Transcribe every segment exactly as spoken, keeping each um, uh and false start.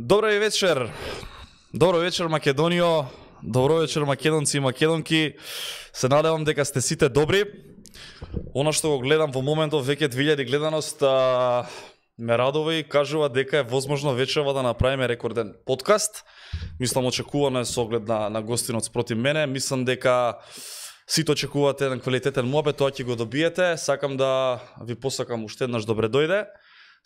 Добро вечер. Добро вечер Македонијо. Добро вечер македонци и македонки. Се надевам дека сте сите добри. Она што го гледам во моментов веќе две илјади гледаност а, ме радува и кажува дека е возможно вечерва да направиме рекорден подкаст. Мислам очекувано е со оглед на, на гостинот спроти мене. Мислам дека сите очекувате еден квалитетен муабет, тоа ќе го добиете. Сакам да ви посакам уште еднаш добре дојде.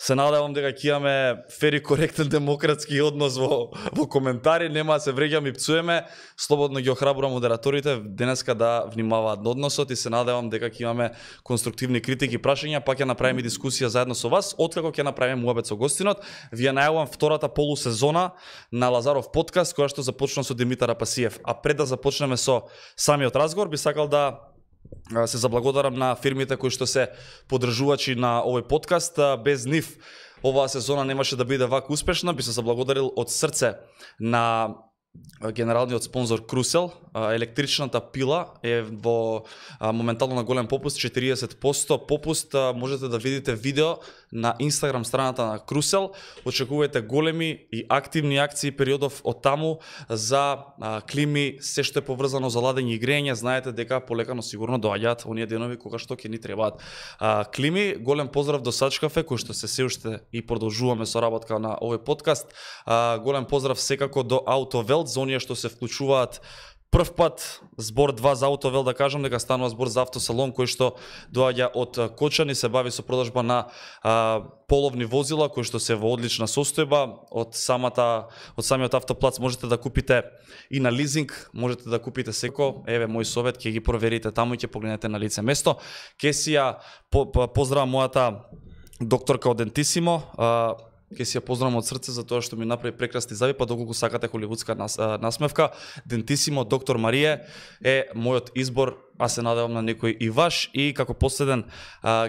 Се надевам дека ќе имаме фер и коректен демократски однос во, во коментари, нема да се вреѓаме и пцуеме. Слободно ги охрабрувам модераторите денеска да внимаваат на односот и се надевам дека ќе имаме конструктивни критики и прашања, па ќе направиме дискусија заедно со вас. Откако ќе направиме муабет со гостинот, вие најавувам втората полусезона на Лазаров подкаст, која што започна со Димитар Апасиев. А пред да започнеме со самиот разговор, би сакал да се заблагодарам на фирмите кои што се поддржувачи на овој подкаст. Без нив оваа сезона немаше да биде вака успешна. Би се заблагодарил од срце на генералниот спонзор Крусел. Електричната пила е во моментално на голем попуст, четириесет проценти попуст. Можете да видите видео на Инстаграм страната на Крусел. Очекувајте големи и активни акции периодов од таму за клими, се што е поврзано за ладење и грејење. Знаете дека полека но сигурно доаѓаат оние денови кога што ќе ни требаат клими. Голем поздрав до Сачкафе, кој што се се уште и продолжуваме со работка на овој подкаст. Голем поздрав секако до Автовелт, за оние што се вклучуваат прв пат. Збор два за Автовелт, да кажам дека станува збор за автосалон кој што доаѓа од Кочани, се бави со продажба на а, половни возила кои што се во одлична состојба. Од самата од самиот автоплац можете да купите и на лизинг, можете да купите секо. Еве мој совет, ќе ги проверите таму и ќе погледнете на лице место. Ке си ја по, по, поздравам мојата докторка од Дентисимо. А, Ке си ја поздравам од срце за тоа што ми направи прекрасни зави, па доколку сакате холивудска нас, насмевка. Дентисимо, доктор Марие е мојот избор, а се надевам на некој и ваш. И како последен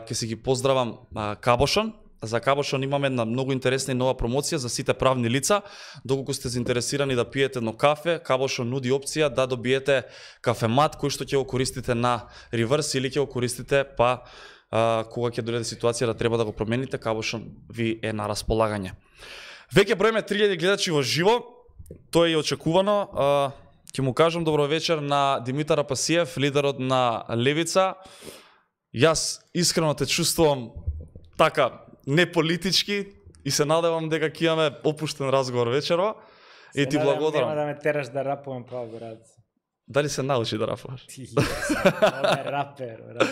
ке си ги поздравам Кабошон. За Кабошон имаме една многу интересна и нова промоција за сите правни лица. Доколку сте заинтересирани да пиете едно кафе, Кабошон нуди опција да добиете кафемат кој што ќе го користите на реверс или ќе го користите па Uh, кога ќе дојде ситуација да треба да го промените, Кабошон ви е на располагање. Веќе броиме три илјади гледачи во живо, тоа е и очекувано. Uh, ќе му кажам добро вечер на Димитар Апасиев, лидерот на Левица. Јас искрено те чувствувам така неполитички и се надевам дека ќе имаме опуштен разговор вечерва. И ти благодарам. Нема да ме тераш да рапувам па, брат. Дали се научи да рапуваш? Ти, ова е рапер, брат.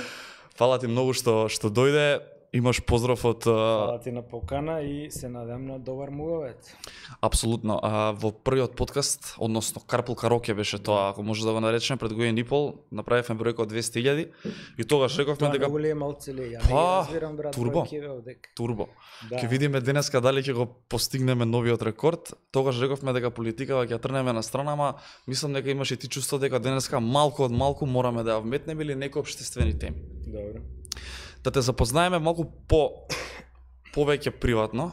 Фала ти многу што што дојде. Имаш поздрав од Фала ти на покана и се надам на добар муабет. Апсолутно. А, во првиот подкаст, односно Карпул Кароке беше тоа, ако може да го наречеме, пред година и пол, направивме бројка од двесте илјади и тогаш рековме дека Тоа многу ли е малце ли? Ја не разбирам, брат, турбо. кој ќе ве одек. Турбо. Да. Ќе видиме денеска дали ќе го постигнеме новиот рекорд. Тогаш рековме дека политикава ќе трнеме на страна, ама мислам дека имаш и ти чувство дека денеска малку од малку мораме да ја вметнеме или некои општествени теми. Добро. Да те запознаеме малку по повеќе приватно.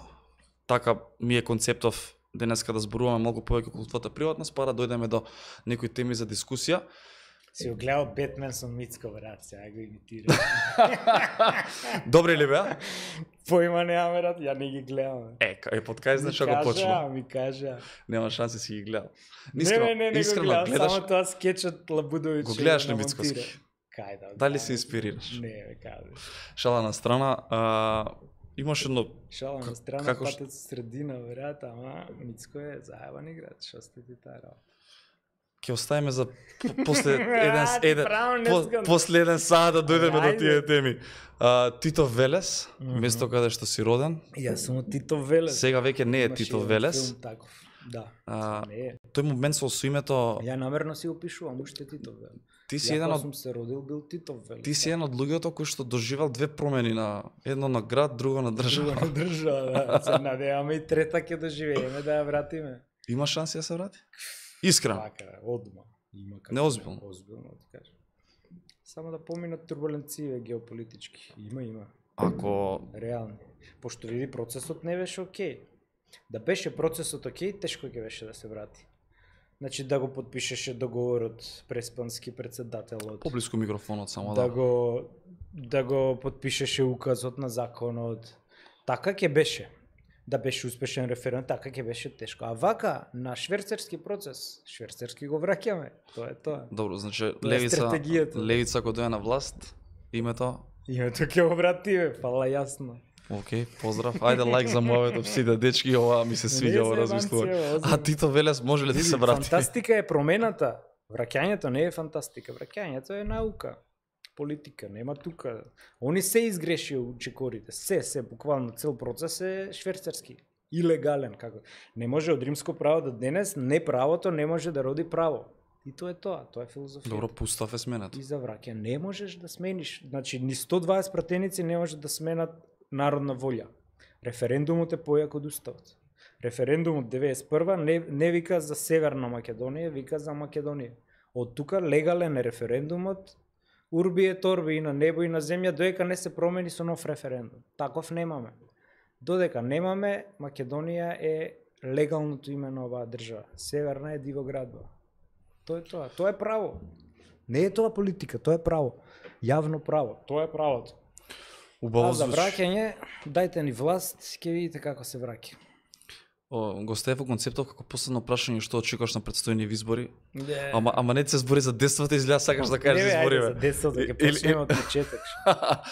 Така ми е концептов денеска да зборуваме малку повеќе околу твојата приватност, па да дојдеме до некои теми за дискусија. Си го гледал Бетмен со Мицко, брат, сега го имитирам. Добри ли беа? Поима нема, брат, ја не ги гледам. Е, е под кај знаеш како почна. Ми кажа. Нема шанси си ги гледал. Искрено, не, не, не искрено, го гледам, гледаш, само тоа скечот Лабудовиќ. го гледаш на Мицковски. Кај да. Дали се инспирираш? Не, бе, кажи. Шала на страна, а, имаш едно... Шала на страна, како ш- патот средина, брат, ама Мицко е заебан играч, што сте ти таа работа. Ќе оставиме за после еден А, ти еден право не по, искам. после еден саат да дојдеме до Ајде. тие теми. А, Тито Велес, Мгм. место каде што си роден. Јас сум од Тито Велес. Сега веќе не е Имаше Тито еден Велес. филм таков. Да. А, Не е. тој момент со со името Ја намерно си го пишувам уште Тито Велес. ти си Ја еден кога од сум се родил бил Тито Велес. ти си еден од луѓето кои што доживел две промени на едно на град, друго на Друго држава. на држава, да. Се надеваме и трета ќе доживееме да ја вратиме. Има шанси да се врати? Искрено. Така, одма. Има како. Неозбилно. Озбилно, ти кажам. Само да поминат турбуленции геополитички. Има, има. Ако Реални. Пошто види процесот не беше окей. Да беше процесот окей, тешко ќе беше да се врати. Значи да го подпишеше договорот преспански председателот. поблиску микрофонот само Да да. го да го подпишеше указот на законот. Така ќе беше. да беше успешен референдум, така ќе беше тешко. А вака на шверцерски процес, шверцерски го враќаме. Тоа е тоа. Добро, значи Тоа е левица, стратегијата. левица кога дојде на власт, името. Името ќе го вратиме, фала јасно. Океј, поздрав. Ајде лайк за моето сите дечки, ова ми се свиѓа ова размислување. А Тито Велес може ли да се врати? Фантастика е промената. Враќањето не е фантастика, враќањето е наука. Политика, нема тука. Они се изгреши чекорите, се, се, буквално цел процес е шверцерски. Илегален, како. Не може од римско право до денес, не правото не може да роди право. И тоа е тоа, тоа е филозофија. Добро, пустав е сменат. И за враќа не можеш да смениш, значи ни сто дваесет пратеници не може да сменат народна волја. Референдумот е појак од уставот. Референдумот деветдесет и прва не, не вика за Северна Македонија, вика за Македонија. Од тука легален е референдумот, урби е торби и на небо и на земја, додека не се промени со нов референдум. Таков немаме. Додека немаме, Македонија е легалното име на оваа држава. Северна е дивоградба. Тоа е тоа. Тоа е право. Не е тоа политика, тоа е право. Јавно право. Тоа е правото. Убаво А за звучи. враќање, дајте ни власт, ќе видите како се враќа. О, го Стефо концептов како последно прашање што очекуваш на предстојни избори. Не. Ама ама не се збори за десетото изгледа сакаш да кажеш Не, за бе, избори. ајде, бе. за десетото ќе Или- почнеме од почеток.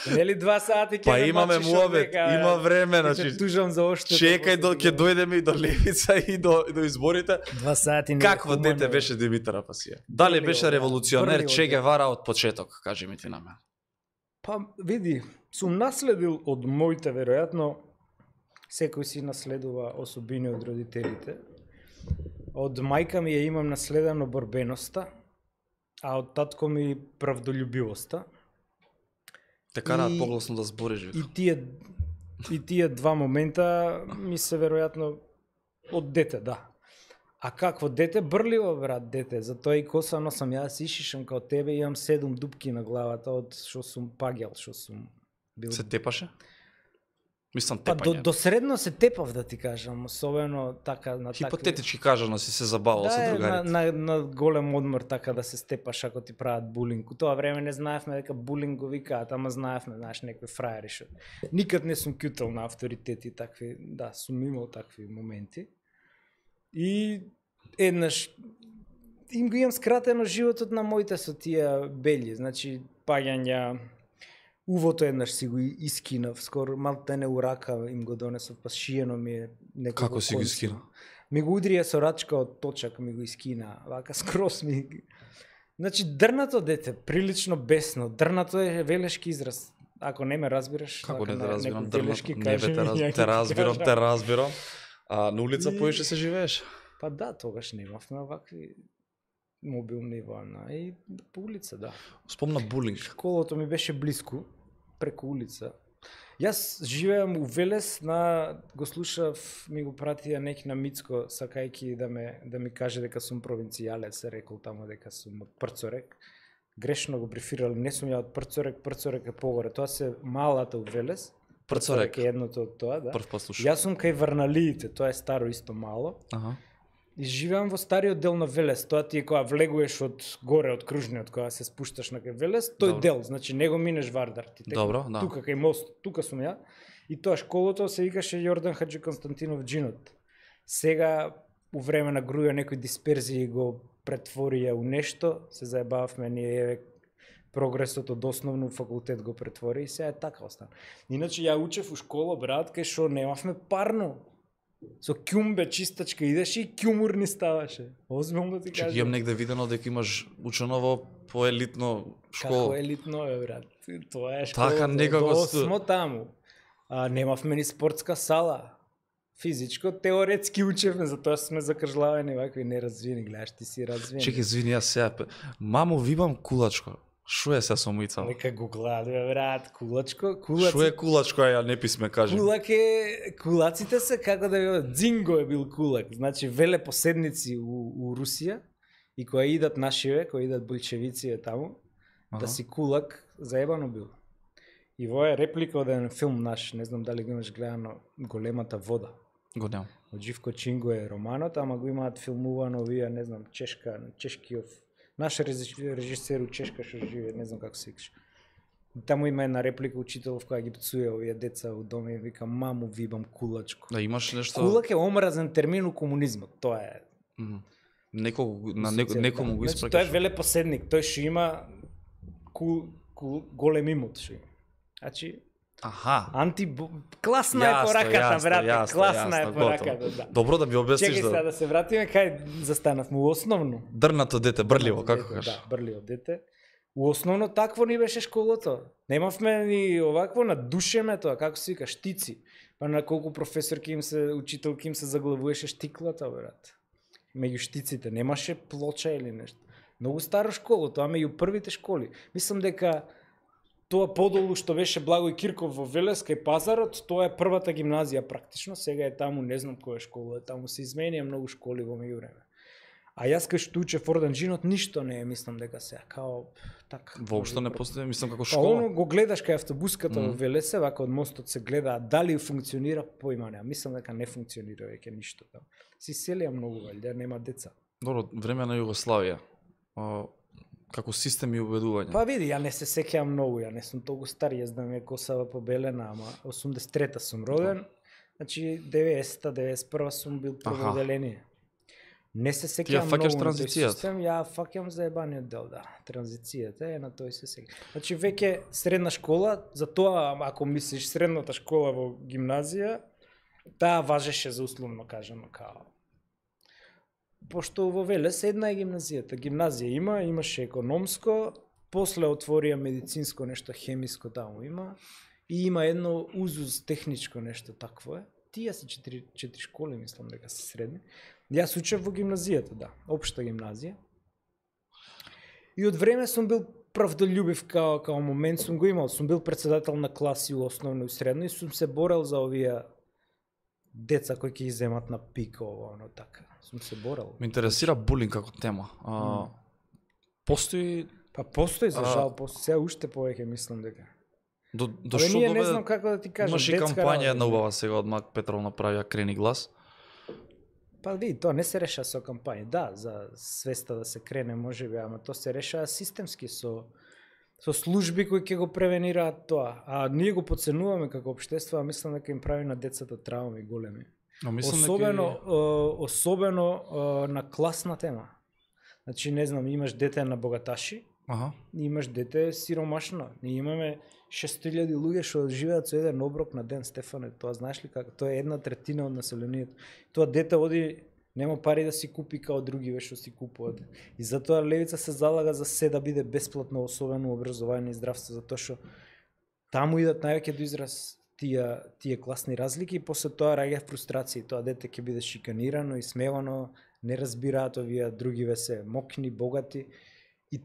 Нели два сати ќе Па ме имаме мачиш муабет, овдека, бе. има време, Ќе значи. те тужам за оште. Чекај до ќе дојдеме и до левица и до и до изборите. Два сати не. Какво хумано, дете бе. беше Димитар Апасија? Дали Прли беше од- револуционер прли од- Че Гевара од почеток, кажи ми ти на мене. Па види, сум наследил од моите веројатно, секој си наследува особини од родителите. Од мајка ми ја имам наследено борбеноста, а од татко ми правдолюбивоста. Те караат И- погласно да збориш. И вика. тие и тие два момента ми се веројатно од дете, да. А какво дете? Брливо, брат, дете. Затоа и коса носам, јас ишишам као тебе, имам седум дупки на главата од што сум пагел, што сум бил. Се тепаше? Мислам Па до, тепање. до средно се тепав, да ти кажам, особено така на такви... Хипотетички кажано си се забавал Да, со е, на, другарите. на, на голем одмор така да се степаш ако ти прават булинг. У тоа време не знаевме дека булинг го викаат, ама знаевме, знаеш, некои фраери што. Никад не сум кјутал на авторитети такви, да, сум имал такви моменти. И еднаш им го имам скратено животот на моите со тие бели, значи паѓања. Увото еднаш си го искинав, скоро малте не урака им го донесов, па шиено ми е некако. Како си го искинал? Ми го удрија со рачка од точак, ми го искина, вака скрос ми. Значи дрнато дете, прилично бесно, дрнато е велешки израз. Ако не ме разбираш, Како вака не те на разбирам, некој дрнато. велешки, Не кажи бе, те, ми, раз, ја ќе те ти разбирам, кажам. те разбирам. А на улица И- поише се живееш? Па да, тогаш немавме вакви мобилни вана и по улица, да. Спомна булинг. Школото ми беше близко, преку улица. Јас живеам у Велес, на го слушав, ми го пратија неки на Мицко, сакајки да ме да ми каже дека сум провинцијалец, рекол таму дека сум од Прцорек. Грешно го брифирал, не сум ја од Прцорек, Прцорек е погоре. Тоа се малата у Велес. Прцорек. е едното од тоа, да. Прв пат слушам. Јас сум кај Врналиите, тоа е старо исто мало. Аха. И живеам во стариот дел на Велес, тоа ти е кога влегуваш од горе од кружниот, кога се спушташ на кај Велес, тој Добро. дел, значи не го минеш Вардар, ти тека Добро, да. тука кај мост, тука сум ја. И тоа школото се викаше Јордан Хаџи Константинов Джинот. Сега у време на груја некои дисперзии го претворија у нешто, се заебавме ние еве прогресот од основно факултет го претвори и сега е така остана. Иначе ја учев у школа, брат, кај што немавме парно. Со ќумбе чистачка идеш и ќумурни ставаше. Озбилно ти Чек, кажам. имам негде видено дека имаш учено во поелитно школа. Како елитно е, брат. Тоа е школа. Така некако До су- смо таму. А немавме ни спортска сала. Физичко, теоретски учевме, затоа сме закржлавени вакви неразвиени. Гледаш, ти си развиен. Чекай, извини, јас сега. пе- Мамо, вибам кулачко. Шо е се со мојца? Нека го глади, бе, брат. Кулачко, кулаци. Шо е кулачко, а ја не писме, кажи. Кулак е, кулаците се како да ви Дзинго е бил кулак. Значи велепоседници у, у Русија и кои идат нашиве, кои идат болшевици таму, Аха. да си кулак заебано бил. И во е реплика од еден филм наш, не знам дали го имаш гледано, Големата вода. Го немам. Од Живко Чинго е романот, ама го имаат филмувано овие, не знам, чешка, чешкиов, наш режисер у Чешка што живее, не знам како се викаш. Таму има една реплика учителов која ги пцуе овие деца у дома и вика маму вибам кулачко. Да имаш нешто. Кулак е омразен термин у комунизмот, тоа е. Mm. Некој на неко, некому да. го Значи, испракаш. тој е велепоседник, тој што има ку, ку, голем имот што има. Значи Аха. анти класна Јасно, е пораката, јасно, брате, јасно, класна јасно, е пораката, да. Добро да ми објасниш Чекај сега да. да се вратиме кај застанавме у основно. Дрнато дете, брливо, Дрнато како дете, кажеш? Да, брливо дете. У основно такво ни беше школото. Немавме ни овакво на душеме тоа, како се вика, штици. Па на колку професорки им се, учителки им се заглавуваше штиклата, брат. Меѓу штиците немаше плоча или нешто. Многу старо школо, тоа меѓу првите школи. Мислам дека тоа подолу што беше Благој Кирков во Велеска и Пазарот, тоа е првата гимназија практично, сега е таму, не знам која школа е, таму се изменија многу школи во меѓувреме. А јас кај што учев Орданџинот ништо не е, мислам дека сега као така. Воопшто не постои, мислам како Па школа. оно го гледаш кај автобуската Mm. во Велесе, вака од мостот се гледа, дали функционира, поима нема. Мислам дека не функционира веќе ништо таму. Си селија многу валјда, нема деца. Добро, време на Југославија. А, како систем и убедување. Па види, ја не се сеќавам многу, ја не сум толку стар, јас да ми е косава побелена, ама осумдесет и трета сум роден, значи деветдесета, деветдесет и прва сум бил прво Аха. оделение. Не се Ти ја сеќавам фаќаш многу на тој транзицијата? систем, ја фаќам за ебаниот дел, да. Транзицијата е на тој се сеќавам. Значи веќе средна школа, за тоа ако мислиш средната школа во гимназија, таа важеше за условно кажано као. Пошто во Велес една е гимназијата. Гимназија има, имаше економско, после отворија медицинско нешто, хемиско таму има, и има едно узуз техничко нешто такво е. Тие се четири, четири школи, мислам дека се средни. Јас учев во гимназијата, да, општа гимназија. И од време сум бил правдолюбив као, као момент сум го имал. Сум бил председател на класи у основно и средно и сум се борел за овие деца кои ќе иземат на пик ово, оно така. Сум се борел. Ме интересира булинг како тема. А, Mm. Постои Па постои за А- жал, постои сега уште повеќе мислам дека. до до Абе, што ние не доведе? знам како да ти кажам. Имаше и детска кампања работа, една убава сега од Мак Петров направија Крени глас. Па види, тоа не се реша со кампања. Да, за свеста да се крене можеби, ама тоа се решава системски со со служби кои ќе го превенираат тоа. А ние го подценуваме како општество, а мислам дека им прави на децата трауми големи. Но мислам Особено дека е, особено е, на класна тема. Значи не знам, имаш дете на богаташи, аха. имаш дете сиромашно. Ние имаме шест илјади луѓе што живеат со еден оброк на ден, Стефане. Тоа знаеш ли како? Тоа е една третина од населението. Тоа дете оди нема пари да си купи као други што си купуваат. И затоа левица се залага за се да биде бесплатно, особено образование и здравство, затоа што таму идат највеќе до израз тие тие класни разлики и после тоа раѓа фрустрација. Тоа дете ќе биде шиканирано и смевано, не разбираат овие другиве се мокни, богати. И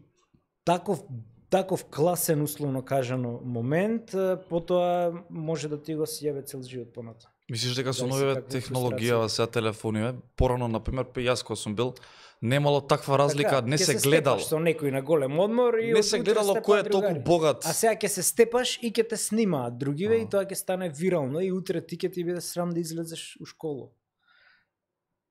таков таков класен условно кажано момент, потоа може да ти го сјебе цел живот понатаму. Мислиш дека со Зависи новите каква технологија сега телефони, порано на пример јас кога сум бил, немало таква разлика, не ќе се степаш гледало. со некој на голем одмор и Не од се утре гледало степаат кој е толку другари. богат. А сега ќе се степаш и ќе те снимаат другиве А. и тоа ќе стане вирално и утре ти ќе ти биде срам да излезеш у школа.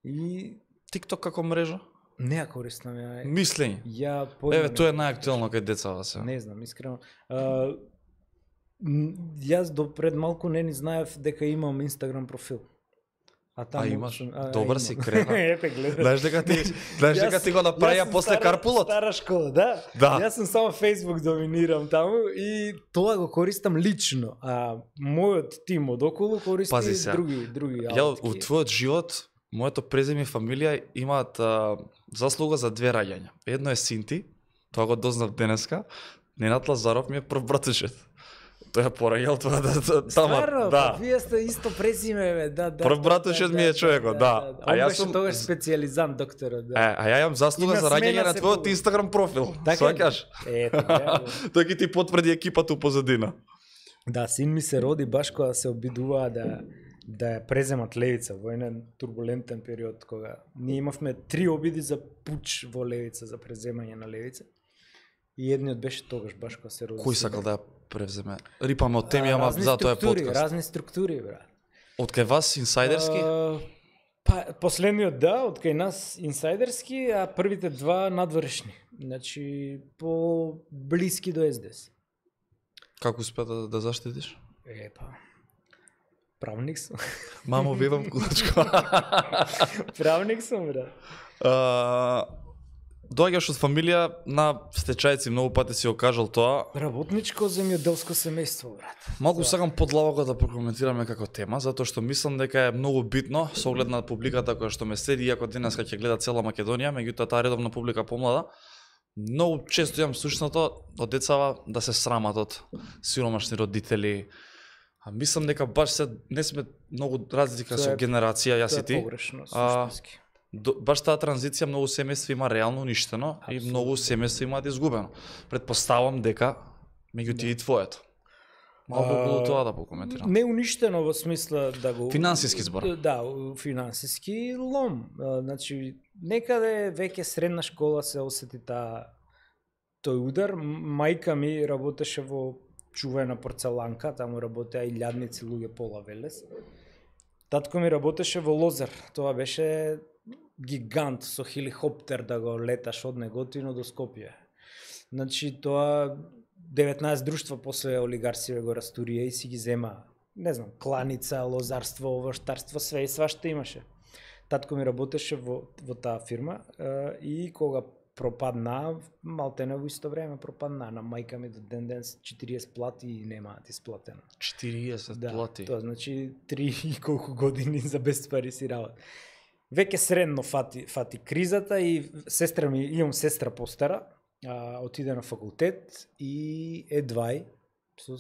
И TikTok како мрежа? не ја користам ја. Мислење. Ја појма Еве не- тоа е најактуелно кај децата се. Не знам, искрено. А, м, јас до пред малку не ни знаев дека имам Инстаграм профил. А таму имаш? сум- а, Добар имам. си, крена. Ете гледа. Знаеш дека ти, знаеш Јас- дека ти го јас направија сум после стара- карпулот? Стара школа, да. Да. Јас сум само Facebook доминирам таму и тоа го користам лично, а мојот тим од околу користи Пази сега. други други Ја аутки. во твојот живот, моето презиме и фамилија имаат а, заслуга за две раѓања. Едно е Синти, тоа го дознав денеска. Ненад Лазаров ми е прв братушет. Тој е пораѓал тоа да, да тама. Стварно, Да. па вие сте исто презиме, бе, да, да. Прв да, братушет да, ми е да, човекот, да. А А јас јас сум- сум тогаш специјализант докторот, да. Е, а ја имам заслуга Има за раѓање смена на се твојот по- Инстаграм профил. Така ли? Сваќаш? Ето, да. Тој ќе ти потврди екипата у позадина. Да, син ми се роди баш кога се обидуваа да да ја преземат Левица во еден турбулентен период кога ние имавме три обиди за пуч во Левица, за преземање на Левица. И едниот беше тогаш баш кога се роди. Кој син. сакал да ја превземе? Рипаме од теми, А, ама разни за тоа е структури, подкаст. Разни структури, брат. Од кај вас инсайдерски? А, па последниот да, од кај нас инсайдерски, а првите два надвршни. Значи по блиски до ес де ес. Како успеа да, да заштитиш? Е, па, правник сум. Мамо, видам кулачко. Правник сум, брат. А, доаѓаш од фамилија на стечајци, многу пати си го кажал тоа. Работничко земјоделско семејство, брат. Малку сакам подлабоко да прокоментираме како тема, затоа што мислам дека е многу битно со оглед на публиката која што ме следи, иако денеска ќе гледа цела Македонија, меѓутоа таа редовна публика помлада. Многу често имам слушнато од децава да се срамат од сиромашни родители. А мислам дека баш се не сме многу разлика Тоа со е- генерација јас и Тоа е ти. погрешно, А, суштински. До, баш таа транзиција многу семејства има реално уништено и Апсолутно. многу семејства имаат изгубено. Предпоставам дека меѓу ти и твоето. Малку А, околу тоа да покоментирам. Не уништено во смисла да го... Финансиски збор. Да, у- финансиски лом. А, Значи, некаде веќе средна школа се осети таа тој удар. М- Мајка ми работеше во чувена порцеланка, таму работеа и лјадници луѓе пола Велес. Татко ми работеше во Лозар. Тоа беше гигант со хеликоптер да го леташ од Неготино до Скопје. Значи, тоа деветнаесет друштва после олигарсиве го растурија и си ги зема, не знам, кланица, лозарство, овоштарство, све и свашта имаше. Татко ми работеше во, во таа фирма е, и кога пропадна, малтене во исто време пропадна, на мајка ми до ден ден четириесет плати и немаат исплатено. четириесет Да, плати. тоа значи три и колку години за без пари си работа. Веќе средно фати, фати кризата и сестра ми, имам сестра постара, а, отиде на факултет и едвај со...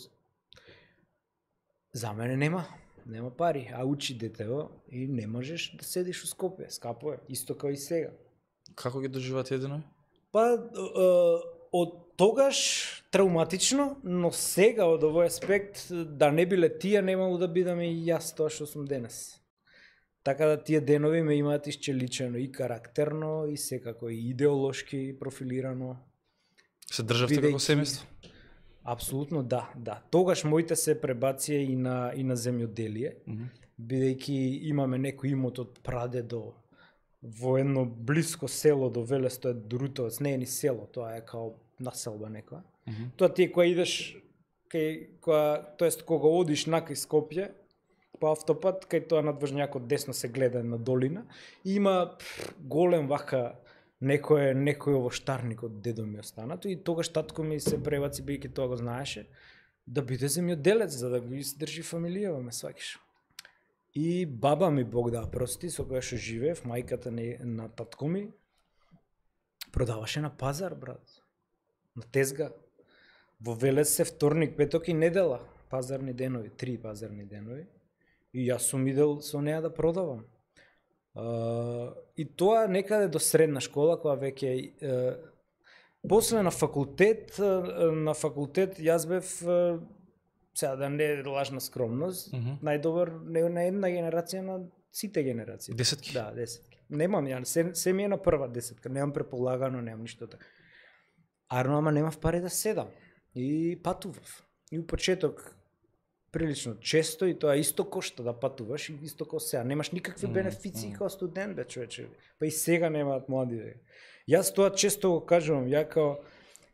За мене нема, нема пари, а учи детево и не можеш да седиш у Скопје, скапо е, исто како и сега. Како ги доживаат единој? Па, е, од тогаш травматично, но сега од овој аспект, да не биле тие, немало да бидам и јас тоа што сум денес. Така да тие денови ме имаат исчеличено и карактерно, и секако и идеолошки профилирано. Се државте како Бидејќи- семејство? Апсолутно да, да. Тогаш моите се пребација и на и на земјоделие, Мгм. бидејќи имаме некој имот од прадедо во едно блиско село до Велес, тоа е Дорутовец, не е ни село, тоа е као населба некоја. Мгм. Тоа ти е кога идеш кај која, тоест кога одиш накај Скопје по автопат, кај тоа надвржњакот десно се гледа на долина и има пф, голем вака некој некој овоштарник од дедо ми останато и тогаш татко ми се пребаци, бидејќи тоа го знаеше, да биде земјоделец за да го издржи фамилија, ме сваќаш. И баба ми, Бог да ја прости, со која што живеев, мајката не, на татко ми, продаваше на пазар, брат. На тезга. Во Велес се вторник, петок и недела. Пазарни денови, три пазарни денови. И јас сум идел со неа да продавам. А, и тоа некаде до средна школа, која веќе... е, после на факултет, е, на факултет јас бев... е, сега да не е лажна скромност, Мгм. најдобар не на една генерација, на сите генерации. Десетки? Да, десетки. Немам ја, се, се ми е на прва десетка, немам преполагано, немам ништо така. Арно, ама немав пари да седам. И патував. И у почеток прилично често и тоа исто кошта да патуваш и исто како сега. Немаш никакви Мм, бенефиции мм. како студент, бе, човече. Па и сега немаат млади, бе. Јас тоа често го кажувам, ја као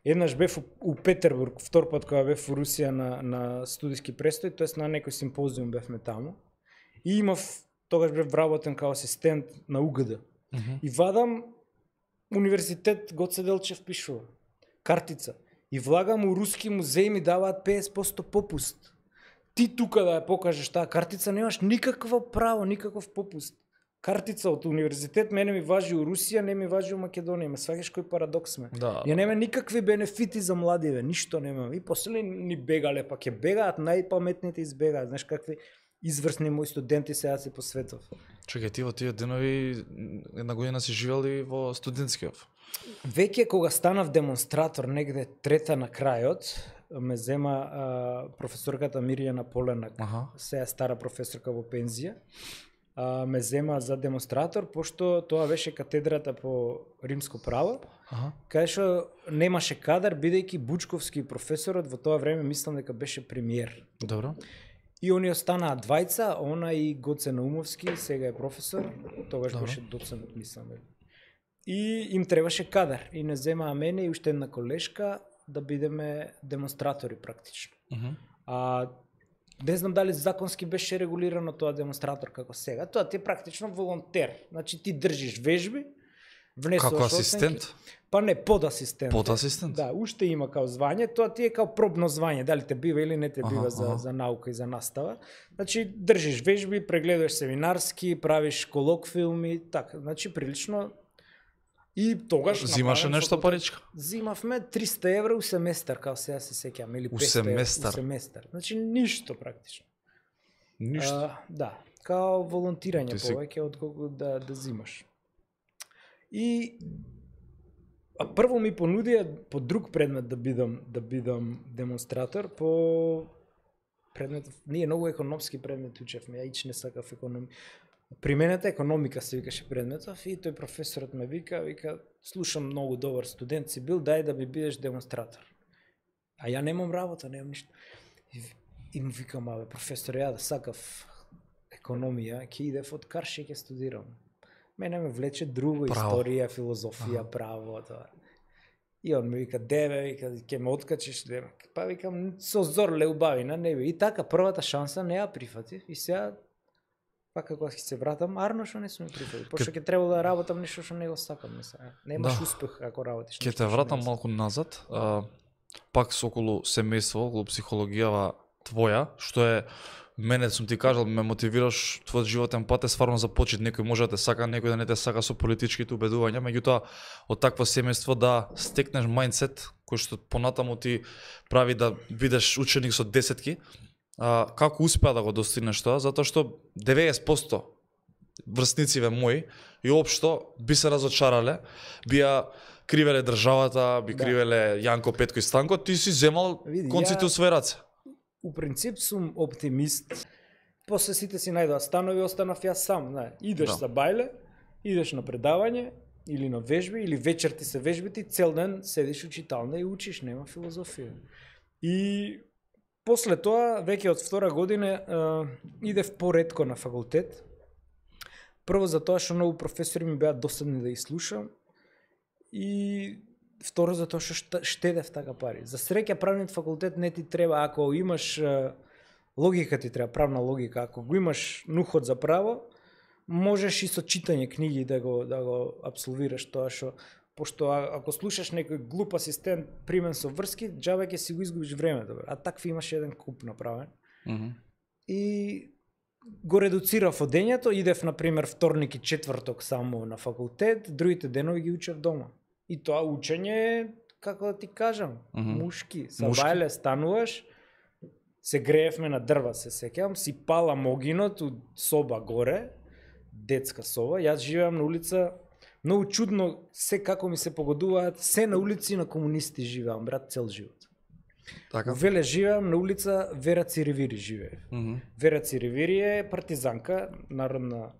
еднаш бев у, у Петербург, втор пат кога бев у Русија на, на студиски престој, тоест на некој симпозиум бевме таму. И имав, тогаш бев вработен као асистент на У Г Д. Мгм. И вадам универзитет Гоце Делчев пишува. Картица. И влагам у Руски музеј ми даваат педесет проценти попуст. Ти тука да ја покажеш таа картица немаш никакво право, никаков попуст. Картица од универзитет мене ми важи у Русија, не ми важи у Македонија. Ме сваќаш кој парадокс ме. Да. Ја нема никакви бенефити за младиве, ништо нема. И после ни бегале, па ќе бегаат, најпаметните избегаат. Знаеш какви изврсни мои студенти сега се по светов. Чекај, ти во тие денови една година си живел и во студентскиот. Веќе кога станав демонстратор негде трета на крајот, ме зема а, професорката Мирјана Поленак, Аха. сега стара професорка во пензија, а, ме зема за демонстратор, пошто тоа беше катедрата по римско право, Аха. кај што немаше кадар, бидејќи Бучковски професорот во тоа време мислам дека беше премиер. Добро. И они останаа двајца, она и Гоце Наумовски, сега е професор, тогаш Добро. беше доцент, мислам. И им требаше кадар. И не земаа мене и уште една колешка да бидеме демонстратори практично. Мгм. А не знам дали законски беше регулирано тоа демонстратор како сега. Тоа ти е практично волонтер. Значи ти држиш вежби, внесуваш Како оценки. асистент? Па не, подасистент. Подасистент? Да, уште има као звање, тоа ти е као пробно звање, дали те бива или не те бива Аха, за, аха. за наука и за настава. Значи, држиш вежби, прегледаш семинарски, правиш колоквиуми, така, значи прилично. И тогаш Зимаше направен нешто факултет- паричка? Зимавме триста евра у семестар, као сега се сеќавам, или У петста евра семестар? у семестар. Значи ништо практично. Ништо. А, да, као волонтирање Ти си- повеќе отколку да да зимаш. И а прво ми понудија по друг предмет да бидам да бидам демонстратор по предмет, ние многу економски предмет учевме, ја ич не сакав економија. Применета економика се викаше предметов и тој професорот ме вика, вика, слушам многу добар студент си бил, дај да ми бидеш демонстратор. А ја немам работа, немам ништо. И, и му викам, абе, професор, ја да сакав економија, ќе идев од Карши ќе студирам. Мене ме влече друго, Право. историја, филозофија, Аха. право, тоа. И он ми вика, деве, вика, ќе ме откачиш, деве. Па викам, со зор ле убавина, не би. И така, првата шанса не ја прифатив. И сега, па како ќе се вратам, арно што не сум прифатив. Пошто ќе треба да работам нешто што не го сакам. Не сега. Немаш Да. успех ако работиш. Ќе нешто те што вратам не го малку назад, а, пак со околу семејство, околу психологијава твоја, што е мене сум ти кажал, ме мотивираш твојот животен пат е стварно започет, некој може да те сака, некој да не те сака со политичките убедувања, меѓутоа од такво семејство да стекнеш мајндсет кој што понатаму ти прави да бидеш ученик со десетки. А, како успеа да го достигнеш тоа? Затоа што деветдесет проценти врснициве мои и општо би се разочарале, би ја кривеле државата, би Да. кривеле Јанко, Петко и Станко, ти си земал Види, конците ја- у свој раце. У принцип сум оптимист. После сите си најдоа станови, останав јас сам, знаеш. Идеш Да. за бајле, идеш на предавање или на вежби, или вечер ти се вежбите, цел ден седиш у читална и учиш, нема филозофија. И после тоа, веќе од втора година, а, идев поретко на факултет. Прво за тоа што многу професори ми беа досадни да ги слушам и второ за тоа што шта- штедев така пари. За среќа правниот факултет не ти треба, ако имаш а, логика ти треба, правна логика, ако го имаш нухот за право, можеш и со читање книги да го да го апсолвираш тоа што пошто а- ако слушаш некој глуп асистент примен со врски, џабе ќе си го изгубиш времето, бе. А такви имаш еден куп направен. Мгм. И го редуцирав одењето, идев на пример вторник и четврток само на факултет, другите денови ги учев дома. И тоа учење е, како да ти кажам, Мгм. мушки. Са Мушки. бајле стануваш, се греевме на дрва, се сеќавам, си палам огинот од соба горе, детска соба, јас живеам на улица, многу чудно се како ми се погодуваат, се на улици на комунисти живеам, брат, цел живот. Така. Во Веле живеам на улица Вера Циревири живее. Мгм. Вера Циревири е партизанка, народна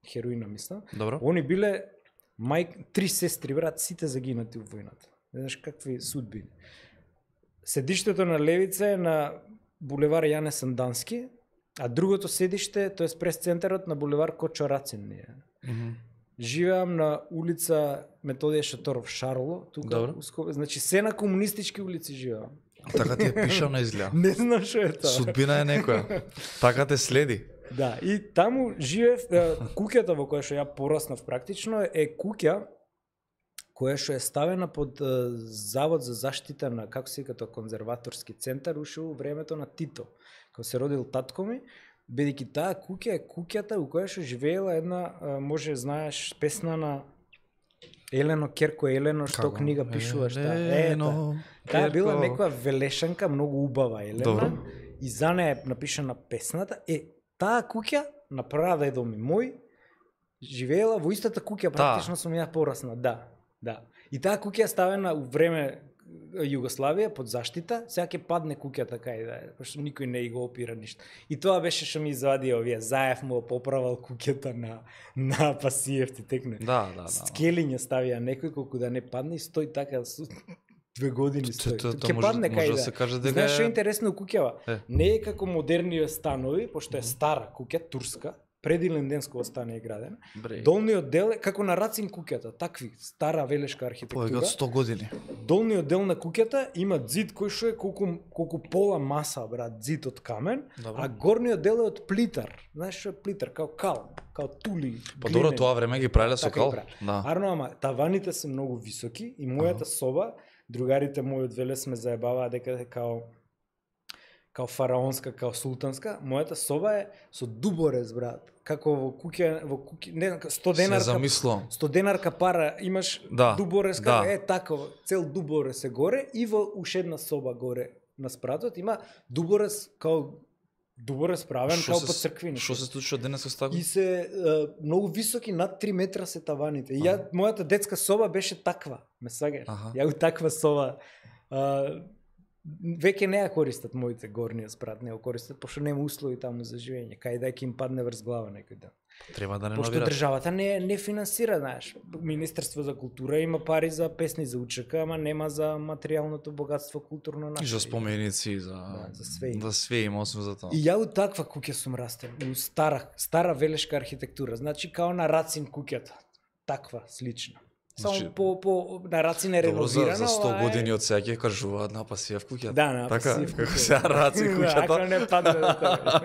хероина, мислам. Добро. Они биле мајк, три сестри, брат, сите загинати во војната. Не знаеш какви судбини. Седиштето на левица е на булевар Јане Сандански, а другото седиште, тоа е прес центарот на булевар Кочо Рацин. Ние. Мгм. Живеам на улица Методија Шаторов Шарло, тука, Добро. уско, значи се на комунистички улици живеам. Така ти е пишано изгледа. Не знам што е тоа. Судбина е некоја. Така те следи. Да, и таму живеев, е, куќата во која што ја пораснав практично е куќа која што е ставена под е, Завод за заштита на, како се вика тоа, конзерваторски центар, уште во времето на Тито, кога се родил татко ми, бидејќи таа куќа е куќата во која што живеела една, е, може знаеш, песна на Елено Керко Елено, што Како? книга пишуваш, таа. Е, Елено, таа таа била Керко. некоја велешанка, многу убава Елена. Добро. И за неја е напишана песната. Е, таа куќа на прадедо ми мој живеела во истата куќа, практично сум ја порасна, да. Да. И таа куќа е ставена у време Југославија под заштита, сега ќе падне куќата кај да е, пошто никој не и го опира ништо. И тоа беше што ми извади овие, Заев му поправал куќата на на Пасиев ти текне. Да, да, да. Скелиња ставија некој колку да не падне и стои така со две години Т- стои. т- т- Ќе може- падне може кај да да. се каже дека Знаеш што е е- интересно у куќава? Е. Не е како модерниве станови, пошто е стара куќа турска, преди Линденско стане е граден. Бре. Долниот дел е како на Рацин куќата, такви стара велешка архитектура. Повеќе од сто години. Долниот дел на куќата има зид кој што е колку колку пола маса, брат, зид од камен, Добро. а горниот дел е од плитар. Знаеш што е плитар, као кал, као тули. Па добро, тоа време ги правеле со Така кал. ги прави. Да. Арно, ама таваните се многу високи и мојата соба, другарите мои од Велес ме заебаваа дека е као као фараонска, као султанска. Мојата соба е со дуборез, брат. Како во куќа, во куќа, не знам, сто Се денарка. замислувам. сто денарка пара имаш Да, дуборез, да. како е тако, цел дуборез е горе и во уште една соба горе на спратот има дуборез као дуборез правен Шо као се- по црквини. Што се случува денес со тако? И се е, многу високи, над три метра се таваните. И ја, мојата детска соба беше таква, ме сваѓаш. Аха. Ја у таква соба. А, веќе не ја користат моите горниот спрат, не ја користат, пошто нема услови таму за живење. Кај да ќе им падне врз глава некој ден. Треба да Пошто реновират. државата не не финансира, знаеш. Министерство за култура има пари за песни за учека, ама нема за материјалното богатство културно наше. И за споменици, за Да, за све има. Да све има освен за тоа. И ја у таква куќа сум растен, у стара, стара велешка архитектура, значи као на Рацин куќата, таква, слична. Само Значи, по, по, на Рацин е Добро, за, реновирана, за сто ова е- години од сега ќе кажуваат на пасија в куќата. Да, на така, пасив како куќата. се раци Да, куќата. ако не падне до тоа.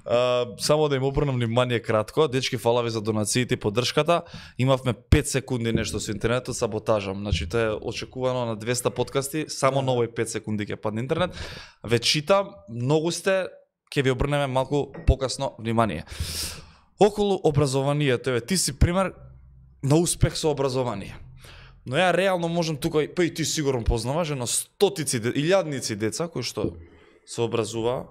А, само да им обрнам внимание кратко, дечки, фала ви за донациите и поддршката. Имавме пет секунди нешто со интернетот, саботажам. Значи тоа е очекувано на двеста подкасти, само на овој пет секунди ќе падне интернет. Ве читам, многу сте, ќе ви обрнеме малку покасно внимание. Околу образованието, еве ти си пример на успех со образование. Но ја реално можам тука, па и ти сигурно познаваш, на стотици, илјадници деца кои што се образува,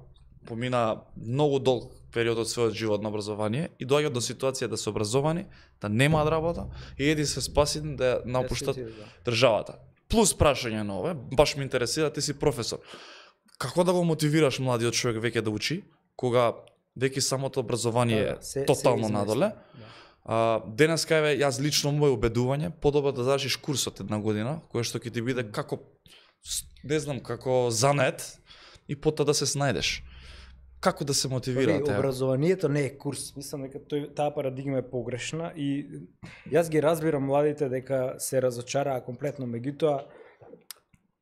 помина многу долг период од својот живот на образование и доаѓаат до ситуација да се образовани, да немаат работа и еди се спасени да ја напуштат државата. Плюс прашање на ове, баш ме интересира, ти си професор. Како да го мотивираш младиот човек веќе да учи, кога веќе самото образование Да, е да, се- тотално се надоле? измести, да. А, денеска еве јас лично моје убедување, подобро да завршиш курсот една година, кој што ќе ти биде како с- не знам, како занет и потоа да се снајдеш. Како да се мотивира Пази, таа? образованието не е курс. Мислам дека тој таа парадигма е погрешна и јас ги разбирам младите дека се разочараа комплетно, меѓутоа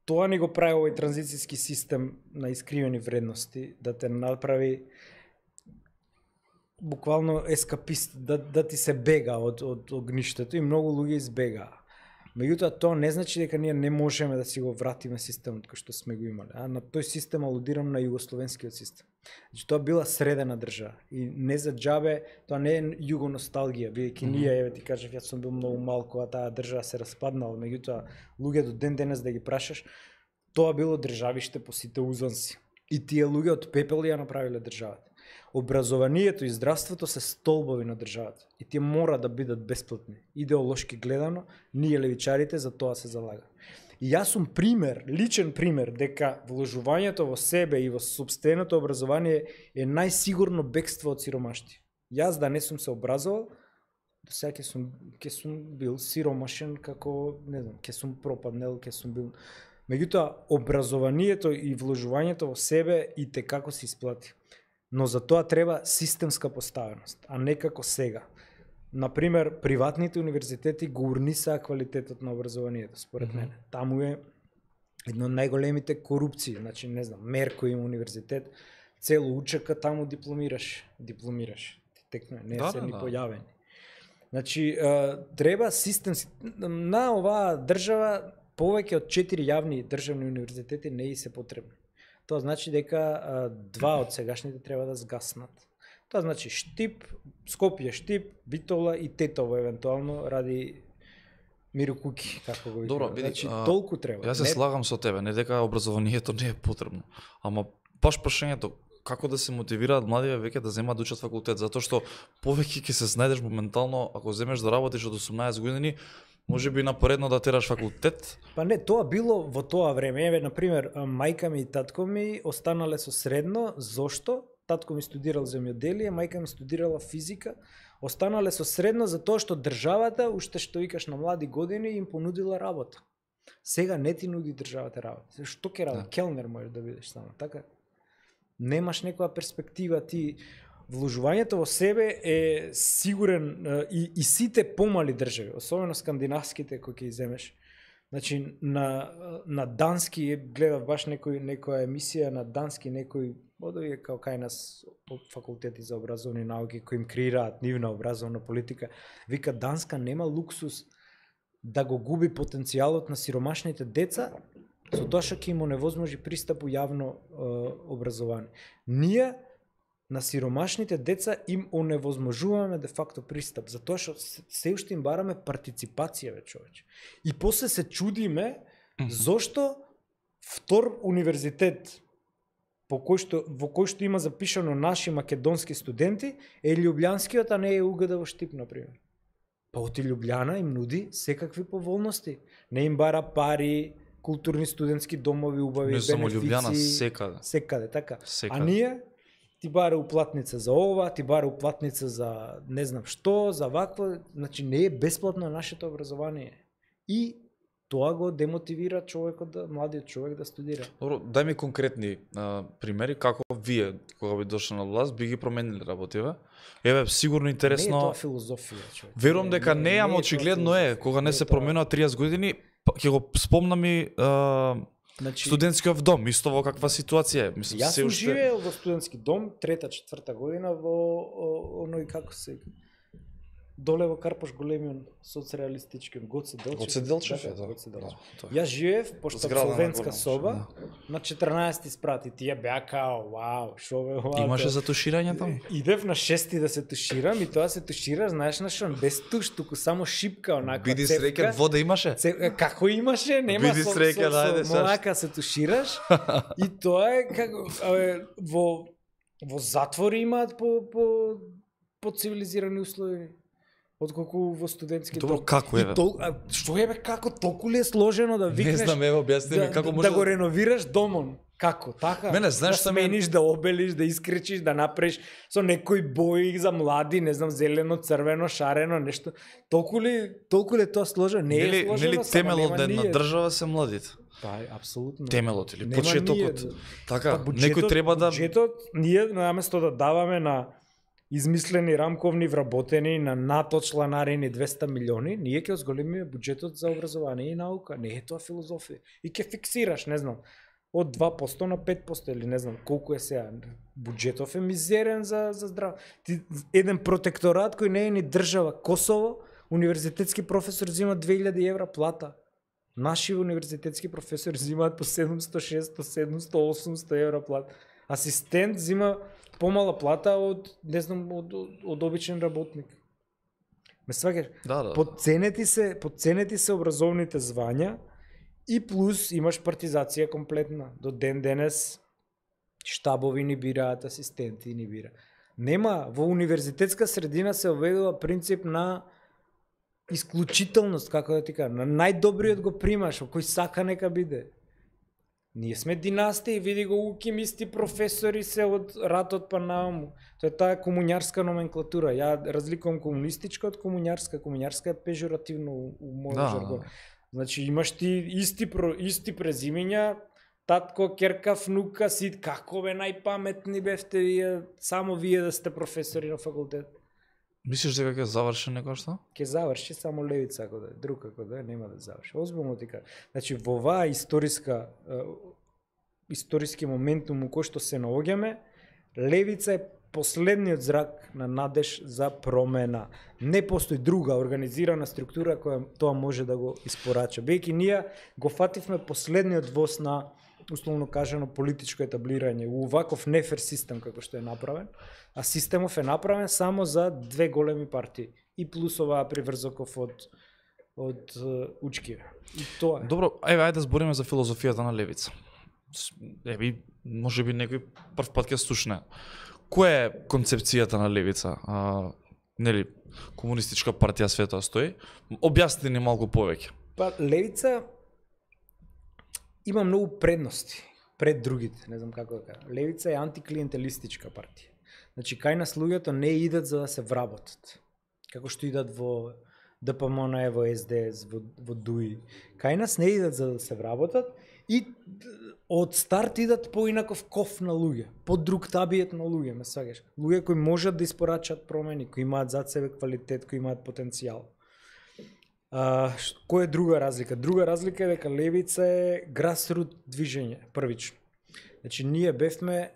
тоа ни го прави овој транзицијски систем на искривени вредности, да те направи буквално ескапист, да, да ти се бега од, од огништето и многу луѓе избегаа. Меѓутоа тоа не значи дека ние не можеме да си го вратиме системот кој што сме го имале. А на тој систем алудирам на југословенскиот систем. Значи тоа била средена држава и не за џабе, тоа не е југоносталгија, бидејќи mm -hmm. ние, еве ти кажав, јас сум бил многу мал кога таа држава се распаднала, меѓутоа луѓе до ден денес да ги прашаш, тоа било државиште по сите узанси. И тие луѓе од пепел ја направиле државата. Образованието и здравството се столбови на државата и тие мора да бидат бесплатни. Идеолошки гледано, ние левичарите за тоа се залага. И јас сум пример, личен пример, дека вложувањето во себе и во собственото образование е најсигурно бегство од сиромашти. Јас да не сум се образовал, до сега ќе сум, ќе сум бил сиромашен како, не знам, ќе сум пропаднел, ќе сум бил... Меѓутоа, образованието и вложувањето во себе и те како се исплати. Но за тоа треба системска поставеност, а не како сега. Например, приватните универзитети го урнисаа квалитетот на образованието, според mm -hmm. мене. Таму е едно од најголемите корупции, значи не знам, Мерко има универзитет, цело учека таму дипломираш, дипломираш. Текно не да, се да, ни да. појавени. Значи, а, треба систем на оваа држава повеќе од четири јавни државни универзитети не и се потребни. Тоа значи дека а, два од сегашните треба да згаснат. Тоа значи Штип, Скопје Штип, Битола и Тетово евентуално ради Миро Куки, како го Добро, викаме. биди, Значи а, толку треба. Јас се Не- слагам со тебе, не дека образованието не е потребно, ама баш прашањето како да се мотивираат младиве веќе да земат да учат факултет, затоа што повеќе ќе се снајдеш моментално ако земеш да работиш од осумнаесет години, може би напоредно да тераш факултет. Па не, тоа било во тоа време. Еве, например, а, мајка ми и татко ми останале со средно. Зошто? Татко ми студирал земјоделие, мајка ми студирала физика. Останале со средно затоа што државата, уште што викаш на млади години, им понудила работа. Сега не ти нуди државата работа. Што ќе работи? Да. Келнер можеш да бидеш само, така? Немаш некоја перспектива, ти вложувањето во себе е сигурен и, и сите помали држави, особено скандинавските кои ќе иземеш. Значи на на дански гледав баш некој некоја емисија на дански некој од овие како кај нас факултети за образовни науки кои им креираат нивна образовна политика, вика Данска нема луксус да го губи потенцијалот на сиромашните деца со тоа што ќе им оневозможи пристап у јавно е, образование. Ние на сиромашните деца им оневозможуваме де факто пристап, затоа што се уште им бараме партиципација, бе човече. И после се чудиме зошто втор универзитет по кој што, во кој што има запишано наши македонски студенти е Љубљанскиот, а не е УГД во Штип, например. Па оти Љубљана им нуди секакви поволности. Не им бара пари, културни студентски домови, убави, не само бенефици. Љубљана, секаде. Секаде, така. Секаде. А ние ти бара уплатница за ова, ти бара уплатница за не знам што, за вакво, значи не е бесплатно нашето образование. И тоа го демотивира човекот да младиот човек да студира. Добро, дај ми конкретни а, примери како вие кога би дошли на власт би ги променили работиве. Еве сигурно интересно. Не е тоа филозофија, човек. Верувам дека не, не ама е очигледно тоа е, филозофија. кога не Не се е тоа. променува триесет години, па, ќе го спомнам и а, Значи, студентскиот дом, исто во каква ситуација е. Мислам, јас се сум уште... живеел во студентски дом, трета, четврта година во о, оној како се доле во Карпош големиот соцреалистички Гоце Делчев. Гоце Делчев е, да, да. Гоце Делчев. Да, тоа. Јас живеев пошто Зграда на абсолвентска голема, соба да. на четрнаесети спрати. Тие беа као, вау, шо бе, вау. Имаше за туширање таму? Идев на шести да се туширам и тоа се тушира, знаеш на што, без туш, туку само шипка онаква Биди цевка. среќен, вода имаше? Це, како имаше, нема Биди со, среќен, со, ајде, со, саш. монака се тушираш и тоа е како абе, во во затвори имаат по по по цивилизирани услови отколку во студентски Добро, дом. како И е? тол, а, што е бе, како толку ли е сложено да Не викнеш знам, ево објасни ми да, како може да го реновираш домон? Како? Така? Мене, знаеш да што ме- смениш, да обелиш, да искречиш, да направиш со некои бои за млади, не знам, зелено, црвено, шарено, нешто. Толку ли, толку ли е тоа сложено? Не е Нели, сложено, нели само темелот нема на една ние. држава се младите? Па, апсолутно. Темелот или Нема почетокот. ние. Така, Па, некој треба да Буџетот, ние наместо да даваме на измислени рамковни вработени на НАТО чланарини двесте милиони, ние ќе зголемиме буџетот за образование и наука. Не е тоа филозофија. И ќе фиксираш, не знам, од два проценти на пет проценти или не знам колку е сега. Буџетов е мизерен за за здрав. Ти еден протекторат кој не е ни држава, Косово, универзитетски професор зема две илјади евра плата. Наши универзитетски професори взимаат по седумстотини, шестстотини, седумстотини, осумстотини евра плата. Асистент зима помала плата од, не знам, од, од, од обичен работник. Ме сваќаш? Да, да. Подценети се, подценети се образовните звања и плюс имаш партизација комплетна. До ден денес штабови ни бираат, асистенти ни бира. Нема, во универзитетска средина се оведува принцип на исклучителност, како да ти кажам, на најдобриот го примаш, кој сака нека биде. Ние сме династија, види го укимисти професори се од ратот па нааму. Тоа е таа комуњарска номенклатура. Ја разликувам комунистичка од комуњарска. Комуњарска е пежоративно у, у мојот Да. жаргон. Значи имаш ти исти про, исти презимења, татко, керка, внука, сит, како бе најпаметни бевте вие, само вие да сте професори на факултет. Мислиш дека ќе заврши некој што? Ќе заврши само левица ако да е, друг ако да е, нема да заврши. Озбилно ти кажам. Значи во оваа историска е, историски моментум у кој што се наоѓаме, левица е последниот зрак на надеж за промена. Не постои друга организирана структура која тоа може да го испорача. Бејќи ние го фативме последниот воз на условно кажано политичко етаблирање у ваков нефер систем како што е направен, а системов е направен само за две големи партии и плюс оваа приврзоков од од е, Учкиве. И тоа е. Добро, еве ајде да збориме за филозофијата на левица. С- Еве, може би некој прв пат ќе слушне. Која е концепцијата на левица? А, нели, комунистичка партија светот стои. Објасни ни малку повеќе. Па левица има многу предности пред другите, не знам како да кажам. Левица е антиклиентелистичка партија. Значи кај нас луѓето не идат за да се вработат. Како што идат во ДПМН, во СДС, во, во ДУИ. Кај нас не идат за да се вработат и од старт идат поинаков ков на луѓе, по друг табиет на луѓе, ме сваѓаш. Луѓе кои можат да испорачат промени, кои имаат зад себе квалитет, кои имаат потенцијал. А, која е друга разлика? Друга разлика е дека левица е грасрут движење, првично. Значи, ние бевме,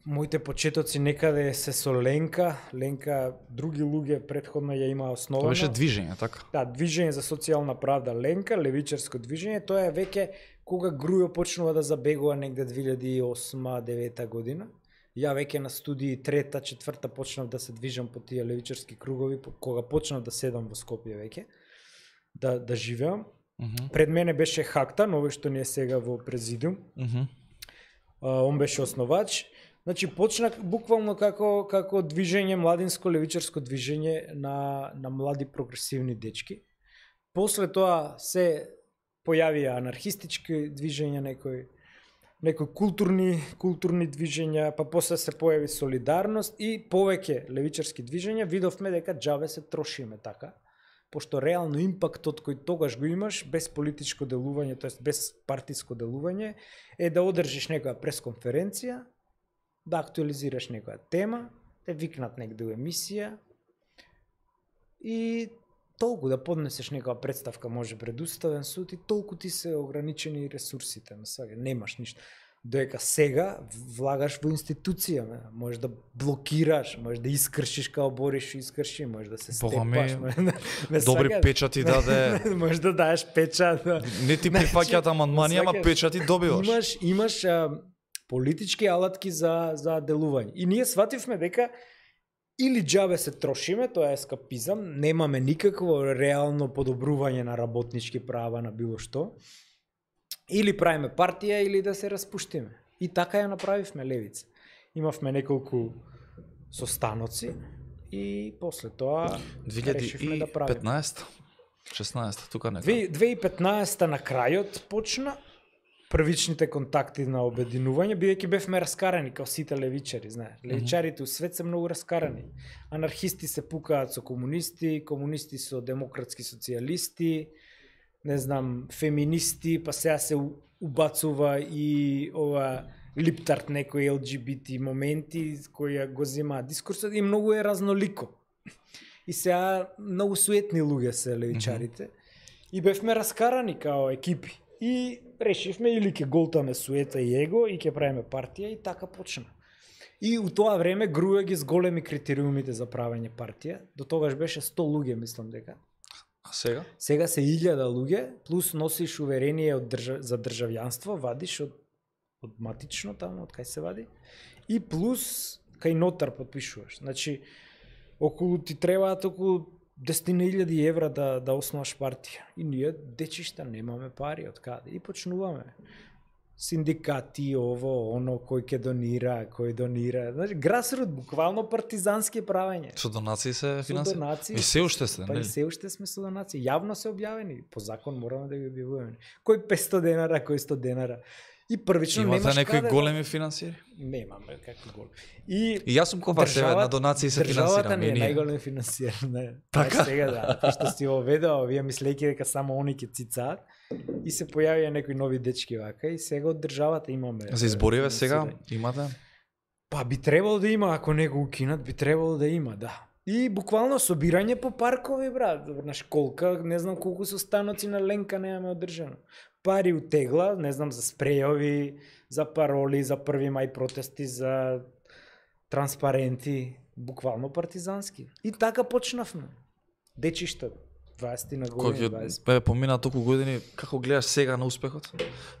моите почетоци некаде се со Ленка, Ленка, други луѓе предходно ја има основано. Тоа беше движење, така? Да, движење за социјална правда Ленка, левичарско движење, тоа е веќе кога Грујо почнува да забегува негде две илјади и осма девета година. Ја веќе на студии трета, четврта почнав да се движам по тие левичарски кругови, кога почнав да седам во Скопје веќе, да, да живеам. Uh -huh. Пред мене беше Хактан, овој што не е сега во президиум. Uh -huh. а, он беше основач. Значи, почна буквално како, како движење, младинско левичарско движење на, на млади прогресивни дечки. После тоа се појавија анархистички движења, некои, некои културни, културни движења, па после се појави солидарност и повеќе левичарски движења. Видовме дека џабе се трошиме така, пошто реално импактот кој тогаш го имаш, без политичко делување, тоест без партиско делување, е да одржиш некоја пресконференција, да актуализираш некоја тема, те викнат негде у емисија и толку да поднесеш некоја представка може пред Уставен суд и толку ти се ограничени ресурсите, сега немаш ништо. Доека сега влагаш во институција, можеш да блокираш, можеш да искршиш као Бориш и искрши, можеш да се степаш, да, добри сега, печати даде. Можеш да даеш печат. Не ти прифаќаат амандмани, ама печати добиваш. Имаш имаш а, политички алатки за за делување. И ние свативме дека или џабе се трошиме, тоа е ескапизам, немаме никакво реално подобрување на работнички права, на било што, или правиме партија, или да се распуштиме. И така ја направивме левица. Имавме неколку состаноци и после тоа решивме да правиме. две илјади и петнаесета шеснаесета тука нека. две илјади и петнаесета на крајот почна првичните контакти на обединување, бидејќи бевме раскарани као сите левичари, знаеш. Левичарите у свет се многу раскарани. Анархисти се пукаат со комунисти, комунисти со демократски социјалисти, не знам, феминисти, па сега се убацува и ова липтарт некои ел џи би ти моменти кои го земаат дискурсот и многу е разнолико. И сега многу суетни луѓе се левичарите. Mm -hmm. И бевме раскарани као екипи. И решивме или ќе голтаме суета и его и ќе правиме партија и така почна. И у тоа време Грујо ги зголеми критериумите за правење партија. До тогаш беше сто луѓе, мислам дека. А сега? Сега се илјада луѓе, плюс носиш уверение од држав... за државјанство, вадиш од, од матично таму, од кај се вади. И плюс кај нотар подпишуваш. Значи, околу ти требаат околу десет илјади евра да, да основаш партија. И ние, дечишта, немаме пари од каде. И почнуваме. Синдикати, ово, оно, кој ќе донира, кој донира. Значи, грасрут, буквално партизански правење. Со донации се финансира? Со донации. И се уште сте, па нели? И се уште сме со донации. Јавно се објавени. По закон мораме да ги објавуваме. Кој петстотини денара, кој сто денара. И првично имате немаш некои каде... големи финансиери? Немаме какви големи. И, и јас сум кога себе на донации се финансирам. Државата не е најголем финансиер. Не. Така? Сега да, пошто си ово ведео, вие мислејќи дека само они ќе цицаат. И се појавија некои нови дечки вака и сега од државата имаме. За избориве сега имате? Па би требало да има, ако не го укинат, би требало да има, да. И буквално собирање по паркови, брат, на школка, не знам колку состаноци на Ленка немаме одржано. Пари утегла, не знам, за спрејови, за пароли, за први мај протести, за транспаренти, буквално партизански. И така почнавме. Дечишта, дваесет на години, дваесет. Кој помина толку години, како гледаш сега на успехот?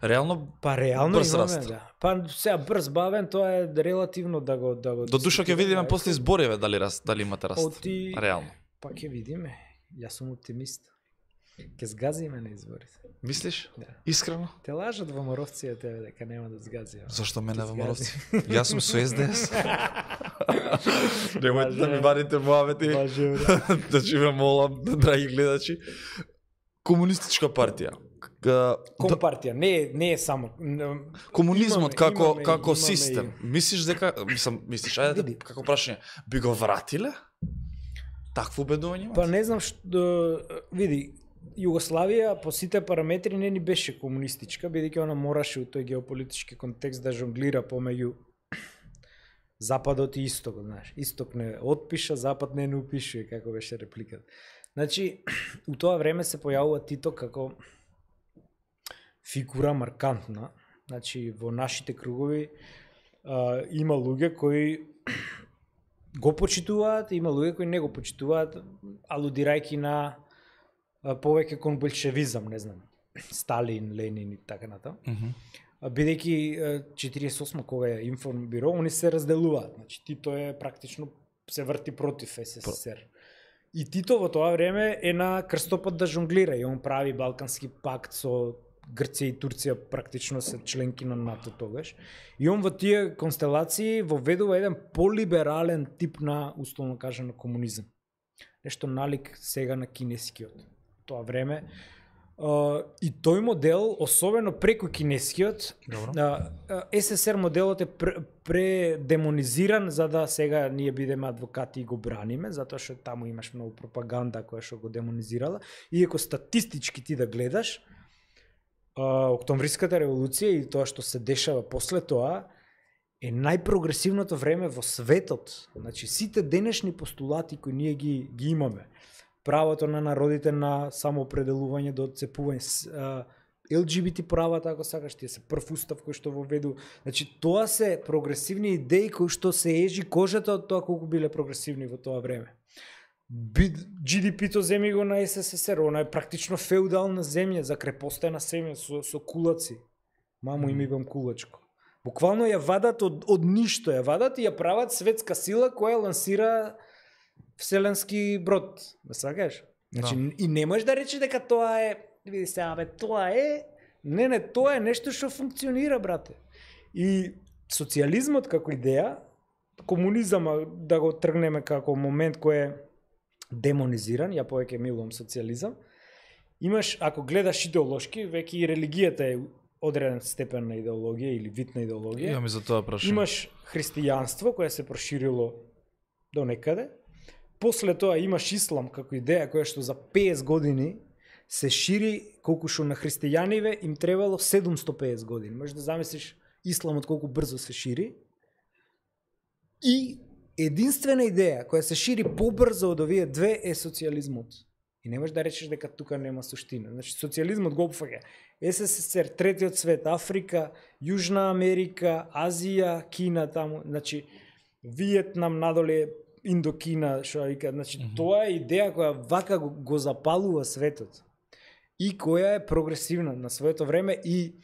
Реално па реално брз имаме, раст. да. Па сега брз бавен, тоа е релативно да го да го. До душа ќе видиме после избориве дали раст, дали имате раст. Оти... Реално. Па ќе видиме. Јас сум оптимист. Ќе згазиме на изборите. Мислиш? Да. Искрено? Те лажат во Моровција тебе дека нема да згазиме. Зашто мене во Моровци? Јас сум со ес де ес. Немојте да ми вадите муавети. Да живе молам, драги гледачи. Комунистичка партија. Компартија, не не е само комунизмот имаме, како имаме, како имаме систем. И... Мислиш дека мислам мислиш ајде Види. како прашање би го вратиле? Такво убедување имате? Па не знам што види, Југославија по сите параметри не ни беше комунистичка, бидејќи она мораше у тој геополитички контекст да жонглира помеѓу Западот и Истокот, знаеш. Исток не отпиша, Запад не не упишува, како беше репликата. Значи, у тоа време се појавува Тито како фигура маркантна. Значи, во нашите кругови а, има луѓе кои го почитуваат, има луѓе кои не го почитуваат, алудирајќи на а, повеќе кон болшевизам, не знам, Сталин, Ленин и така натаму. Mm -hmm. Бидејќи четириесет и осма кога е информбиро, они се разделуваат. Значи Тито е практично се врти против ес ес ес ер. И Тито во тоа време е на крстопат да жонглира и он прави Балкански пакт со Грција и Турција, практично се членки на НАТО тогаш. И он во тие констелации воведува еден полиберален тип на, условно кажано, комунизам. Нешто налик сега на кинескиот. Тоа време Uh, и тој модел, особено преку кинескиот, uh, ес ес ер моделот е предемонизиран пре за да сега ние бидеме адвокати и го браниме, затоа што таму имаш многу пропаганда која што го демонизирала. Иако статистички ти да гледаш, uh, Октомвриската револуција и тоа што се дешава после тоа е најпрогресивното време во светот. Значи сите денешни постулати кои ние ги, ги имаме, правото на народите на самоопределување до отцепување, ел џи би ти правата, ако сакаш, тие се прв устав кој што воведу. Значи тоа се прогресивни идеи кои што се ежи кожата од тоа колку биле прогресивни во тоа време. џи ди пи-то земи го на ес ес ес ер, она е практично феудална земја, закрепостена земја со, со кулаци. Мамо им имам кулачко. Буквално ја вадат од, од ништо, ја вадат и ја прават светска сила која лансира вселенски брод, ме сакаш? Значи, да. И не можеш да речеш дека тоа е, види се, абе, тоа е, не, не, тоа е нешто што функционира, брате. И социјализмот како идеја, комунизамот да го тргнеме како момент кој е демонизиран, ја повеќе милувам социјализам, имаш, ако гледаш идеолошки, веќе и религијата е одреден степен на идеологија или вид на идеологија. Имаме за тоа прашање. Имаш христијанство кое се проширило до некаде. После тоа имаш ислам како идеја која што за петдесет години се шири, колку што на христијаниве им требало седумстотини и педесет години. Можеш да замислиш исламот колку брзо се шири. И единствена идеја која се шири побрзо од овие две е социјализмот. И не можеш да речеш дека тука нема суштина. Значи социјализмот го опфаќа ес ес ес ер, третиот свет, Африка, Јужна Америка, Азија, Кина таму, значи Виетнам надоле, Индокина, што вика, значи mm -hmm. тоа е идеја која вака го, го запалува светот и која е прогресивна на своето време. И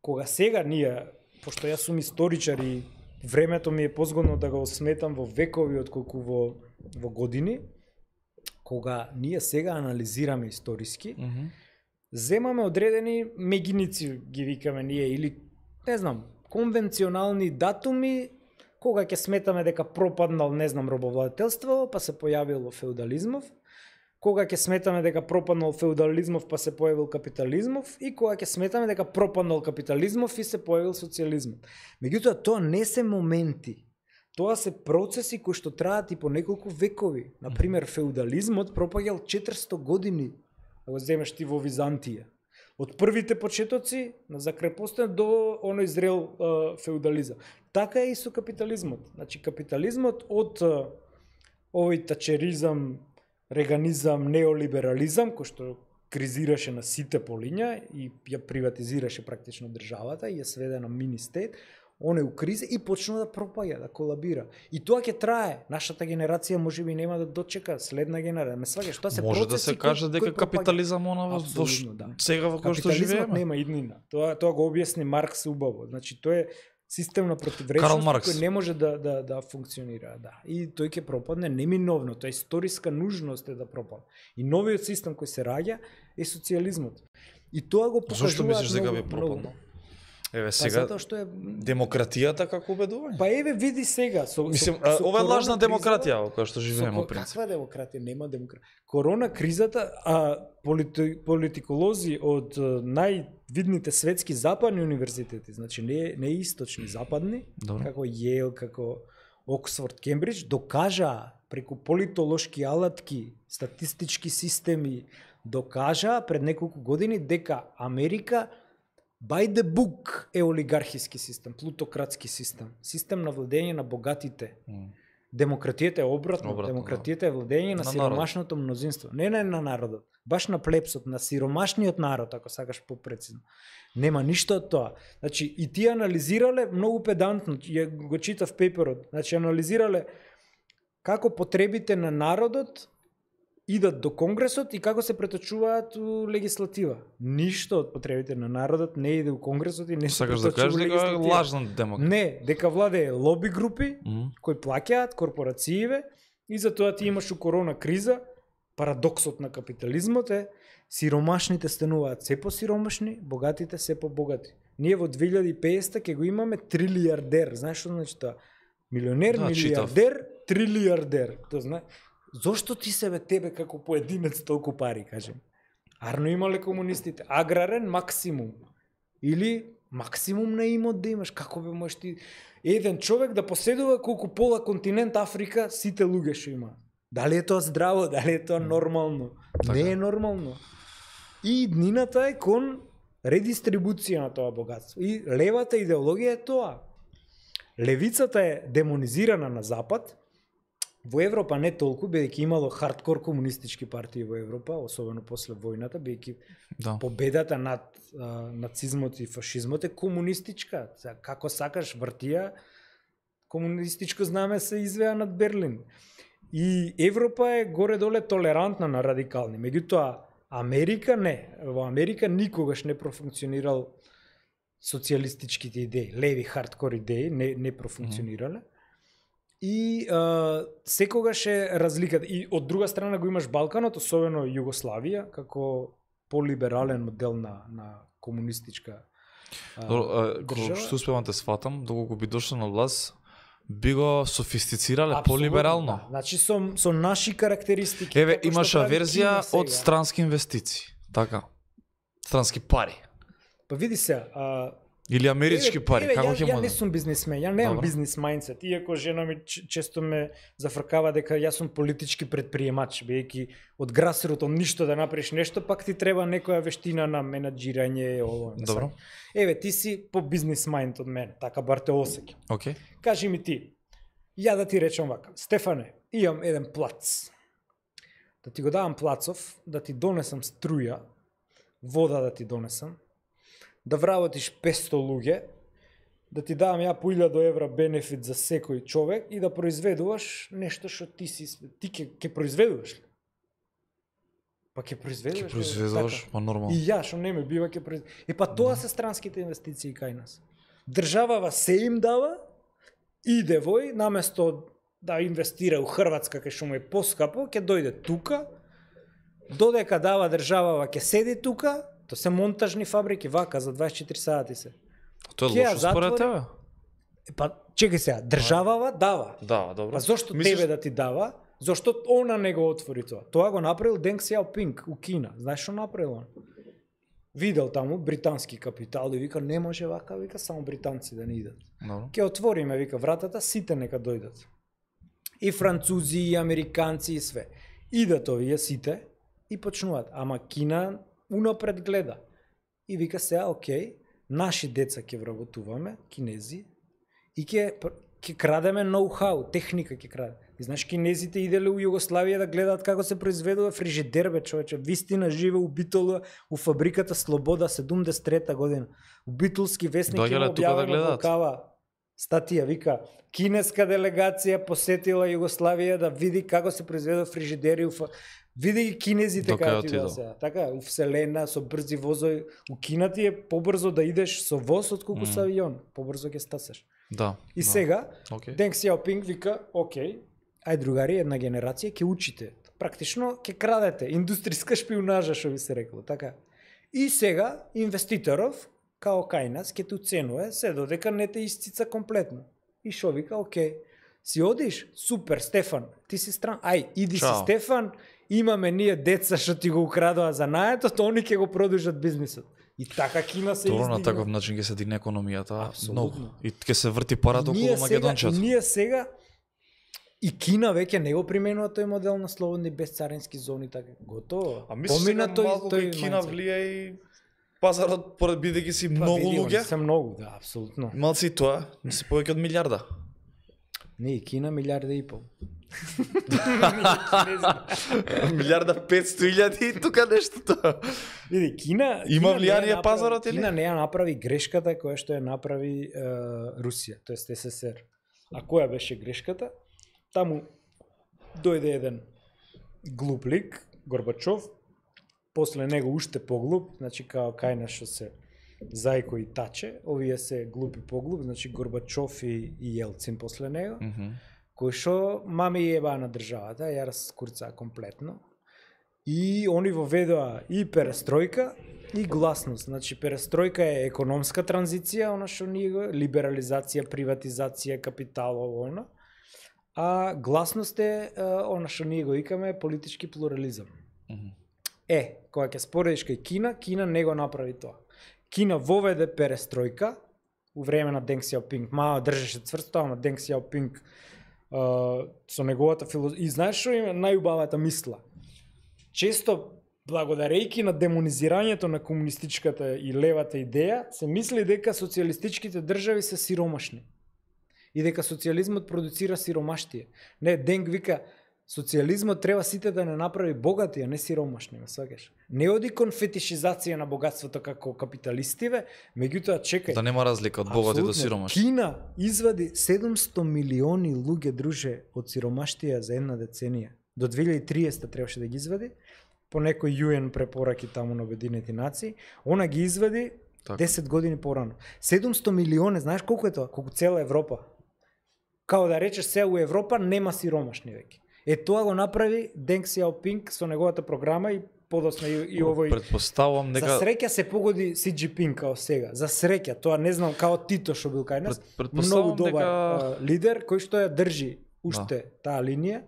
кога сега ние, пошто јас сум историчар и времето ми е позгодно да го сметам во векови отколку во, во години, кога ние сега анализираме историски, mm -hmm. земаме одредени мегиници, ги викаме ние, или не знам, конвенционални датуми, кога ќе сметаме дека пропаднал, не знам, робовладетелство, па се појавило феудализмов, кога ќе сметаме дека пропаднал феудализмов, па се појавил капитализмов, и кога ќе сметаме дека пропаднал капитализмов и се појавил социјализмот. Меѓутоа, тоа не се моменти. Тоа се процеси кои што траат и по неколку векови. Например, феудализмот пропаѓал четиристотини години, да го земеш ти во Византија. Од првите почетоци на закрепостен до оној зрел uh, феудализам. Така е и со капитализмот. Значи капитализмот од uh, овој тачеризам, реганизам, неолиберализам, кој што кризираше на сите полиња и ја приватизираше практично државата и ја сведе на мини стет, он е у криза и почна да пропаѓа, да колабира. И тоа ќе трае. Нашата генерација можеби нема да дочека следна генерација. Ме сваќаш, тоа се може процеси. Да се каже дека капитализам она во да. сега во кој што живееме. Капитализмот нема иднина. Тоа тоа го објасни Маркс убаво. Значи тоа е систем на противречност кој не може да да да функционира, да. И тој ќе пропадне неминовно, тоа е историска нужност е да пропадне. И новиот систем кој се раѓа е социјализмот. И тоа го покажува. Зошто мислиш дека би пропаднал? Еве сега па што е демократијата како убедување. Па еве види сега со Мислим, со, со ова е лажна демократија во која што живееме во принцип. Каква демократија? Нема демократија. Корона кризата, а полити, политиколози од највидните светски западни универзитети, значи не не источни, западни, добро, како Јейл, како Оксфорд, Кембридж, докажаа преку политолошки алатки, статистички системи, докажа пред неколку години дека Америка by the book е олигархиски систем, плутократски систем, систем на владење на богатите. Mm. Демократијата е обратно, обратно демократијата да. Е владење на, на сиромашното народ. Мнозинство. Не на, на народот, баш на плепсот, на сиромашниот народ, ако сакаш попрецизно. Нема ништо од тоа. Значи, и тие анализирале многу педантно, ја го читав пейперот, значи анализирале како потребите на народот идат до Конгресот и како се преточуваат у легислатива. Ништо од потребите на народот не иде у Конгресот и не се преточува да кажеш дека е лажна демократија. Не, дека владее лоби групи mm -hmm. кои плаќаат корпорацииве и затоа ти имаш у корона криза. Парадоксот на капитализмот е сиромашните стануваат се по-сиромашни, богатите се по-богати. Ние во две илјади и петдесета ќе го имаме трилиардер. Знаеш што значи тоа? Милионер, да, милиардер, читав. Трилиардер. Тоа знае. Зошто ти себе тебе како поединец толку пари, кажем? Арно имале комунистите. Аграрен максимум. Или максимум на имот да имаш. Како бе можеш ти еден човек да поседува колку пола континент Африка сите луѓе што има? Дали е тоа здраво, дали е тоа нормално? Така. Не е нормално. И днината е кон редистрибуција на тоа богатство. И левата идеологија е тоа. Левицата е демонизирана на Запад. Во Европа не толку, бидејќи имало хардкор комунистички партии во Европа, особено после војната, бидејќи да. Победата над а, нацизмот и фашизмот е комунистичка. Како сакаш вртија, комунистичко знаме се извеа над Берлин. И Европа е горе-доле толерантна на радикални. Меѓутоа, Америка не. Во Америка никогаш не профункционирал социјалистичките идеи, леви хардкор идеи, не, не профункционирале. Mm -hmm. И а, секогаш е разликата. И од друга страна го имаш Балканот, особено Југославија, како полиберален модел на, на комунистичка а, Добро, а, држава. Што успевам те сватам, доколку би дошло на власт, би го софистицирале полиберално. Да. Значи со, со наши карактеристики. Еве, имаш верзија од странски инвестиции, така? Странски пари. Па види се, а, или амерички еве, пари, еве, како ја, ќе ја може? не сум бизнисмен, ја немам бизнис мајндсет. Иако жена ми често ме зафркава дека јас сум политички предприемач, бидејќи од грасрут од ништо да направиш нешто, пак ти треба некоја вештина на менаџирање, ово. Добро. Еве, ти си по бизнис мајнд од мене, така бар те осеќам. Окей. Okay. Кажи ми ти, ја да ти речам вака, Стефане, имам еден плац. Да ти го давам плацов, да ти донесам струја, вода да ти донесам, да вработиш песто луѓе, да ти давам ја по илјада евра бенефит за секој човек и да произведуваш нешто што ти си, ти ќе ќе произведуваш ли? Па ќе произведуваш. Ќе произведуваш, така. Па нормално. И ја што не ме бива ќе произведуваш. Е па тоа се странските инвестиции кај нас. Државава се им дава, иде вој, наместо да инвестира у Хрватска кај што му е поскапо, ќе дојде тука, додека дава државава ќе седи тука. Тоа се монтажни фабрики, вака, за дваесет и четири сати се. Тоа е лошо според тебе? Па, чекај сега, државава дава. Да, добро. Па зошто Мислиш... тебе да ти дава? Зошто она не го отвори тоа? Тоа го направил Денг Сјаопинг у Кина. Знаеш што направил он? Видел таму британски капитал и вика, не може вака, вика, само британци да не идат. No. Ке отвориме, вика, вратата, сите нека дојдат. И французи, и американци, и све. Идат овие сите и почнуваат. Ама Кина унапред гледа. И вика сега, окей, наши деца ќе вработуваме, кинези, и ќе ќе крадеме ноу-хау, техника ќе краде. И знаеш, кинезите иделе у Југославија да гледаат како се произведува фрижидер, бе, човече. Вистина живе у Битола, у фабриката Слобода, седумдесет и трета година. У Битолски вестник има објавено да такава статија, вика, кинеска делегација посетила Југославија да види како се произведува фрижидери у фа... Види ги кинезите како ти да се. Така, у вселена со брзи возови, у Кина ти е побрзо да идеш со воз отколку mm. со авион, побрзо ќе стасаш. Да. И да. сега okay. Денг Сјаопинг вика, окей, ај другари, една генерација ќе учите. Практично ќе крадете, индустријска шпионажа што би се рекло, така. И сега инвеститоров као кај нас ќе те уценува се додека не те исцица комплетно. И шо вика, окей, си одиш, супер, Стефан, ти си стран, ај, иди Чао. Си Стефан, имаме ние деца што ти го украдоа за наетот, они ќе го продолжат бизнисот. И така Кина се издигна. Тоа на таков начин ќе се дигне економијата. Апсолутно. И ќе се врти парата околу Македончето. Македончето. Ние сега И Кина веќе не го применува тој модел на слободни безцарински зони, така готово. А мислиш дека малку кај Кина влија и пазарот поред бидејќи си многу луѓе? Се многу, да, апсолутно. Малци тоа, не се повеќе од милиарда. Не, Кина милиарда и пол. Милиарда петсто илјади и тука нешто тоа. Види, Кина има Кина влијание пазарот или? Кина не ја направи грешката која што ја направи е, Русија, тоест СССР. А која беше грешката? Таму дојде еден глуп лик, Горбачов, после него уште поглуп, значи као кај што се Зајко и Таче, овие се глупи поглуп, значи Горбачов и, и Елцин после него, mm -hmm. кој што мами јеба на државата, ја раскурцаа комплетно. И они воведоа и перестројка и гласност. Значи перестројка е економска транзиција, она што ние го либерализација, приватизација, капитал, она. А гласност е она што ние го викаме политички плурализам. Mm -hmm. Е, кога ќе споредиш кај Кина, Кина не го направи тоа. Кина воведе перестројка у време на Денг Сјаопинг. Мао држеше цврсто, ама Денг Сјаопинг uh, со неговата филозофија. И знаеш што има најубавата мисла? Често, благодарејќи на демонизирањето на комунистичката и левата идеја, се мисли дека социјалистичките држави се сиромашни. И дека социјализмот продуцира сиромаштие. Не, Денг вика, социјализмот треба сите да не направи богати, а не сиромашни, ме сваќаш. Не оди кон фетишизација на богатството како капиталистиве, меѓутоа чекај. Да нема разлика од богати до сиромашни. Кина извади седумсто милиони луѓе, друже, од сиромаштија за една деценија. До две илјади и триесета требаше да ги извади, по некој ю ен препораки таму на Обединети нации, она ги извади так. десет години порано. седумсто милиони, знаеш колку е тоа? Колку цела Европа. Као да речеш се у Европа нема сиромашни веќе. Е тоа го направи Денг Сјаопинг со неговата програма и подосна и, и овој. Предпоставувам нека За среќа се погоди Си Џинпинг као сега. За среќа, тоа не знам као Тито што бил кај нас. Пред, Многу добар дека... а, лидер кој што ја држи уште да. Таа линија.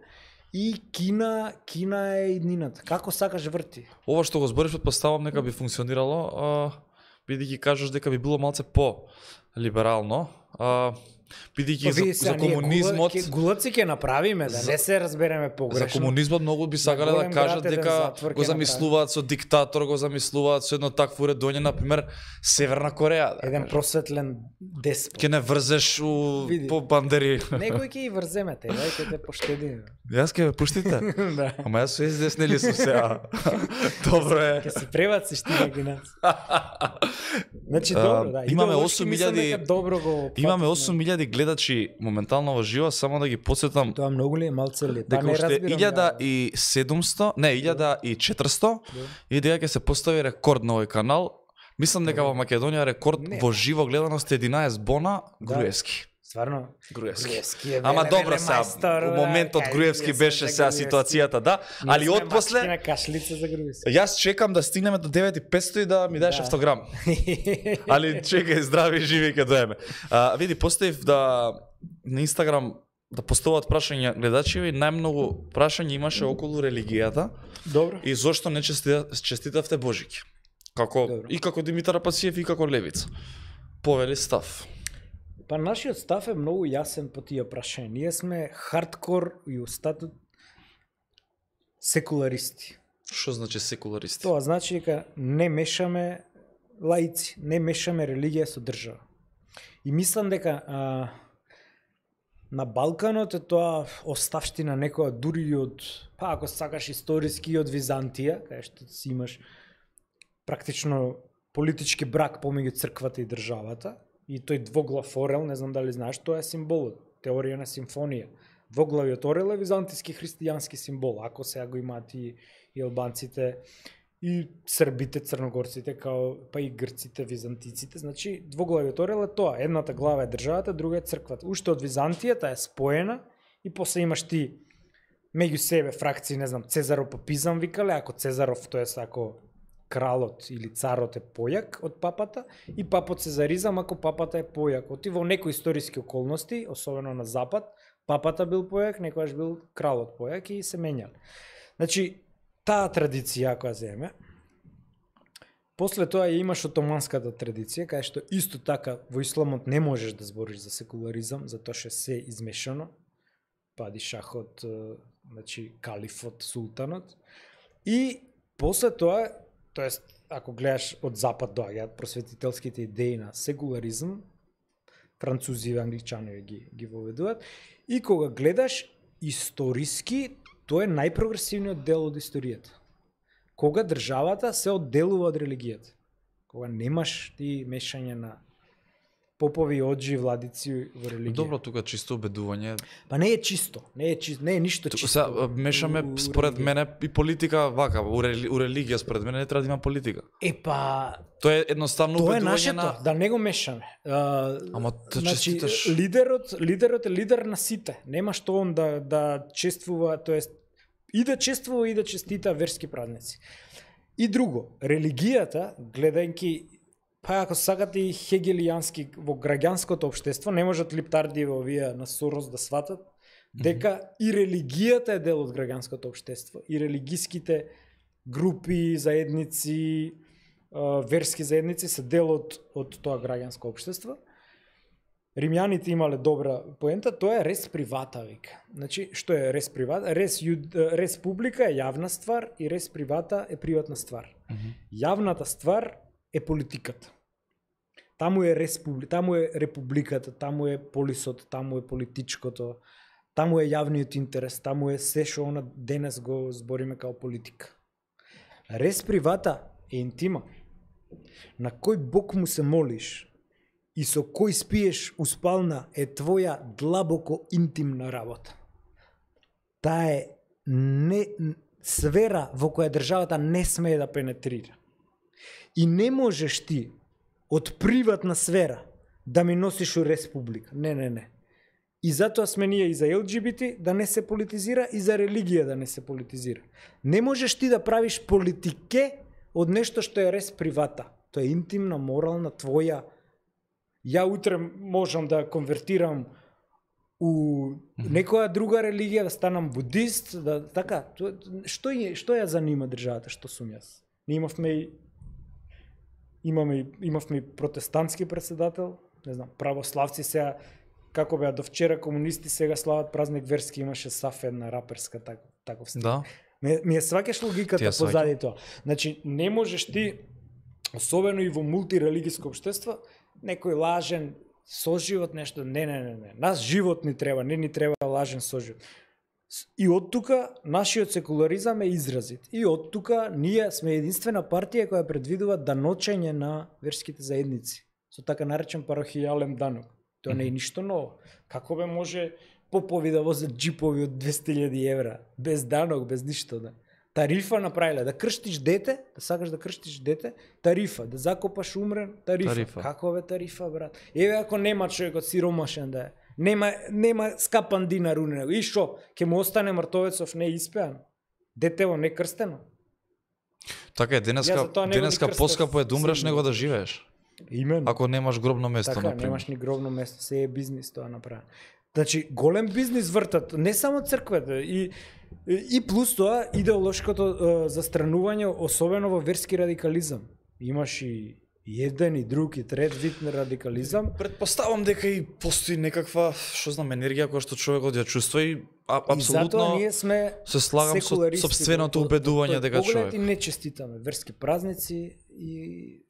И Кина, Кина е иднината. Како сакаш врти. Ова што го збориш предпоставувам нека би функционирало, а, бидејќи кажеш дека би било малце по либерално, а бидејќи за, за комунизмот гулаци ќе направиме да за, не се разбереме погрешно. За комунизмот многу би сакале да, да кажат дека го замислуваат со диктатор, го замислуваат со едно такво уредување, на пример Северна Кореја. Да, еден просветлен деспот. Ќе не врзеш у Види. По бандери. Некој ќе и врземете, дај ќе те поштеди. Јас ќе ме пуштите? Да. Ама јас со ес нели сум сега. Добро е. Ќе се пребациш ти неки нас. Значи добро, да. Имаме осум илјади добро го. Имаме осум илјади гледачи моментално во живо, само да ги подсетам. Тоа многу ли е, малце ли? Дека уште илјада и седумсто, не, илјада и четиристо и дека ќе се постави рекорд на овој канал. Мислам дека во Македонија рекорд не. Во живо гледаност единаесет бона Груевски. Стварно? Груевски. Груевски е Ама добро сега, во моментот Груевски беше сега ситуацијата, да, али отпосле на кашлица за Груевски. Јас чекам да стигнеме до девет и петсто и да ми дадеш автограм. Али чекај, здрави, живи ќе доеме. А, види, поставив да на Инстаграм да поставуваат прашања гледачи, најмногу прашања имаше околу религијата. Добро. И зошто не честитавте Божики? Како Добро. И како Димитар Пациев и како Левица. Повели став. Па нашиот став е многу јасен по тие прашања. Ние сме хардкор и устатут секуларисти. Што значи секуларисти? Тоа значи дека не мешаме лаици, не мешаме религија со држава. И мислам дека а, на Балканот е тоа оставштина некоја дури од, па ако сакаш историски од Византија, кај што си имаш практично политички брак помеѓу црквата и државата. И тој двоглав орел, не знам дали знаеш, тоа е символот, теорија на симфонија. Двоглавиот орел е византиски христијански символ, ако сега го имаат и, и албанците, и србите, црногорците, као, па и грците, византиците. Значи, двоглавиот орел е тоа, едната глава е државата, друга е црквата. Уште од Византијата е споена и после имаш ти меѓу себе фракции, не знам, Цезаропапизам викале, ако Цезаров, тоест ако кралот или царот е појак од папата и папот Цезаризам ако папата е појак. Оти во некои историски околности, особено на запад, папата бил појак, некојаш бил кралот појак и се менјал. Значи, таа традиција која земе, после тоа ја имаш отоманската традиција, кај што исто така во исламот не можеш да збориш за секуларизам, затоа што се измешано. падишахот, значи калифот, султанот. И после тоа, тоест ако гледаш од запад доаѓаат просветителските идеи на секуларизм, французи и англичани ги ги воведуваат, и кога гледаш историски, тоа е најпрогресивниот дел од историјата. Кога државата се одделува од религијата. Кога немаш ти мешање на попови, оджи, владици во религија. Добро, тука чисто убедување. Па не е чисто, не е чисто, не е ништо чисто. Сега мешаме у, според религија. мене и политика вака, у, рели, у религија според мене не треба да има политика. Е па Тоа е едноставно тоа е убедување нашето, на да не го мешаме. А, Ама да значи, честиташ. лидерот, лидерот е лидер на сите. Нема што он да да чествува, тоест и да чествува и да честита верски празници. И друго, религијата, гледајќи, па ако сакате и хегелијански во граѓанското општество, не можат липтарди во овие на Сорос да сватат дека mm-hmm. и религијата е дел од граѓанското општество, и религиските групи, заедници, верски заедници се дел од, од тоа граѓанско општество. Римјаните имале добра поента, тоа е рес привата, вика. Значи, што е рес привата? Рес, јуд, рес публика е јавна ствар и рес привата е приватна ствар. Mm-hmm. Јавната ствар е политиката. Таму е республи, таму е републиката, таму е полисот, таму е политичкото, таму е јавниот интерес, таму е се што она денес го збориме као политика. Рес привата е интима. На кој Бог му се молиш и со кој спиеш у спална е твоја длабоко интимна работа. Таа е не сфера во која државата не смее да пенетрира. И не можеш ти од приватна сфера да ми носиш у республика. Не, не, не. И затоа сме ние и за Ел Џи Би Ти да не се политизира и за религија да не се политизира. Не можеш ти да правиш политике од нешто што е рес привата. Тоа е интимна, морална, твоја. Ја утре можам да конвертирам у некоја друга религија, да станам будист, да така, што е, што ја занима државата, што сум јас? Ние имавме и имаме имавме и протестантски председател, не знам, православци сега како беа до вчера комунисти, сега слават празник верски, имаше саф една раперска так, таков стил. Да. Ми, ми е сваќаш логиката позади тоа. Значи не можеш ти, особено и во мултирелигиско општество, некој лажен соживот нешто, не, не, не, не. Нас живот ни треба, не ни треба лажен соживот. И од тука нашиот секуларизам е изразит. И од тука ние сме единствена партија која предвидува даночење на верските заедници. Со така наречен парохијален данок. Тоа не е ништо ново. Како бе може попови да возат джипови од двесте илјади евра, без данок, без ништо, да. Тарифа направиле, да крштиш дете, да сакаш да крштиш дете, тарифа, да закопаш умрен, тарифа. тарифа. Како бе тарифа, брат? Еве ако нема човекот сиромашен да е, нема нема скапан динар у него. И шо, ќе му остане мртовецов не испеан? Детево не крстено? Така е, денеска, денеска поскапо е да умреш него да живееш. Именно. Ако немаш гробно место, така, например. немаш ни гробно место, се е бизнис тоа направено. Значи, голем бизнис вртат, не само црквата, и, и плюс тоа идеолошкото е, застранување, особено во верски радикализам. Имаш и еден, и друг, и трет вид на радикализам. Предпоставам дека и постои некаква, што знам, енергија која што човекот ја чувствува и а, апсолутно и затоа ние сме се слагам со сопственото убедување дека човек. И не честитаме верски празници и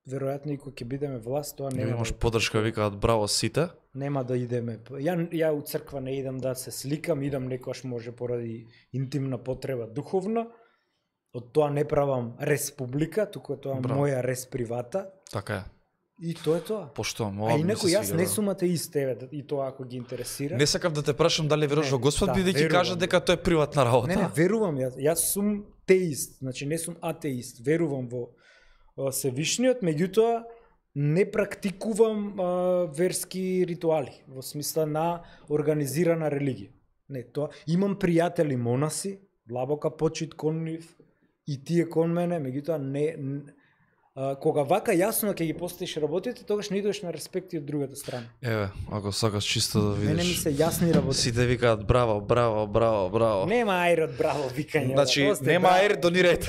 веројатно и кога ќе бидеме власт, тоа нема. Имаш подршка, викаат браво сите. Нема да идеме. Ја ја у црква не идам да се сликам, идам некојаш може поради интимна потреба духовна. Од тоа не правам республика, туку тоа браво. Моја рес привата. Така е. И тоа е тоа. Поштувам, ова. А инаку јас не сум атеист, еве, и тоа ако ги интересира. Не сакав да те прашам дали веруваш во Господ, да, бидејќи кажа дека тоа е приватна работа. Не, не, верувам јас. Јас сум теист, значи не сум атеист. Верувам во Севишниот, меѓутоа не практикувам а, верски ритуали во смисла на организирана религија. Не, тоа имам пријатели монаси, длабока почит кон нив и тие кон мене, меѓутоа не, не А, кога вака јасно ќе ги поставиш работите, тогаш не идеш на респекти од другата страна. Еве, ако сакаш чисто да видиш. Мене ми се јасни работи. Сите викаат браво, браво, браво, браво. Нема ајрот, браво, викање. Значи, Осте, нема браво. ајр, донирајте.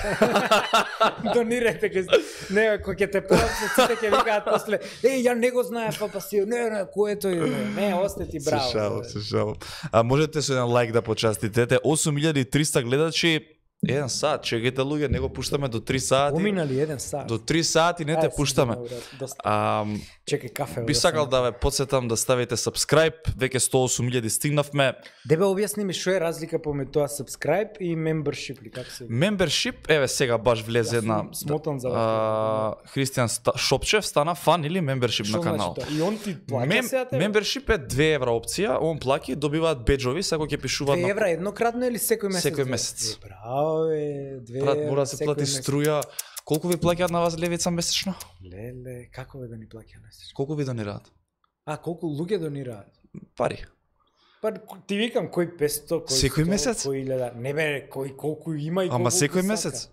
Донирајте ке не, кој ќе те платат, сите ќе викаат после, еј, ја не го знаев, па си, не, не, кој е тој? Не, не, осте ти браво. Се шалам, се шалам. А можете со еден лайк да почастите. Те осум илјади и триста гледачи, еден сат, чекайте луѓе, не го пуштаме до три сати. Поминали еден сат. До три сати не те пуштаме. А, чекај кафе. би сакал да ве потсетам да ставите subscribe, веќе сто и осум илјади стигнавме. Дебе, објасни ми што е разлика помеѓу тоа subscribe и membership ли како се? Membership, еве сега баш влезе една смотан за а, Христијан Шопчев стана фан или membership на канал. И он ти плаќа Мем, сега тебе? membership е две евра опција, он плаќа и добиваат беџови, секој ќе пишуваат две евра еднократно или секој месец? Секој месец. Е, браво е, две Брат, евра мора да се секој плати месец. струја. Колку ви плаќаат на вас левица месечно? Леле, како бе да ни плаќа месечно? Колку ви донираат? А, колку луѓе донираат? Пари. Па ти викам кој песто, кој Секој сто, месец? кој илјада. Не бе, кој колку има и колку Ама секој сака. месец?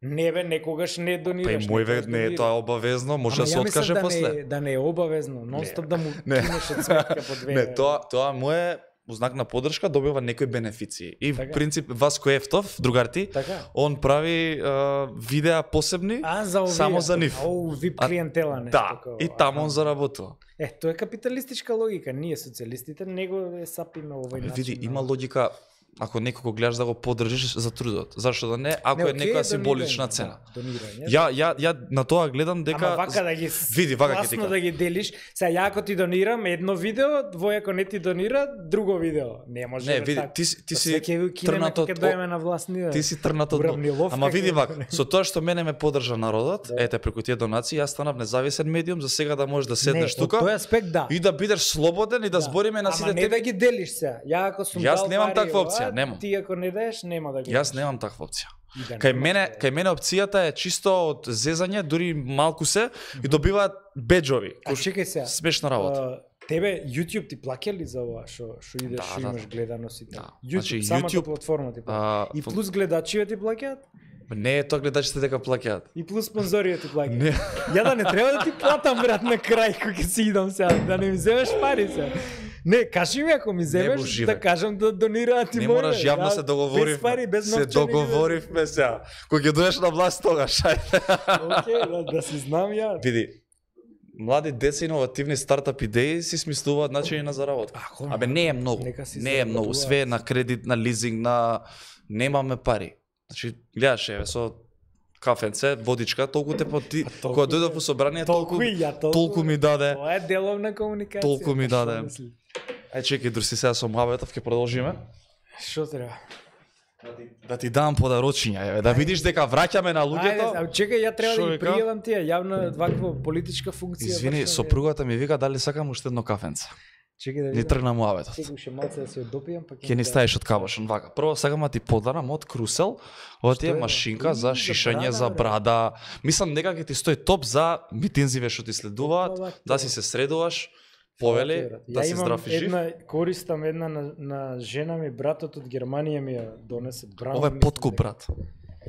Не бе, некогаш не Па донираш. и мој ве некогаш не е донираш. тоа обавезно, може Ама да се ја мислам откаже да после. Не, да не е обавезно, нон-стоп да му Не. кинеш од сметка по две. Не, тоа тоа му е знак на поддршка, добива некои бенефиции. И в Така. принцип Васко Ефтов, другарти, Така. он прави а, видеа посебни. А, за овие. Само за нив. Оу, вип А, клиентела, нешто Да, такова. и таму он Аха. заработува. Е, тоа е капиталистичка логика. Ние социјалистите него е сапиме овој начин. Види, на- има логика ако некого гледаш да го поддржиш за трудот. Зашто да не, ако Не, е окей, некоја донирање, символична цена. да, донирање. Ја ја ја на тоа гледам дека Ама вака да ги види вака ќе ти класно кажам. да ги делиш. Сега ја ако ти донирам едно видео, двој ако не ти донира друго видео. Не може Не, бе види, така. ти си- ти Па си се ќе ви кинеме трнат кога од- ќе доеме на власт ние. Ти си трнат од Уравниловка Ама види ќе- вака, со тоа што мене ме поддржа народот, Да. ете преку тие донации, јас станав независен медиум за сега да можеш да седнеш Не, од тука тој аспект да. и да бидеш слободен и да збориме на сите Ама не теми. да ги делиш сега. Ја ако сум Јас дал немам пари, таква ова, опција, немам. Ти ако не даеш, нема да го. Јас немам таква опција. И да Кај немаш, мене, бе. кај мене опцијата е чисто од зезање, дури малку се и добиваат беџови. А чекај сега. Смешна работа. А, тебе YouTube ти плаќа ли за ова што што идеш, Да, што да, имаш да. гледаност и така? Да. YouTube, Значи, самата YouTube, платформа ти плаќа. А, И плюс гледачите ти плаќаат? Не е тоа гледачите дека плаќаат. И плюс спонзорите ти плаќаат? Не. Ја да не треба да ти платам брат на крај кога ќе си идам сега, да не ми земеш пари сега. Не, кажи ми ако ми земеш боживе. да кажам да донираат и Не мој. мораш, јавно се договоривме. Без пари, без се новчани. договоривме сега. Кога ќе доеш на власт тогаш, ајде. Океј, да, да си знам ја. Види, млади деца иновативни стартап идеи си смислуваат начини на заработка. Ако, Абе не е многу. нека си Не е многу, заработуваат. све е на кредит, на лизинг, на немаме пари. Значи гледаш еве со кафенце, водичка, толку те поти, толку кога дојдов е. во собрание Толку толку и ја, толку. толку ми даде. Тоа е деловна комуникација. Толку ми па што даде. мисли? Ај чекај, друси сега со муабетов ќе продолжиме. Што треба? Да ти дам подарочиња, еве, да видиш дека враќаме на Ајде, луѓето. а чекај, ја треба Шо да ги вика? пријавам тие јавна ваква политичка функција. Извини, вршам, е. сопругата ми вика дали сакам уште едно кафенце. Чекај да Ни видам. тргна муабетот. Чекај уште малце да се ја допијам, па Ќе ни ставиш од кабошен вака. Прво сакам да ти подарам од Крусел, ова ти е е, бе? машинка Уи, за за шишање брада, за бре. брада. Мислам дека ќе ти стои топ за митинзиве што ти следуваат, Опа, да си се средуваш, повели, да си здрав и жив. Една, користам една на, на жена ми, братот од Германија ми ја донесе браун. Ова е мислам подкуп, дека- брат.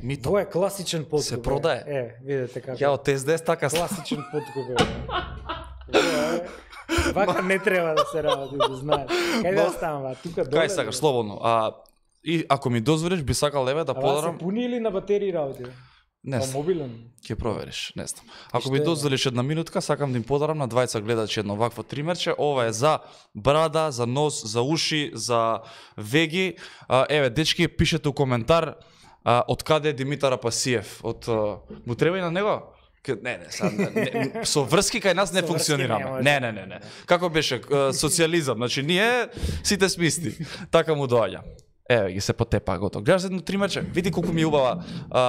Мито. Ова е класичен подкуп. Се бе. продае. Е, видете како. Ја од ес де ес така става. Класичен подкуп. Е. Ова е- Вака не треба да се работи, да знаеш. Кај да ставам, тука доле? Кај сакаш, слободно. А и ако ми дозволиш, би сакал еве да Ава подарам. се пуни или на батерии работи? Не Па знам, мобилен. ќе провериш, не знам. Ако што ми е, дозволиш една минутка, сакам да им подарам на двајца гледачи едно вакво тримерче. Ова е за брада, за нос, за уши, за веги. А, еве, дечки, пишете у коментар а, од каде е Димитар Апасиев. Од а, му треба и на него? Ке- Не, не, сад, не, не, со врски кај нас не Со врски функционираме. не може. Не, не, не, не. Како беше а, социјализам, значи ние сите смисти. Така му доаѓа. Еве ги се потепа готово. Гледаш едно тримерче, види колку ми е убава, а,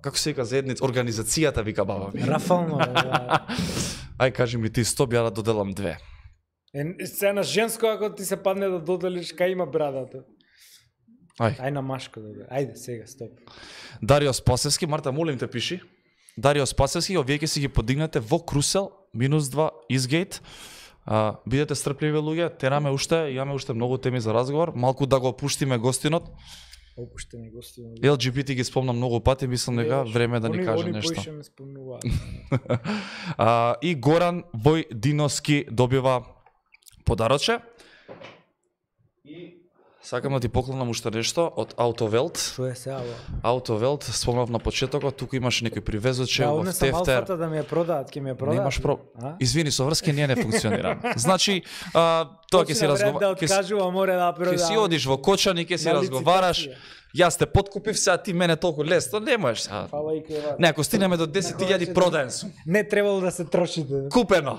како се вика заедница, организацијата вика баба ми. Рафално. да. Ај кажи ми ти сто, ја да доделам две. Е, сега на женско ако ти се падне да доделиш кај има брадата. Ај. Ај на машко да доделиш. Ајде сега стоп. Дарио Спасевски, Марта, молим те пиши. Дарио Спасевски, овие ќе си ги подигнете во Крусел, минус два, Изгейт. А, бидете стрпливи луѓе, тераме уште, имаме уште многу теми за разговор, малку да го опуштиме гостинот. Опуштени гости. Ел Џи Би Ти ги спомнам многу пати, мислам дека време е да ни каже нешто. Они поише ме спомнуваат. А, и Горан Војдиновски добива подароче. И сакам да ти поклонам уште нешто од Аутовелт. Што е сега? Аутовелт, спомнав на почетокот, туку имаш некој привезоче да, во тефтер. Да, алфата да ми ја продаат, ќе ми ја продаат. Немаш про... Извини, со врски ние не функционира. Значи, а, тоа ќе си разговараш. Да откажува, море да продаат. Ќе си одиш во Кочани, ќе си разговараш. Јас те подкупив, сега ти мене толку лесно не можеш. Фала и кај вас. Не, ако стигнеме до десет илјади продаен сум. Не требало да се трошите. Купено.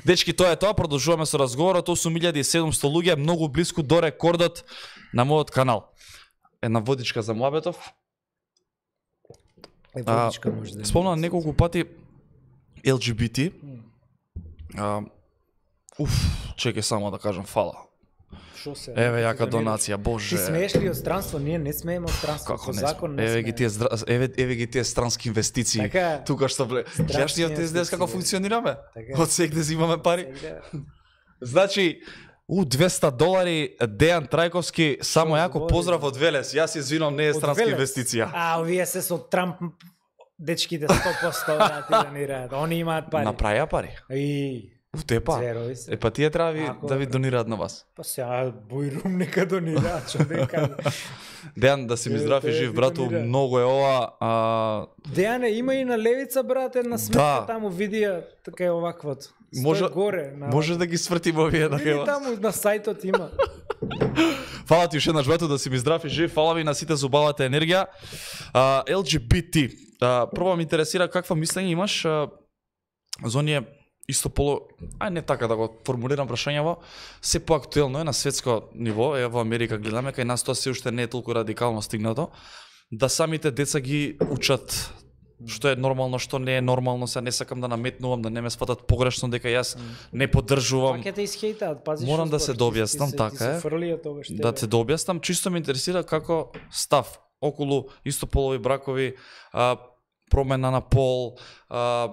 Дечки, тоа е тоа, продолжуваме со разговорот. осум илјади и седумсто луѓе, многу близко до рекордот на мојот канал. Една водичка за Муабетов. Е, водичка може да. Спомнам неколку пати Ел Џи Би Ти. А, уф, чекај само да кажам фала. Шо се? Еве јака донација, боже. Ти смееш ли од странство? Ние не смееме од странство. Како не? Закон не еве ги тие еве еве ги тие странски инвестиции. Така, тука што вле. Гледаш ни од тези днес како функционираме? Така. Од сегде имаме пари. Значи, у двеста долари Дејан Трајковски, само Шо, јако говори, поздрав од Велес. Јас се извинувам, не е странска инвестиција. А, овие се со Трамп дечките сто поsto донираат. Они имаат пари. Направија пари. И У тепа. Е па тие треба ви, Ако... да ви донираат на вас. Па сега Бојрум нека донираат, човека. Дејан, да си ми здрав и жив, брату, многу е ова. А... Дејане, има и на левица, брат, една сметка да. Таму видија, така е оваквото. Може, горе, на... може да ги свртим овие на хева. Таму на сајтот има. Фала ти уште еднаш, брату, да си ми здрав и жив. Фала ви на сите за убавата енергија. А, Ел Џи Би Ти. А, прво ме интересира каква мислење имаш а, за оние исто поло, ај не така да го формулирам прашањево, се поактуелно е на светско ниво, е во Америка гледаме, кај нас тоа се уште не е толку радикално стигнато, да самите деца ги учат што е нормално, што не е нормално, се не сакам да наметнувам, да не ме сватат погрешно дека јас не поддржувам. Пак ќе те исхейтаат, пази. Морам да се дообјаснам, така е. Да се дообјаснам, чисто ме интересира како став околу истополови бракови, а, промена на пол, а,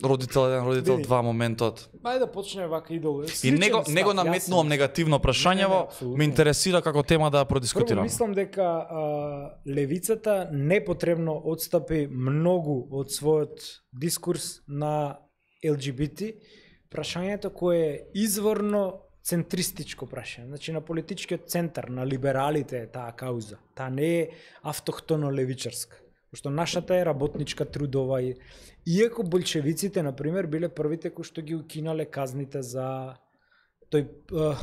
родител еден, родител Види. два моментот. Ајде да почнеме вака идол. И него него наметнувам негативно прашањево, ме интересира како тема да продискутирам. Прво мислам дека а, левицата непотребно отстапи многу од својот дискурс на Ел Џи Би Ти, прашањето кое е изворно центристичко прашање, значи на политичкиот центар, на либералите е таа кауза. Таа не е автохтоно левичарска. Што нашата е работничка, трудова и иако болшевиците на пример биле првите кои што ги укинале казните за тој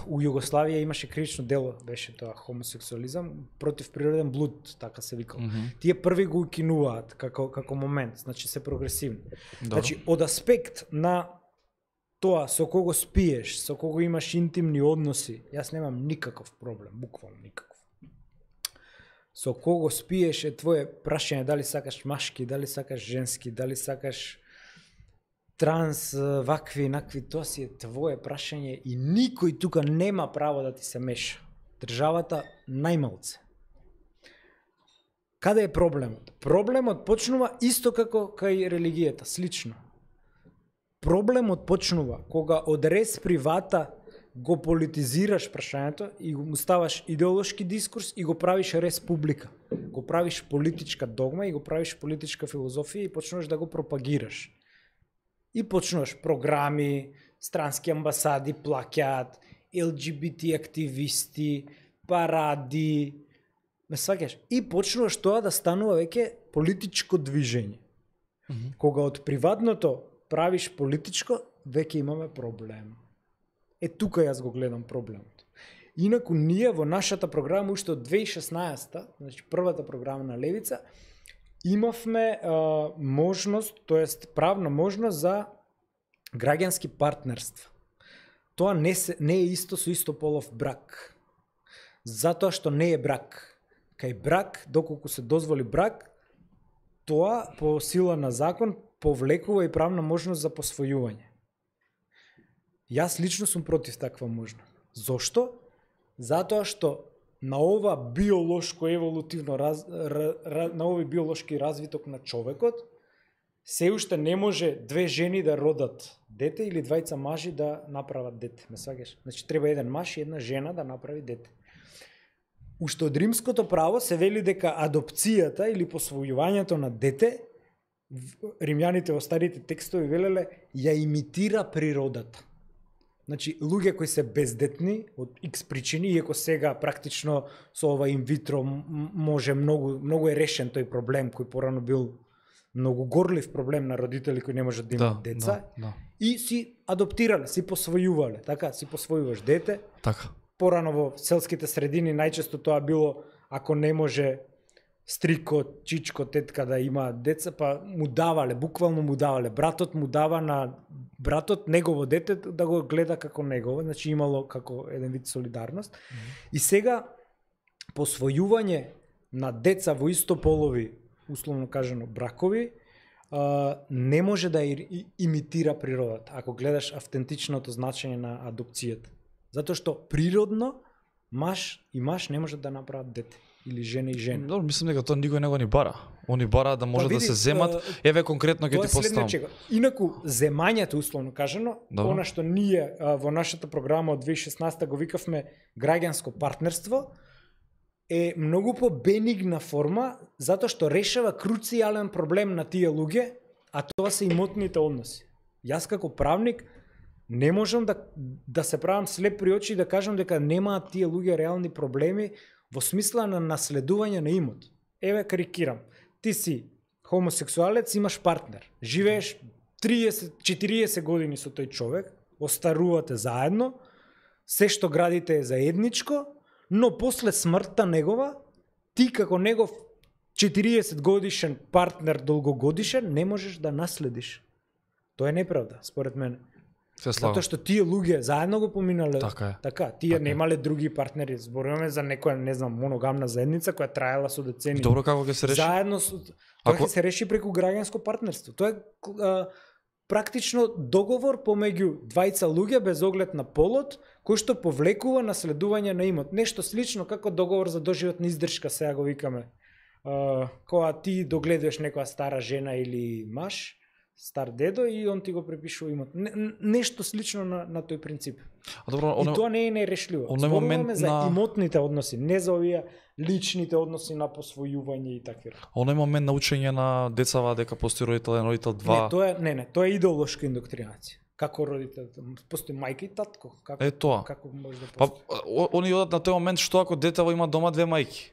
у Југославија имаше кривично дело, беше тоа хомосексуализам, против природен блуд, така се викал. Mm -hmm. Тие први го укинуваат како како момент, значи се прогресивни. Добро. Значи од аспект на тоа со кого спиеш, со кого имаш интимни односи, јас немам никаков проблем, буквално никаков. Со кого спиеш е твое прашање, дали сакаш машки, дали сакаш женски, дали сакаш транс, вакви, накви, тоа си е твое прашање и никој тука нема право да ти се меша. Државата најмалце. Каде е проблемот? Проблемот почнува исто како кај религијата, слично. Проблемот почнува кога од рез привата го политизираш прашањето и го ставаш идеолошки дискурс и го правиш рез публика. Го правиш политичка догма и го правиш политичка филозофија и почнуваш да го пропагираш. И почнуваш програми, странски амбасади плаќаат, Ел Џи Би Ти активисти, паради, ме сваќаш? И почнуваш тоа да станува веќе политичко движење. Mm-hmm. Кога од приватното правиш политичко, веќе имаме проблем. Е, тука јас го гледам проблемот. Инаку ние во нашата програма уште од две илјади и шеснаесета, значи првата програма на Левица, имавме а, можност, тоест правна можност за граѓански партнерства. Тоа не, се, не е исто со истополов брак. Затоа што не е брак. Кај брак, доколку се дозволи брак, тоа по сила на закон повлекува и правна можност за посвојување. Јас лично сум против таква можност. Зошто? Затоа што на ова биолошко еволутивно раз, ра, ра, на овој биолошки развиток на човекот се уште не може две жени да родат дете или двајца мажи да направат дете, ме сваќаш? Значи треба еден маж и една жена да направи дете. Уште од римското право се вели дека адопцијата или посвојувањето на дете, римјаните во старите текстови велеле, ја имитира природата. Значи, луѓе кои се бездетни од икс причини, иако сега практично со ова инвитро може многу, многу е решен тој проблем кој порано бил многу горлив проблем на родители кои не можат да имаат да, деца, да, да. И си адоптирале, си посвојувале, така, си посвојуваш дете. Така. Порано во селските средини најчесто тоа било, ако не може стрико, чичко, тетка да имаат деца, па му давале, буквално му давале. Братот му дава на братот негово дете да го гледа како негово, значи имало како еден вид солидарност. Mm-hmm. И сега посвојување на деца во истополови, условно кажано бракови, а, не може да и, имитира природата, ако гледаш автентичното значење на адопцијата. Затоа што природно маж и маж не можат да направат дете. Или жена и жена. Добро, мислам дека тоа никој него ни бара. Они бара да може па, види, да се земат. Еве конкретно ќе ти поставам. Инаку земањето условно кажано, Добро. Она што ние а, во нашата програма од две илјади и шеснаесета го викавме граѓанско партнерство, е многу по-бенигна форма затоа што решава круцијален проблем на тие луѓе, а тоа се имотните односи. Јас како правник не можам да да се правам слеп при очи и да кажам дека немаат тие луѓе реални проблеми во смисла на наследување на имот. Еве карикирам. Ти си хомосексуалец, имаш партнер. Живееш триесет четириесет години со тој човек, остарувате заедно, се што градите е заедничко, но после смртта негова, ти како негов четириесет годишен партнер долгогодишен не можеш да наследиш. Тоа е неправда, според мене. Затоа што тие луѓе заедно го поминале. Така е. Така, тие така немале други партнери. Зборуваме за некоја, не знам, моногамна заедница која траела со децени. Добро, како ќе се реши? Заедно со тоа ќе се реши преку граѓанско партнерство. Тоа е а, практично договор помеѓу двајца луѓе без оглед на полот, кој што повлекува наследување на имот. Нешто слично како договор за доживотна издршка, сега го викаме. А, кога ти догледуваш некоја стара жена или маж, стар дедо и он ти го препишува имот. Не, нешто слично на, на тој принцип. А добро, и оно, тоа не е нерешливо. Зборуваме за на... имотните односи, не за овие личните односи на посвојување и такви. Оној момент на учење на децава дека постои родител еден, родител два. Не, тоа е не, не, тоа е идеолошка индоктринација. Како родител, постои мајка и татко, како е тоа. Како може да постои? Па они одат на тој момент што ако детево има дома две мајки.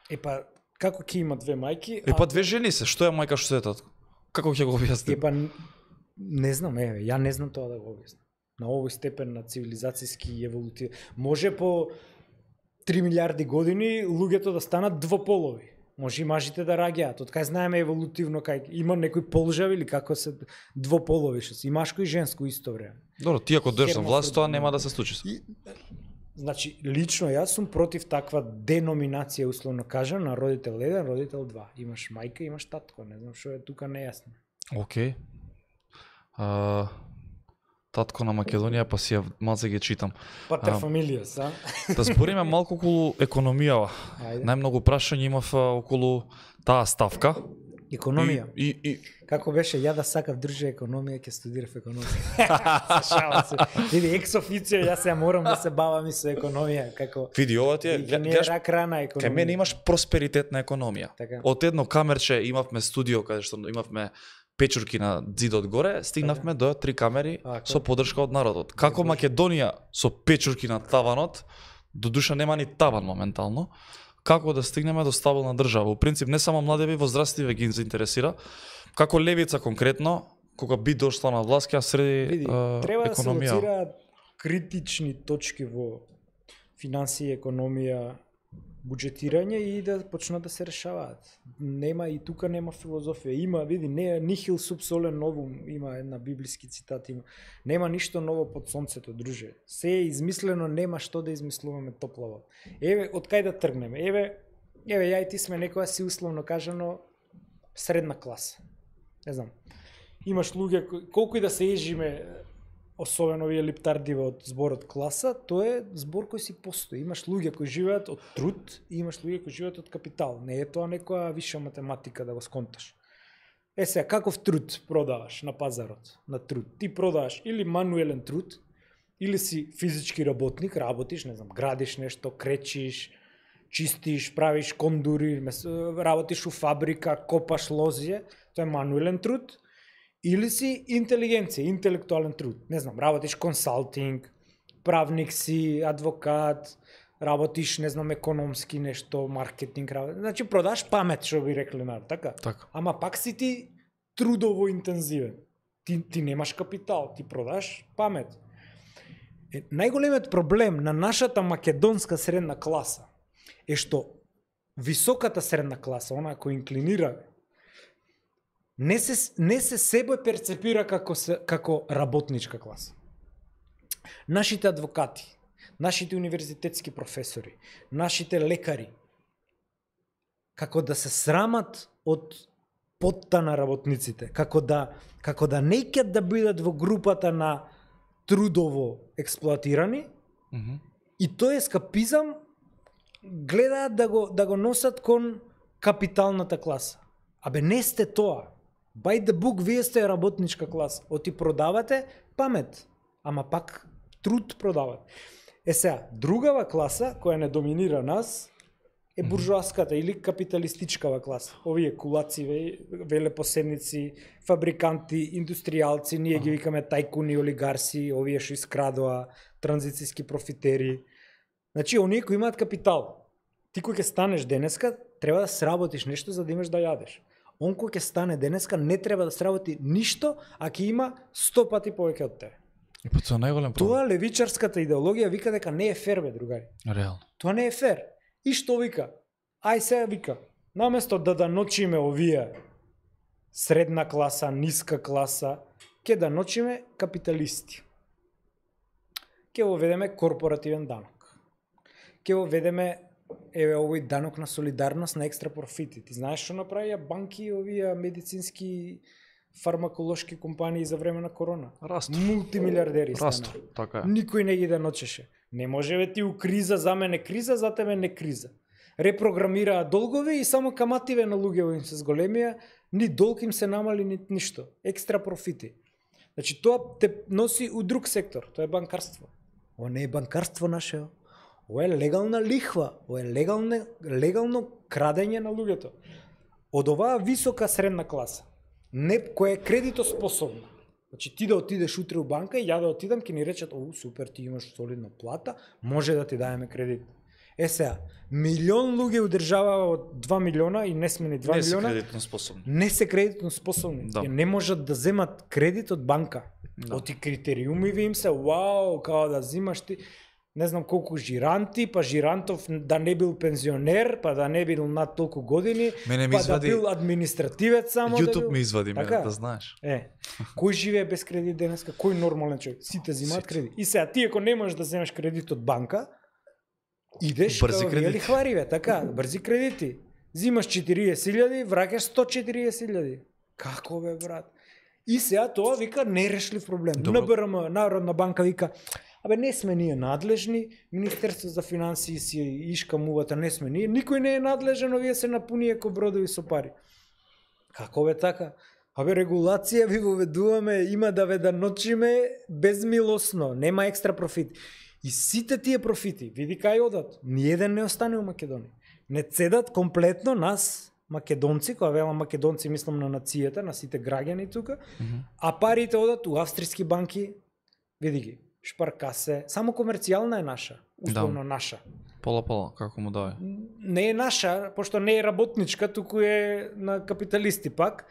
Е па како ќе има две мајки? Е па две жени се, што е мајка, што е татко? Како ќе го објасним? Е па не знам, еве, ја не знам тоа да го објаснам. На овој степен на цивилизацијски и еволутив. Може по три милиарди години луѓето да станат двополови. Може и мажите да раѓаат. Од кај знаеме еволутивно кај има некој полжав или како се двополови што се и машко и женско исто време. Добро, ти ако дојдеш на власт, тоа нема да се случи. И, значи, лично јас сум против таква деноминација, условно кажам, на родител еден, родител два. Имаш мајка, имаш татко, не знам што е тука нејасно. Океј. Okay. Татко на Македонија, па си ја малце ги читам. Патер фамилија, са? Да збориме малку околу економијава. Најмногу прашања имав околу таа ставка. Економија. И, и, и... Како беше, ја да сакав држа економија, ќе студирав економија. Шала се. Види, екс официо, јас ја морам да се бавам и со економија. Како... Види, ова ти е... Гледаш, рак рана економија. Кај мене имаш просперитетна економија. Така. Од едно камерче имавме студио, каде што имавме печурки на зидот горе, стигнавме до три камери а, со поддршка од народот. Како Македонија со печурки на таванот, до душа нема ни таван моментално, како да стигнеме до стабилна држава. Во принцип, не само младеви, возрастливи ги заинтересира. Како левица конкретно, кога би дошла на власт, ќе среди Види, е, треба економија. Треба да се лоцираат критични точки во финансија, економија, буџетирање и да почнат да се решаваат. Нема и тука нема филозофија. Има, види, не нихил sub sole novum, има една библиски цитат, има. Нема ништо ново под сонцето, друже. Се е измислено, нема што да измислуваме топлава. Еве, од кај да тргнеме? Еве, еве ја и ти сме некоја си условно кажано средна класа. Не знам. Имаш луѓе колку и да се ежиме, особено овие липтардиве од зборот класа, тоа е збор кој си постои. Имаш луѓе кои живеат од труд и имаш луѓе кои живеат од капитал. Не е тоа некоја виша математика да го сконташ. Е сега, каков труд продаваш на пазарот? На труд. Ти продаваш или мануелен труд, или си физички работник, работиш, не знам, градиш нешто, кречиш, чистиш, правиш кондури, работиш у фабрика, копаш лозие, тоа е мануелен труд, или си интелигенција, интелектуален труд. Не знам, работиш консалтинг, правник си, адвокат, работиш, не знам, економски нешто, маркетинг, работиш. Значи продаш памет, што би рекле на, така? Така. Ама пак си ти трудово интензивен. Ти, ти немаш капитал, ти продаш памет. Е, најголемиот проблем на нашата македонска средна класа е што високата средна класа, она која инклинира, не се, не се себе перцепира како, се, како работничка класа. Нашите адвокати, нашите универзитетски професори, нашите лекари, како да се срамат од потта на работниците, како да, како да не икат да бидат во групата на трудово експлоатирани, Mm-hmm. и тој ескапизам гледаат да го, да го носат кон капиталната класа. Абе не сте тоа. By the book, вие сте работничка класа. Оти продавате памет, ама пак труд продават. Е сега, другава класа која не доминира нас е буржуаската или капиталистичкава класа. Овие кулаци, велепоседници, фабриканти, индустријалци, ние ги викаме тајкуни, олигарси, овие што искрадоа, транзицијски профитери. Значи, оние кои имаат капитал. Ти кој ќе станеш денеска, треба да сработиш нешто за да имаш да јадеш. Он кој ќе стане денеска не треба да сработи ништо, а ќе има сто пати повеќе од тебе. И па тоа е најголем проблем. Тоа левичарската идеологија вика дека не е фер, бе, другари. Реално. Тоа не е фер. И што вика? Ај сега вика, наместо да да ночиме овие средна класа, ниска класа, ќе да ночиме капиталисти. Ќе воведеме корпоративен данок. Ќе воведеме еве овој данок на солидарност на екстра профити. Ти знаеш што направија банки и овие медицински фармаколошки компании за време на корона? Расту. Мултимилиардери Расту, стана. така е. Никој не ги да ночеше. Не може бе ти у криза, за мене криза, за тебе не криза. Репрограмираа долгови и само камативе на луѓето им се зголемија, ни долг им се намали, ни ништо. Екстра профити. Значи тоа те носи у друг сектор, тоа е банкарство. Ова не е банкарство наше. Ова е легална лихва, ова е легално, легално крадење на луѓето. Од оваа висока средна класа, не која е кредитоспособна. Значи ти да отидеш утре у банка и ја да отидам, ќе ни речат: "О, супер, ти имаш солидна плата, може да ти даеме кредит." Е сега, милион луѓе у држава од два милиона и не сме ни два Не се милиона. кредитно способни. Не се кредитно способни. Да. Не можат да земат кредит од банка. Да. Оти критериуми ви им се, вау, као да зимаш ти, не знам колку жиранти, па жирантов да не бил пензионер, па да не бил над толку години, Мене ми па извади- да бил административец само. YouTube да бил... ми извади, ме, Така? да знаеш. Е, кој живее без кредит денеска? Кој нормален човек? Сите земаат Сите. кредит. И сега ти ако не можеш да земеш кредит од банка, идеш Брзи као кредити. вие лихвариве, така, брзи кредити. Зимаш четириесет илјади, враќаш сто и четириесет илјади. Како бе, брат? И сега тоа вика нерешлив проблем. Добро. Н Б Р М, Народна банка, вика: "Абе не сме ние надлежни, Министерство за финансии си ишка мувата, не сме ние, никој не е надлежен, овие се напуни еко бродови со пари." Како бе така? Абе регулација ви воведуваме, има да ве да ночиме безмилосно, нема екстра профит. И сите тие профити, види кај одат, ниеден не остане у Македонија. Не цедат комплетно нас, македонци, кога велам македонци мислам на нацијата, на сите граѓани тука, Мгм. а парите одат у австријски банки, види ги, Шпаркасе, само комерцијална е наша, условно наша. Пола-пола, како му даде. Не е наша, пошто не е работничка, туку е на капиталисти пак,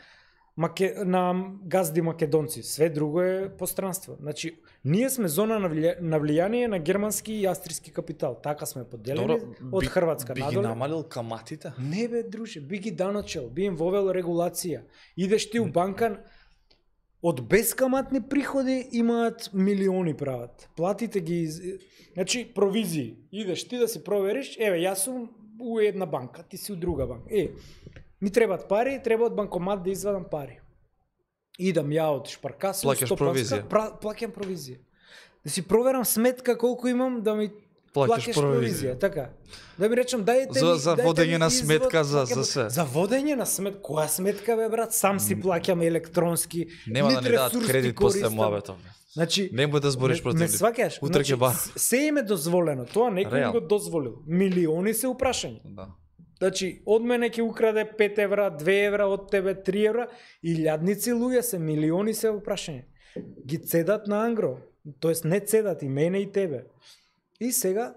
Маке... на газди македонци. Све друго е постранство. Значи, ние сме зона на, влија... на влијание на германски и австријски капитал. Така сме поделени од би- Хрватска би ги надоле. намалил каматите? Не бе, друже, би ги даночел, би им вовел регулација. Идеш ти у банка, од бескаматни приходи имаат милиони прават. Платите ги, из... значи провизии. Идеш ти да си провериш, еве јас сум у една банка, ти си у друга банка. Е, ми требат пари, треба од банкомат да извадам пари. Идам ја од Шпаркаса, Плаќаш провизија. пра... плаќам провизија. Да си проверам сметка колку имам, да ми Плаќаш плаќаш провизија, провизија. така. Да ми речам дајте За- ми за дајте водење ми на извод, сметка за- плаќам- за се. За водење на сметка, која сметка бе брат? Сам си плаќам електронски. Нема да нит ни дадат ресурси кредит после користам. муабетов. Значи, Немој да збориш ме- против ме нив. сваќаш? Утре ќе бар. с- се им е дозволено, тоа некој им Реално. го дозволил. Милиони се упрашања. Да. Значи, од мене ќе украде пет евра, две евра, од тебе три евра, и илјадници луѓе се, милиони се упрашања. Ги цедат на ангро, тоест не цедат и мене и тебе. И сега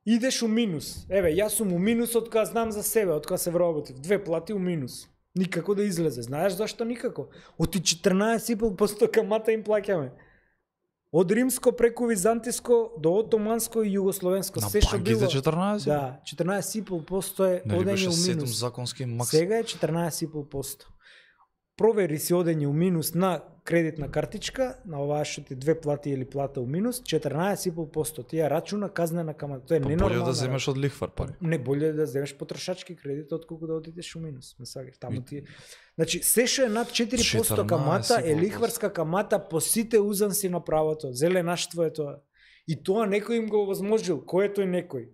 идеш у минус. Еве, јас сум у минус од кога знам за себе, од кога се вработив. Две плати у минус. Никако да излезе. Знаеш зашто никако? Оти четрнаесет и пет проценти камата им плаќаме. Од римско преку византиско до отоманско и југословенско. На Се што банките било. четрнаесет? Да, четрнаесет и пет проценти е Нели одење беше у седум минус. законски макс. Сега е четрнаесет и пет проценти. Провери си одење у минус на кредитна картичка, на оваа што ти две плати или плата у минус, четрнаесет и пет проценти. Тие рачуна казнена камата. Тоа е Па ненормално. болje да земеш од лихвар пари. Не боле е да земеш потрошачки кредит отколку да одидеш у минус. Ме сагаш, таму ти. Значи се што е над четири проценти камата е лихварска камата по сите узанси на правото. Зеленаштво е тоа. И тоа некој им го овозможил. Кој е тој некој?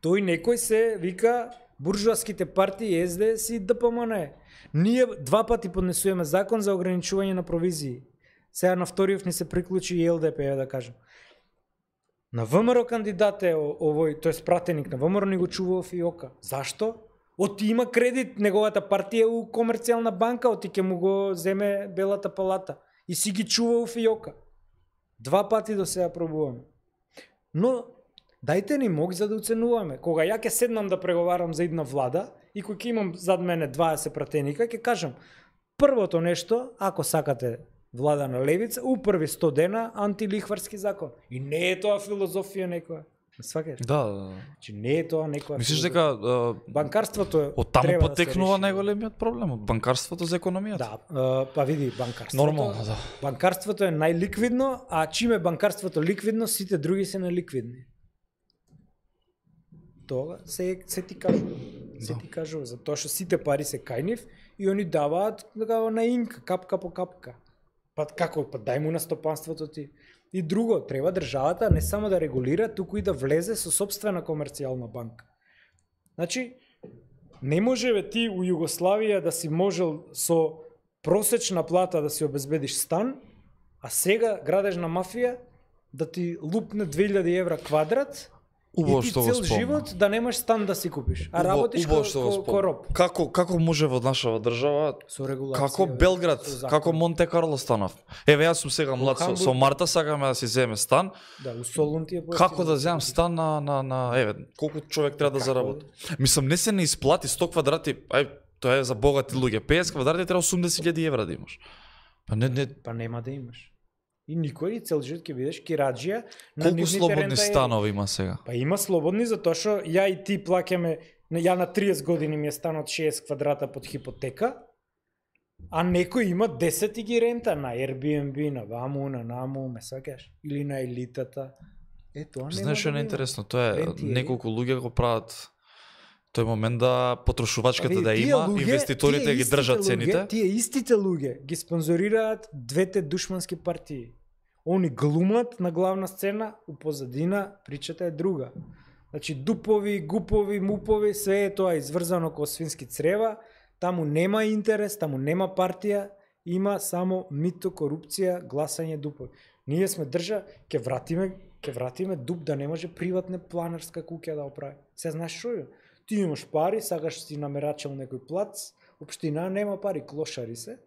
Тој некој се вика буржуаските партии Ес Де Ес и Д П М Н. Ние два пати поднесуваме закон за ограничување на провизии. Сега на вториот ни се приклучи и Л Д П, е да кажам. На В М Р кандидат е о- овој, тој пратеник на В М Р ни го чува Фиока. Зашто? Оти има кредит, неговата партија е у комерцијална банка, оти ќе му го земе Белата палата. И си ги чува у Фиока. Два пати до сега пробуваме. Но дајте ни мог за да оценуваме. Кога ја ќе седнам да преговарам за една влада и кој ќе имам зад мене дваесет пратеника, ќе кажам првото нешто, ако сакате влада на левица, у први сто дена антилихварски закон. И не е тоа филозофија некоја. Сваќаш? Да, да, да. Значи не е тоа некоја. Мислиш филозофија. дека а, банкарството е од таму треба да се потекнува реши. најголемиот проблем, од банкарството за економијата? Да, а, па види банкарството. Нормално, да. Банкарството е најликвидно, а чиме банкарството ликвидно, сите други се неликвидни. Тоа се се ти кажува. Се Да. ти кажува за тоа што сите пари се кај нив и они даваат така на инка, капка по капка. Па како, па дај му на стопанството ти. И друго, треба државата не само да регулира, туку и да влезе со собствена комерцијална банка. Значи, не може бе ти у Југославија да си можел со просечна плата да си обезбедиш стан, а сега градежна мафија да ти лупне две илјади евра квадрат Убаво и ти што го цел спомна. живот да немаш стан да си купиш, а Убаво- работиш убаво ко, што го ко, спомна. ко роб. Како како може во нашава држава Со регулација. како Белград, со закон. како Монте Карло станав? Еве јас сум сега млад со, Хамбург. со Марта, сакаме да си земе стан. Да, у Солун ти е поевтино. Како да земам стан на на на еве колку човек треба да Како? заработи? Мислам не се не исплати сто квадрати, ај тоа е за богати луѓе. песет квадрати треба осумдесет илјади евра да имаш. Па не не Па нема да имаш. И никој и цел живот ќе бидеш кираџија на колку нивните слободни рентаери. станови има сега? Па има слободни затоа што ја и ти плаќаме, ја на триесет години ми е станот шеесет квадрата под хипотека, а некој има десет и ги рента на Airbnb, на ваму, на наму, ме сакаш, или на елитата. Е, тоа нема Знаеш што е да го има. најинтересно, тоа е Рентиери. неколку луѓе го прават тој момент да потрошувачката Па, да види, тие има, луѓе- инвеститорите тие ги истите држат луѓе- цените. Тие истите луѓе ги спонзорираат двете душмански партии. Они глумат на главна сцена, у позадина причата е друга. Значи дупови, гупови, мупови, све е тоа изврзано ко свински црева, таму нема интерес, таму нема партија, има само мито, корупција, гласање дупови. Ние сме држа, ќе вратиме, ќе вратиме дуп да не може приватна планерска куќа да оправи. Се знаеш што е? Ти имаш пари, сакаш си намерачал некој плац, општина нема пари, клошари се.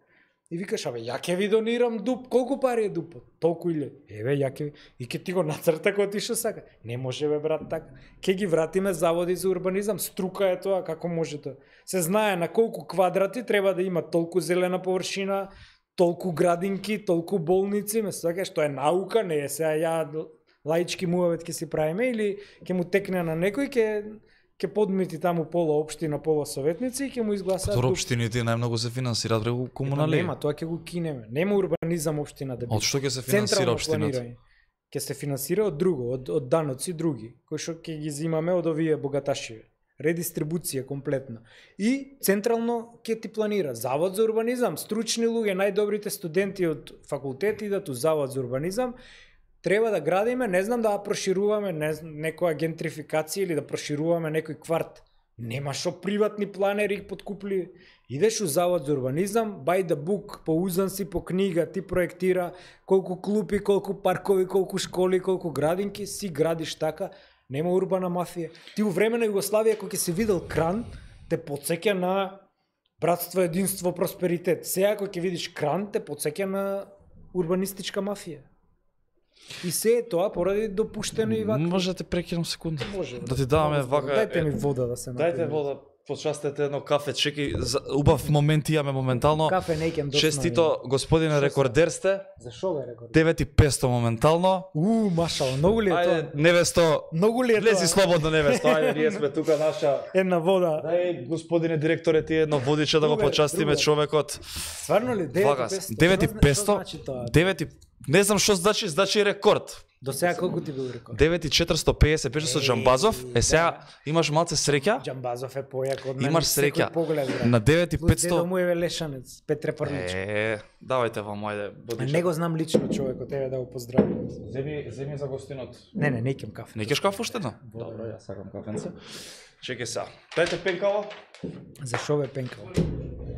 И викаш, абе, ја ќе ви донирам дуп, колку пари е дупот? Толку илјади. Еве, ја ќе ви... И ќе ти го нацрта кој ти што сака. Не може, бе, брат, така. Ке ги вратиме заводи за урбанизам, струка е тоа, како може тоа. Се знае на колку квадрати треба да има толку зелена површина, толку градинки, толку болници, ме сакаш, тоа е наука, не е сега ја лаички муавет ќе си правиме или ќе му текне на некој, ќе ќе подмити таму пола општина, пола советници и ќе му изгласаат Тоа дуп. општините најмногу се финансираат преку Па комунали. нема, тоа ќе го кинеме. Нема урбанизам општина да биде. Од што ќе се финансира Централно општината? планирање. Ќе се финансира од друго, од, од даноци други, кои што ќе ги зимаме од овие богаташи. Редистрибуција комплетна. И централно ќе ти планира. Завод за урбанизам, стручни луѓе, најдобрите студенти од факултет идат у Завод за урбанизам. Треба да градиме, не знам да прошируваме не, некоја гентрификација или да прошируваме некој кварт. Нема шо приватни планери их подкупли. Идеш у завод за урбанизам, by the book, поузан си по книга, ти проектира колку клупи, колку паркови, колку школи, колку градинки, си градиш така. Нема урбана мафија. Ти у време на Југославија, кога ќе си видел кран, те потсеќа на братство, единство, просперитет. Сега кога ќе видиш кран, те потсеќа на урбанистичка мафија. И се е тоа поради допуштено и вака. Може да те прекинам секунда. Може. Да ти даваме вака. Дајте ми вода да се напијам. Дајте вода, почастете едно кафе, чеки, убав момент имаме моментално. Кафе не икем доцна. Честито, господине рекордер сте. За шо бе рекордер? девет и петстотини моментално. У, машала, многу ли е Ајде, тоа? невесто. Многу ли е тоа? Влези слободно, невесто. Ајде, ние сме тука наша. Една вода. Дај, господине директоре, ти едно водиче да го Друга, почастиме друга. човекот. Стварно ли? Вага, девет и петстотини? девет и петстотини. Што значи тоа? девет и не знам што значи, значи рекорд. До сега колку ти бил рекорд? девет и четиристотини и песет беше со Џамбазов. Е сега имаш малце среќа. Џамбазов е појак од мене. Имаш секој среќа. поглед, брат. На девет и Дедо петстотини. му е Лешанец, Петре Прличко. Е, давајте вам, ајде, бодиче. Не го знам лично човекот, тебе да го поздравам. Земи, земи за гостинот. Не, не, не икем кафе. Не кеш кафе уште едно? Добро, јас сакам кафенце. Чекај сега. Дајте пенкаво. За шо бе пенкал?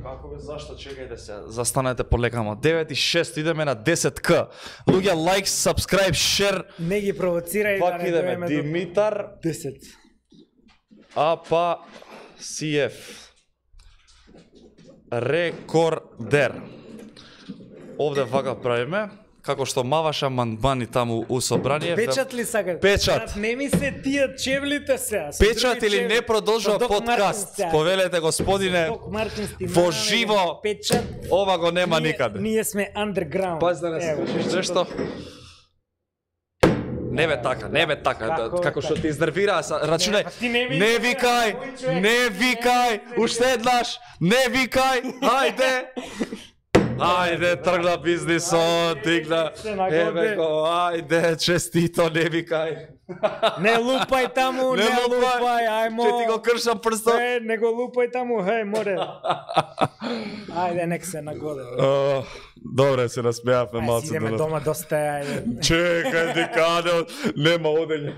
Како бе, зашто, чекајте се. Застанете полека, девет и шест, идеме на десет к. Луѓе, лайк, subscribe, share. Не ги провоцирај да Пак не идеме, доеме до Димитар десет. Апа Си Еф. Рекордер. Овде вака правиме. Како што маваш амандмани таму у собрание. Печат ли сакаш? Печат. Брат, не ми се тие чевлите сега. со Печат други или чевли. не продолжува Со Док Мартин подкаст. сега. Повелете, господине, Док Мартин стимаме, во живо. Печат. Ова го нема Ние- никаде. Ние сме underground. Пази да не Ево, скажеш нешто. Не бе така, не бе така, Како да, како така? што ти изнервира, са- рачунај. па ти не ми Не изнервира, викај, мој човек, не не, викај, не, уште еднаш, не викај, ајде. Ајде, тргна бизнисот, дигна. Се нагоди. Еве го, ајде, честито, не викај. Не лупај таму, не, лупај, ајмо. Че ти го кршам прстот. Е, не го лупај таму, хеј, море. Ајде, нек се нагоде. О, добре, се насмеавме Ај, малце си идеме денес. дома доста, ајде. Чекај, дикаде, нема одење.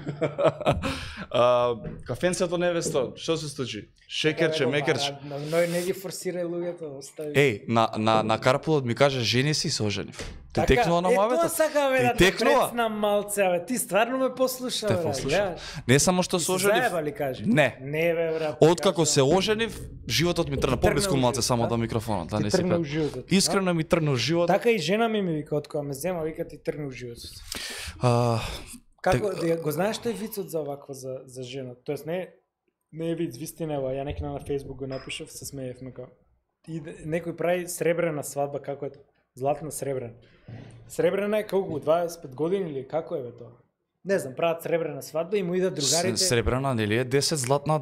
А, кафенцето невесто, што се случи? Шекерче, мекерче. Но не ги форсирај луѓето, остави. Еј, на, на, на Карпулот ми каже, жени си се оженив. Ти текнува на Е, мавето? тоа сака, бе, Ти да те текнува? прецнам малце, бе. Ти стварно ме послуша, Те бе. послушав. гледаш. Не само што Ти се се оженив. заеба ли кажи? Не. Не, бе, брат. Откако кажам. се оженив, животот ми тргна Ти тргна поблиску у малце живот, само да? до микрофонот, да Ти не си тргна у пред. животот, Искрено ми тргна у животот. Така и жена ми ми вика, од кога ме зема, вика ти тргна у животот. А, Како, Тек- да, го знаеш тој вицот за овакво за, за жена? Тоест не, не е виц, вистина, ева, ја некина на Facebook го напишав, се смеевме како. И некој прави сребрена свадба, како е тоа? Златна сребрена. Сребрена е колку, дваесет и пет години или како е бе тоа? Не знам, прават сребрена свадба и му идат другарите. с- Сребрена, нели е десет, златна.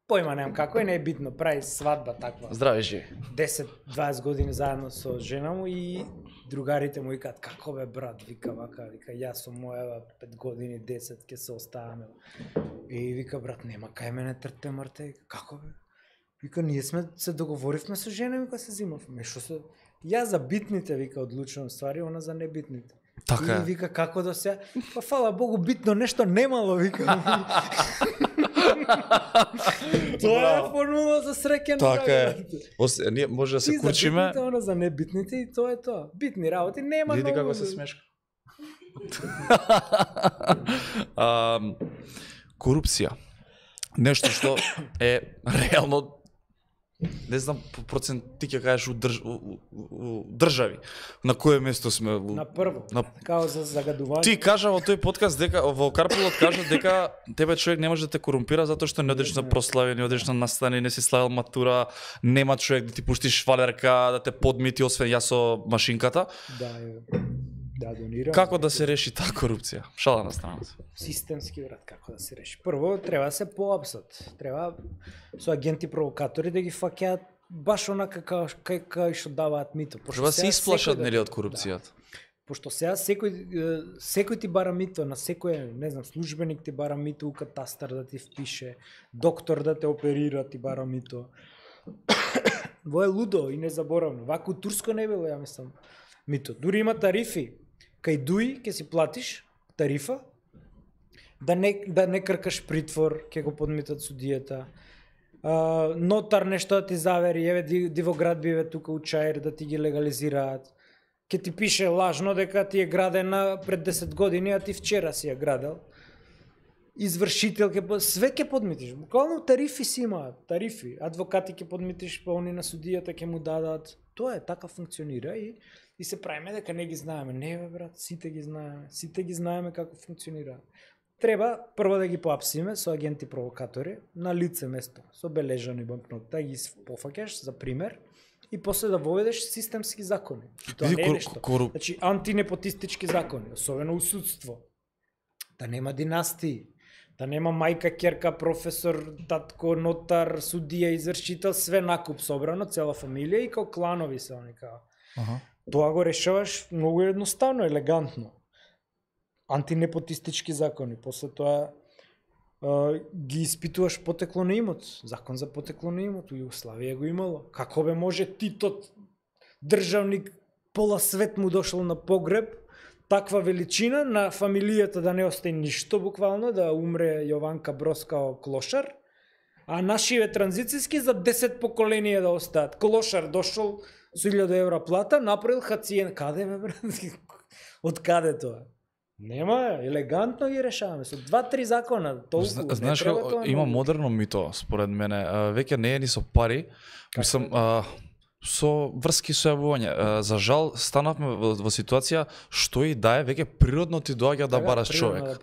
Појма немам како е, не е битно, прави свадба таква. Здраве, жи. десет-дваесет години заедно со жена му и другарите му викаат како бе брат, вика вака, вика јас со моја пет години, десет ќе се оставаме. И вика брат, нема кај мене трте мрте, како бе? Вика ние сме се договоривме со жена ми кога се зимавме. Што се Ја за битните вика одлучувам ствари, она за небитните. Така И е. вика како до сега, па фала Богу битно нешто немало вика. Тоа е Браво. формула за среќен Така е. брак. Ос, ние може да се И за курчиме. битните, она за небитните и тоа е тоа. Битни работи нема Види многу. како се смешка. а, корупција. Нешто што е реално, не знам по процент ти ќе кажеш у, држ, у, у, у држави. На кое место сме? У, На прво, на... као за загадување. Ти кажа во тој подкаст дека во Карпулот кажа дека тебе човек не може да те корумпира затоа што не одиш на прослави, не одиш на настани, не си славил матура, нема човек да ти пушти швалерка, да те подмити освен јас со машинката. Да, е. Да, донирам. Како да се реши таа корупција? Шала на страна. Системски брат, како да се реши. Прво треба да се поапсат. Треба со агенти провокатори да ги фаќаат баш онака како кај кај што даваат мито. Пошто Треба се сега исплашат секој да- нели од корупцијата. Пошто сега секој е, секој ти бара мито, на секој, не знам, службеник ти бара мито у катастар да ти впише, доктор да те оперира ти бара мито. Во е лудо и незаборавно. Вако у Турско не било, ја мислам, мито. Дури има тарифи. Кај дуи ќе си платиш тарифа, да не, да не кркаш притвор, ќе го подмитат судијата. а, нотар нешто да ти завери, еве дивоград биве тука у Чаир да ти ги легализираат. Ке ти пише лажно дека ти е градена пред десет години, а ти вчера си ја градел. Извршител ке све ке подмитиш. Буквално тарифи си имаат, тарифи. Адвокати ке подмитиш, па они на судијата ке му дадат. Тоа е, така функционира и и се правиме дека не ги знаеме. Не бе брат, сите ги знаеме. Сите ги знаеме како функционира. Треба прво да ги поапсиме со агенти провокатори на лице место, со бележани банкноти, да ги пофаќаш за пример и после да воведеш системски закони. И тоа не е нешто. Кору... Значи антинепотистички закони, особено у судство. Да нема династии, да нема мајка, ќерка, професор, татко, нотар, судија, извршител, све накуп собрано, цела фамилија и као кланови се они као. Аха. Тоа го решаваш многу едноставно, елегантно. Антинепотистички закони, после тоа е, ги испитуваш потекло на имот, закон за потекло на имот, у Југославија го имало. Како бе може Титот, државник, пола свет му дошол на погреб, таква величина на фамилијата да не остане ништо буквално, да умре Јованка Брос као клошар, а нашиве транзицијски за десет поколенија да остаат. Клошар дошол со илјада евра плата, направил хациен. Каде бе брат? Од каде тоа? Нема, елегантно ги решаваме со два-три закона, толку. Зна, знаеш како има модерно мито според мене, а, веќе не е ни со пари, мислам а, со врски со јавување. За жал станавме во, во ситуација што и да е веќе природно ти доаѓа да бараш човек. Да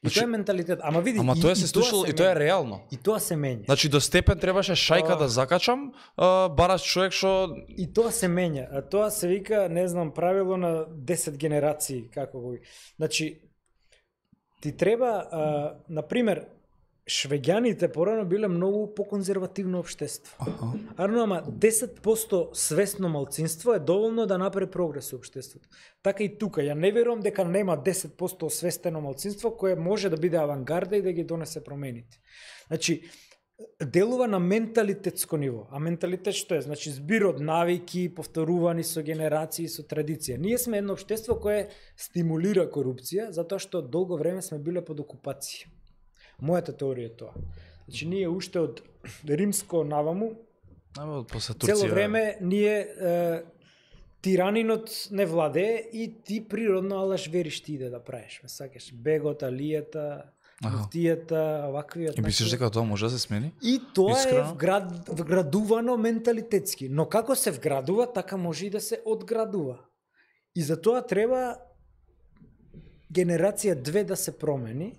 и тоа е менталитет. Ама види, ама и, тоа се случило и тоа е реално. И тоа се менја. Значи до степен требаше шајка а... да закачам, а, бараш човек што и тоа се менја. А тоа се вика, не знам, правило на десет генерации, како го. Значи ти треба, а, на пример, швеѓаните порано биле многу поконзервативно општество. Аха. Арно, ама десет проценти свесно малцинство е доволно да направи прогрес во општеството. Така и тука, ја не верувам дека нема десет проценти освестено малцинство кое може да биде авангарда и да ги донесе промените. Значи, делува на менталитетско ниво. А менталитет што е? Значи, збир од навики, повторувани со генерации, со традиција. Ние сме едно општество кое стимулира корупција, затоа што долго време сме биле под окупација. Мојата теорија е тоа. Значи, ние уште од римско наваму, цело време ние е, тиранинот не владее и ти природно алаш вериш ти иде да правиш. Ме сакаш бегот, алијата, муфтијата, ваквиот. И мислиш дека тоа може да се смени? И тоа Искрено? е вград, вградувано менталитетски. Но како се вградува, така може и да се одградува. И за тоа треба генерација две да се промени,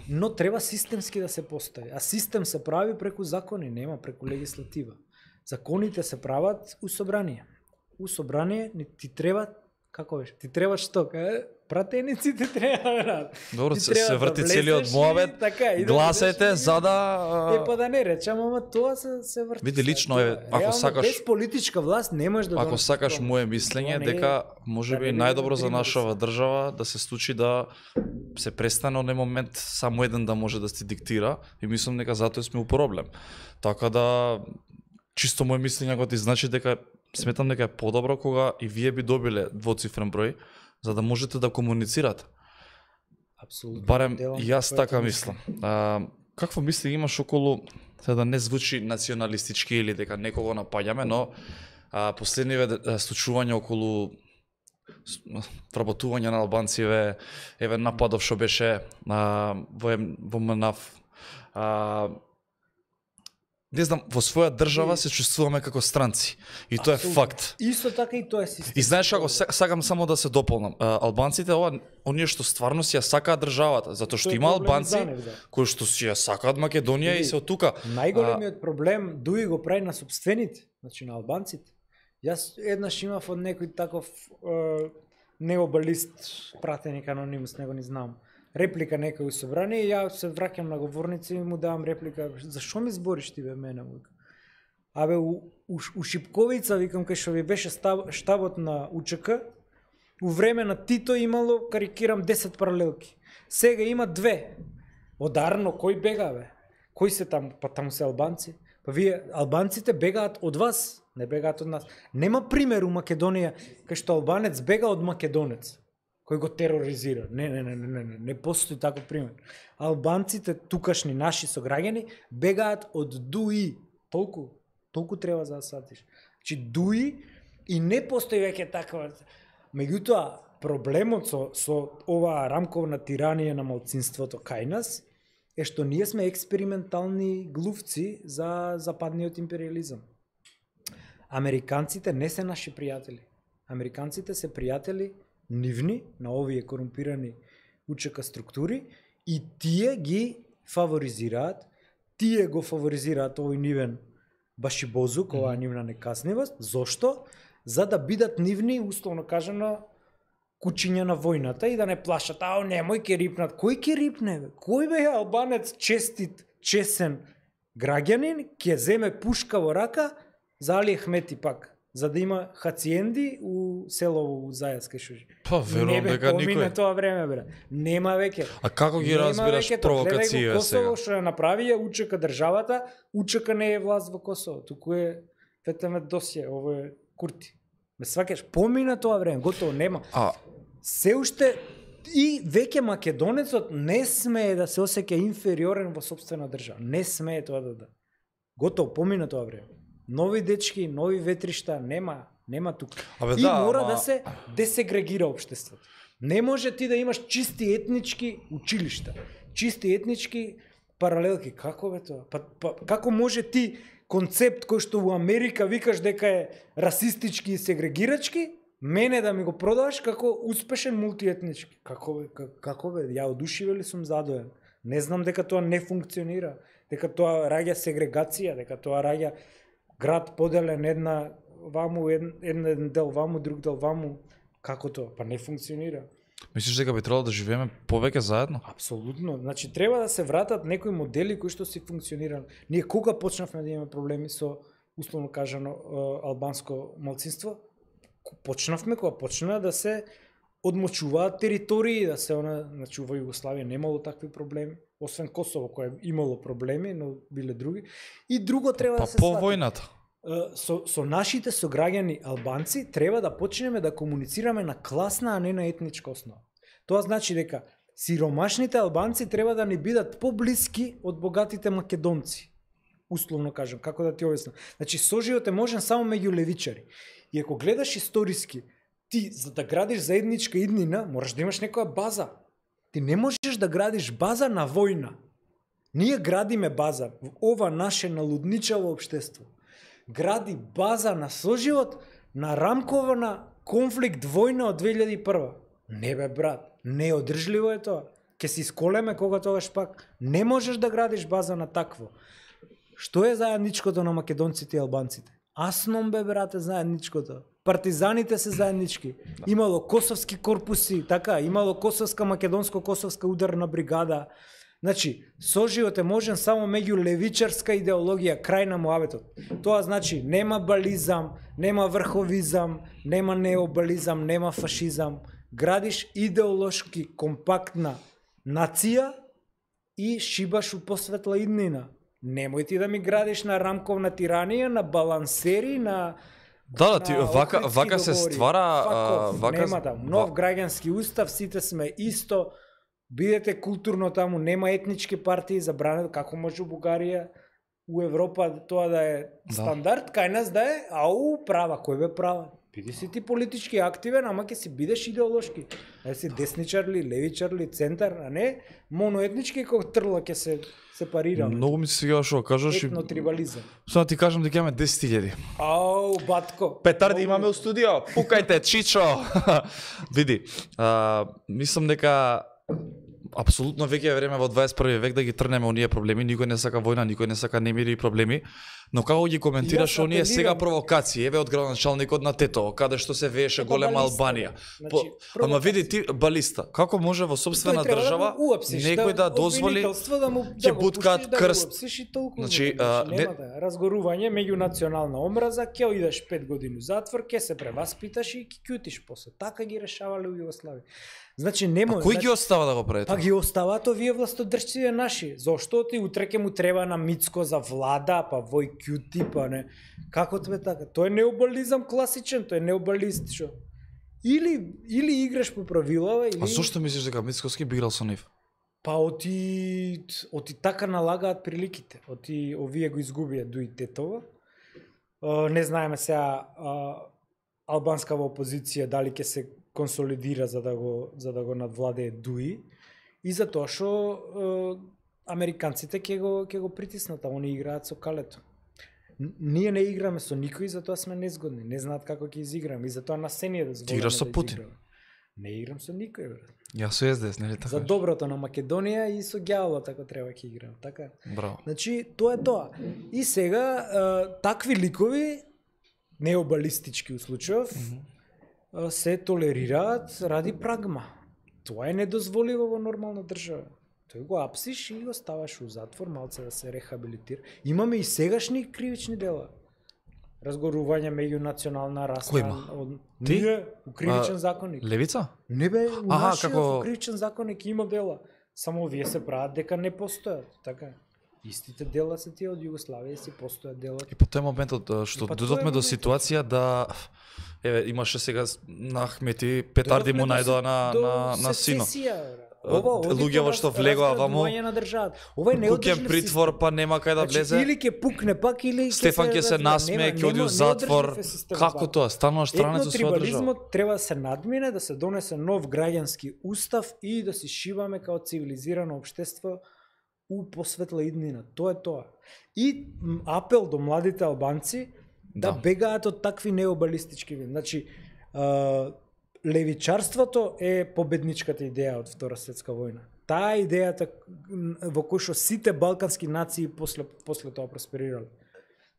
но треба системски да се постави. А систем се прави преку закони, нема преку легислатива. Законите се прават у собрание. У собрание ти треба, како беше? Ти треба што? Пратениците треба. Добро, се, се врти да целиот моабет. Така, гласете да за да Е па да не речам, ама тоа се се врти. Види лично е, ако реално, сакаш без политичка власт не можеш да Ако сакаш тоа. мое мислење Тоа не е- дека можеби да не најдобро за биде нашава држава да се случи да се престане онен момент само еден да може да се диктира и мислам дека затоа сме у проблем. Така да чисто мое мислење го ти значи дека сметам дека е подобро кога и вие би добиле двоцифрен број за да можете да комуницирате. Апсолутно. Барем Делам јас твоето така мислење. мислам. А, какво мисли имаш околу, се да не звучи националистички или дека некого напаѓаме, но а, последниве а, случувања околу с- вработување на албанциве, еве нападов што беше а, во, М- во МНАФ. А, не знам, во своја држава се чувствуваме како странци. И тоа е Апсолутно. факт. Исто така и тоа е систем. И знаеш како, са- сакам само да се дополнам. А, албанците, ова, оние што стварно си ја сакаат државата, затоа што Тој е има проблем албанци за нив, да. кои што си ја сакаат Македонија и Види, се од тука. Најголемиот проблем дуи го прави на собствените, значи на албанците. Јас еднаш имав од некој таков е, необалист пратеник анонимус, него не знам. Реплика некој у собрание и ја се враќам на говорница и му давам реплика. Зашо ми збориш ти бе мене? Му викам. Абе у, у, у Шипковица, викам, кај што ви беше став, штабот на УЧК, у време на Тито имало, карикирам, десет паралелки. Сега има две. Одарно, кој бега бе? Кои се там? Па таму се албанци. Па вие, албанците бегаат од вас, не бегаат од нас. Нема пример у Македонија кај што албанец бега од македонец, кој го тероризира. Не, не, не, не, не, не постои таков пример. Албанците, тукашни наши сограѓани, бегаат од дуи. Толку, толку треба за да сватиш. Значи дуи и не постои веќе таква. Меѓутоа, проблемот со, со оваа рамковна тиранија на малцинството кај нас е што ние сме експериментални глувци за западниот империализам. Американците не се наши пријатели. Американците се пријатели нивни на овие корумпирани УЧК структури и тие ги фаворизираат, тие го фаворизираат овој нивен башибозук, оваа нивна некаснивост. Зошто? За да бидат нивни, условно кажано, кучиња на војната и да не плашат, ао, немој ке рипнат. Кој ке рипне, бе? Кој бе албанец честит, чесен граѓанин ќе земе пушка во рака за Али Ахмети пак, за да има хациенди у село у Зајацка шужи. Па, верувам дека никој. Не бе, тоа време, бре. Нема веќе. А како ги разбираш провокација сега? Косово што ја направија УЧК државата, УЧК не е власт во Косово, туку е Фетеме Досје, ово е Курти. Ме сваќаш, помина тоа време, готово нема. А се уште и веќе македонецот не смее да се осеќа инфериорен во сопствена држава. Не смее тоа да да. Готово, помина тоа време. Нови дечки, нови ветришта, нема, нема тука. Абе, и да, мора ама... да се десегрегира општеството. Не може ти да имаш чисти етнички училишта, чисти етнички паралелки. Како бе тоа? Па, па, како може ти концепт кој што во Америка викаш дека е расистички и сегрегирачки, мене да ми го продаваш како успешен мултиетнички? Како бе, как, како бе? Ја одушиве ли сум задоен? Не знам дека тоа не функционира, дека тоа раѓа сегрегација, дека тоа раѓа град поделен една ваму, еден, еден дел ваму, друг дел ваму. Како тоа? Па не функционира. Мислиш дека би требало да живееме повеќе заедно? Апсолутно. Значи треба да се вратат некои модели кои што си функционирале. Ние кога почнавме да имаме проблеми со, условно кажано, албанско малцинство? Почнавме кога почна да се одмочуваат територии, да се она, значи во Југославија немало такви проблеми, освен Косово кое имало проблеми, но биле други. И друго треба па, да се по војната. Со, со нашите сограѓани албанци треба да почнеме да комуницираме на класна, а не на етничка основа. Тоа значи дека сиромашните албанци треба да ни бидат поблиски од богатите македонци. Условно кажам, како да ти објаснам. Значи соживот е можен само меѓу левичари. И ако гледаш историски, ти за да градиш заедничка иднина, можеш да имаш некоја база. Ти не можеш да градиш база на војна. Ние градиме база во ова наше налудничаво општество. Гради база на соживот на рамкова на конфликт војна од две илјади и прва. Не бе, брат, неодржливо е тоа. Ке се исколеме кога тогаш пак. Не можеш да градиш база на такво. Што е заедничкото на македонците и албанците? Асном бе, брате, заедничкото. Партизаните се заеднички. Имало косовски корпуси, така, имало косовска македонско-косовска ударна бригада. Значи, соживот е можен само меѓу левичарска идеологија, крај на муабетот. Тоа значи, нема бализам, нема врховизам, нема необализам, нема фашизам. Градиш идеолошки компактна нација и шибаш у посветла иднина. Немој ти да ми градиш на рамковна тиранија, на балансери, на Да, да, ти вака вака се ствара, а, вака нема да, нов граѓански устав, сите сме исто. Бидете културно таму, нема етнички партии забрането, како може у Бугарија, у Европа тоа да е стандард, да. Кај нас да е, ау, права, кој бе права? Биди си ти политички активен, ама ќе си бидеш идеолошки. Да си десничар ли, левичар ли, центар, а не моноетнички кој трла ќе се сепарира. Многу ми се сега што кажеш. Етнотрибализам. Само ти кажам дека имаме десет илјади. Ау, батко. Петарди имаме у студио. Пукајте, Чичо. Види, а, мислам дека апсолутно веќе е време во дваесет и први век да ги трнеме оние проблеми, никој не сака војна, никој не сака немири и проблеми, но како ги коментираш оние сега провокации, еве од градоначалникот на Тетово, каде што се вееше голема Албанија. Значи, По, ама види ти балиста, како може во сопствена држава да некој да дозволи да му ќе буткаат крст. Значи, а, не... разгорување меѓунационална омраза, ќе одиш пет години затвор, ќе се преваспиташ и ќе кјутиш после. Така ги решавале у Југославија. Значи нема. А кој значи, ги остава да го прави? Па ги оставаат овие властодржци наши. Зошто ти утре ќе му треба на Мицко за влада, па вој кјути, па не. Како тебе така? Тоа е необализам класичен, тоа е необалист што. Или или играш по правилава или А зошто мислиш дека Мицкоски би играл со нив? па оти оти така налагаат приликите. Оти овие го изгубија Дуи Тетова. Uh, не знаеме сега uh, албанска опозиција дали ќе се консолидира за да го за да го надвладее Дуи и затоа што uh, американците ќе го ќе го притиснат, а они играат со калето. Н- Ние не играме со никој, затоа сме незгодни. Не знаат како ќе изиграме и затоа на се ни е дозволено. Ти играш со да Путин? изиграме. Не играм со никој, брат. Ја со Ес Д Ес, нели така? За доброто на Македонија и со ѓаволот ако треба ќе играм, така? Браво. Значи, тоа е тоа. И сега, а, такви ликови, необалистички у случајов, а, се толерираат ради прагма. Тоа е недозволиво во нормална држава. Тој го апсиш и го ставаш у затвор, малце да се рехабилитира. Имаме и сегашни кривични дела. Разгорување меѓу национална раста. Кој има? Од... Ти? Ние, у кривичен А, законник. Левица? Не бе, у Аха, нашиот како- како... кривичен законник има дела. Само вие се прават дека не постојат, така. Истите дела се тие од Југославија си постојат дела. И по тој моментот а, што И па додовме тоа е до моментот. ситуација да еве имаше сега с- на Ахмети петарди му Дојдовме до најдоа се- на до на на синот. сесесија, бре. Од- Ова оди луѓе по во што раз- влегоа вамо, разградување на државата. Ова е Куќен неодржлив притвор систем. па нема кај да Значи, влезе. или ќе пукне пак или ќе Стефан ќе се разбира. насмее, Нема- ќе оди у нема- затвор. неодржлив е системот Како вака. тоа? Стануваш странец од своја држава. Етнотрибализмот треба да се надмине, да се донесе нов граѓански устав и да си шиваме као цивилизирано општество у посветла иднина. Тоа е тоа. И м, апел до младите албанци да, Да. бегаат од такви необалистички вин. Значи, а, левичарството е победничката идеја од Втора светска војна. Таа е идејата м, во кој што сите балкански нации после после тоа просперирале.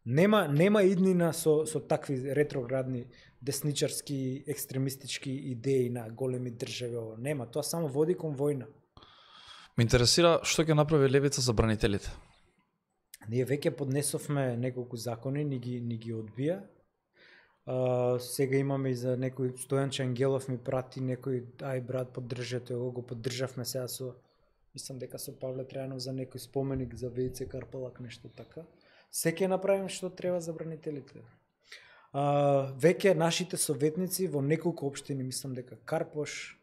Нема нема иднина со со такви ретроградни десничарски екстремистички идеи на големи држави ово. Нема, тоа само води кон војна. Ме интересира што ќе направи Левица за бранителите. Ние веќе поднесовме неколку закони, ни ги ни ги одбија. А, сега имаме и за некој Стојанче Ангелов ми прати некој ај брат поддржете го, го поддржавме сега со мислам дека со Павле Трајанов за некој споменик за Вејце Карпалак нешто така. Се ќе направиме што треба за бранителите. А, веќе нашите советници во неколку општини, мислам дека Карпош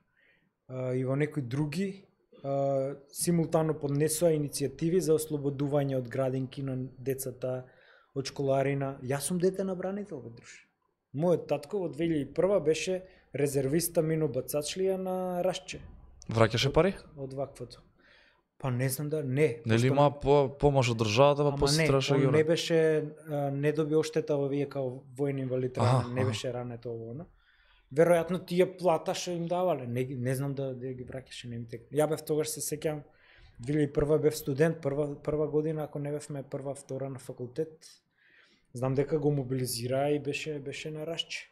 а, и во некои други а, симултано поднесоа иницијативи за ослободување од градинки на децата, од школарина. Јас сум дете на бранител, бе друже. Мојот татко во две илјади и прва беше резервиста минобацачлија на Рашче Враќаше пари? од ваквото. Па не знам да не. Нели пошто- има по, помош од државата, па Ама после не, требаше ги он не враќа. беше, а, не доби оштета во вие као војни инвалид, Аха, ранен, не аха. беше рането ово, оно. Веројатно тие плата што им давале, не, ги- не знам да, да ги враќаше, не ми тек. Ја бев тогаш се сеќам, две илјади и прва бев студент, прва, прва година, ако не бевме прва, втора на факултет, знам дека го мобилизира и беше, беше на Рашче.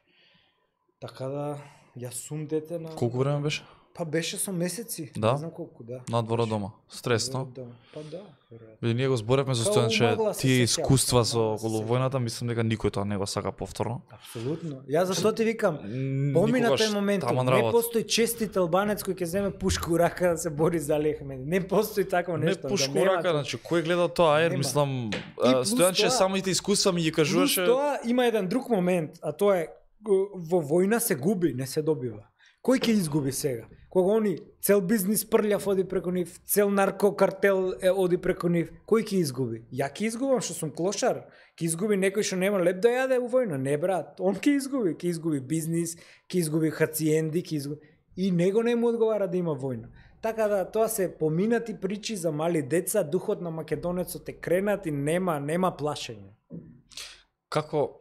Така да, јас сум дете на... Колку време беше? Па беше со месеци, Да? не знам колку, да. Надвор од дома. Стресно. Да, па да, веројатно. Бидејќи ние го зборевме за Као Стојанче, умагла се тие сеќавам, искуства со умагла се околу сеќавам. војната, мислам дека никој тоа не го сака повторно. Апсолутно. Јас зашто ти викам, М, помина никогаш тој момент, таман не работа. постои честит албанец кој ќе земе пушка у рака да се бори за Али Ахмеди. Не постои такво Не нешто. пушку да нема рака, тоа. значи кој гледа тоа, ер Нема. мислам, И а, плюс Стојанче тоа- самите искуства ми ги Плюс кажуваше. тоа има еден друг момент, а тоа е го- во војна се губи, не се добива. Кој ќе изгуби сега? Кога они цел бизнис прљав оди преку нив, цел наркокартел е оди преку нив, кој ќе изгуби? Ја ќе изгубам што сум клошар, ќе изгуби некој што нема леп да јаде у војна, не брат, он ќе изгуби, ќе изгуби бизнис, ќе изгуби хациенди, ќе изгуби и него не му одговара да има војна. Така да тоа се поминати причи за мали деца, духот на македонецот е кренат и нема нема плашење. Како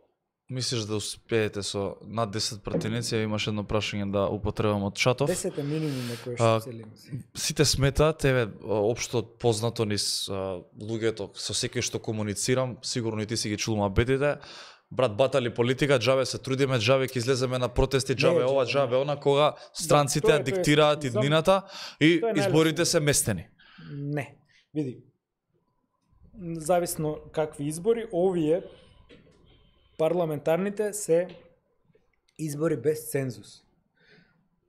мислиш да успеете со над десет пратеници? Ја имаш едно прашање да употребам од Чатов. десет е минимум некој А, што целим. Сите сметаат, еве, општо познато низ а, луѓето со секој што комуницирам, сигурно и ти си ги чул мабетите, брат батали политика, џабе се трудиме, џабе ќе излеземе на протести, џабе Не, ова, џабе, џабе она, кога странците тоа ја е- тоа е- диктираат за- иднината и тоа е изборите најлесно. се местени. Не, види. Зависно какви избори, овие парламентарните се избори без цензус.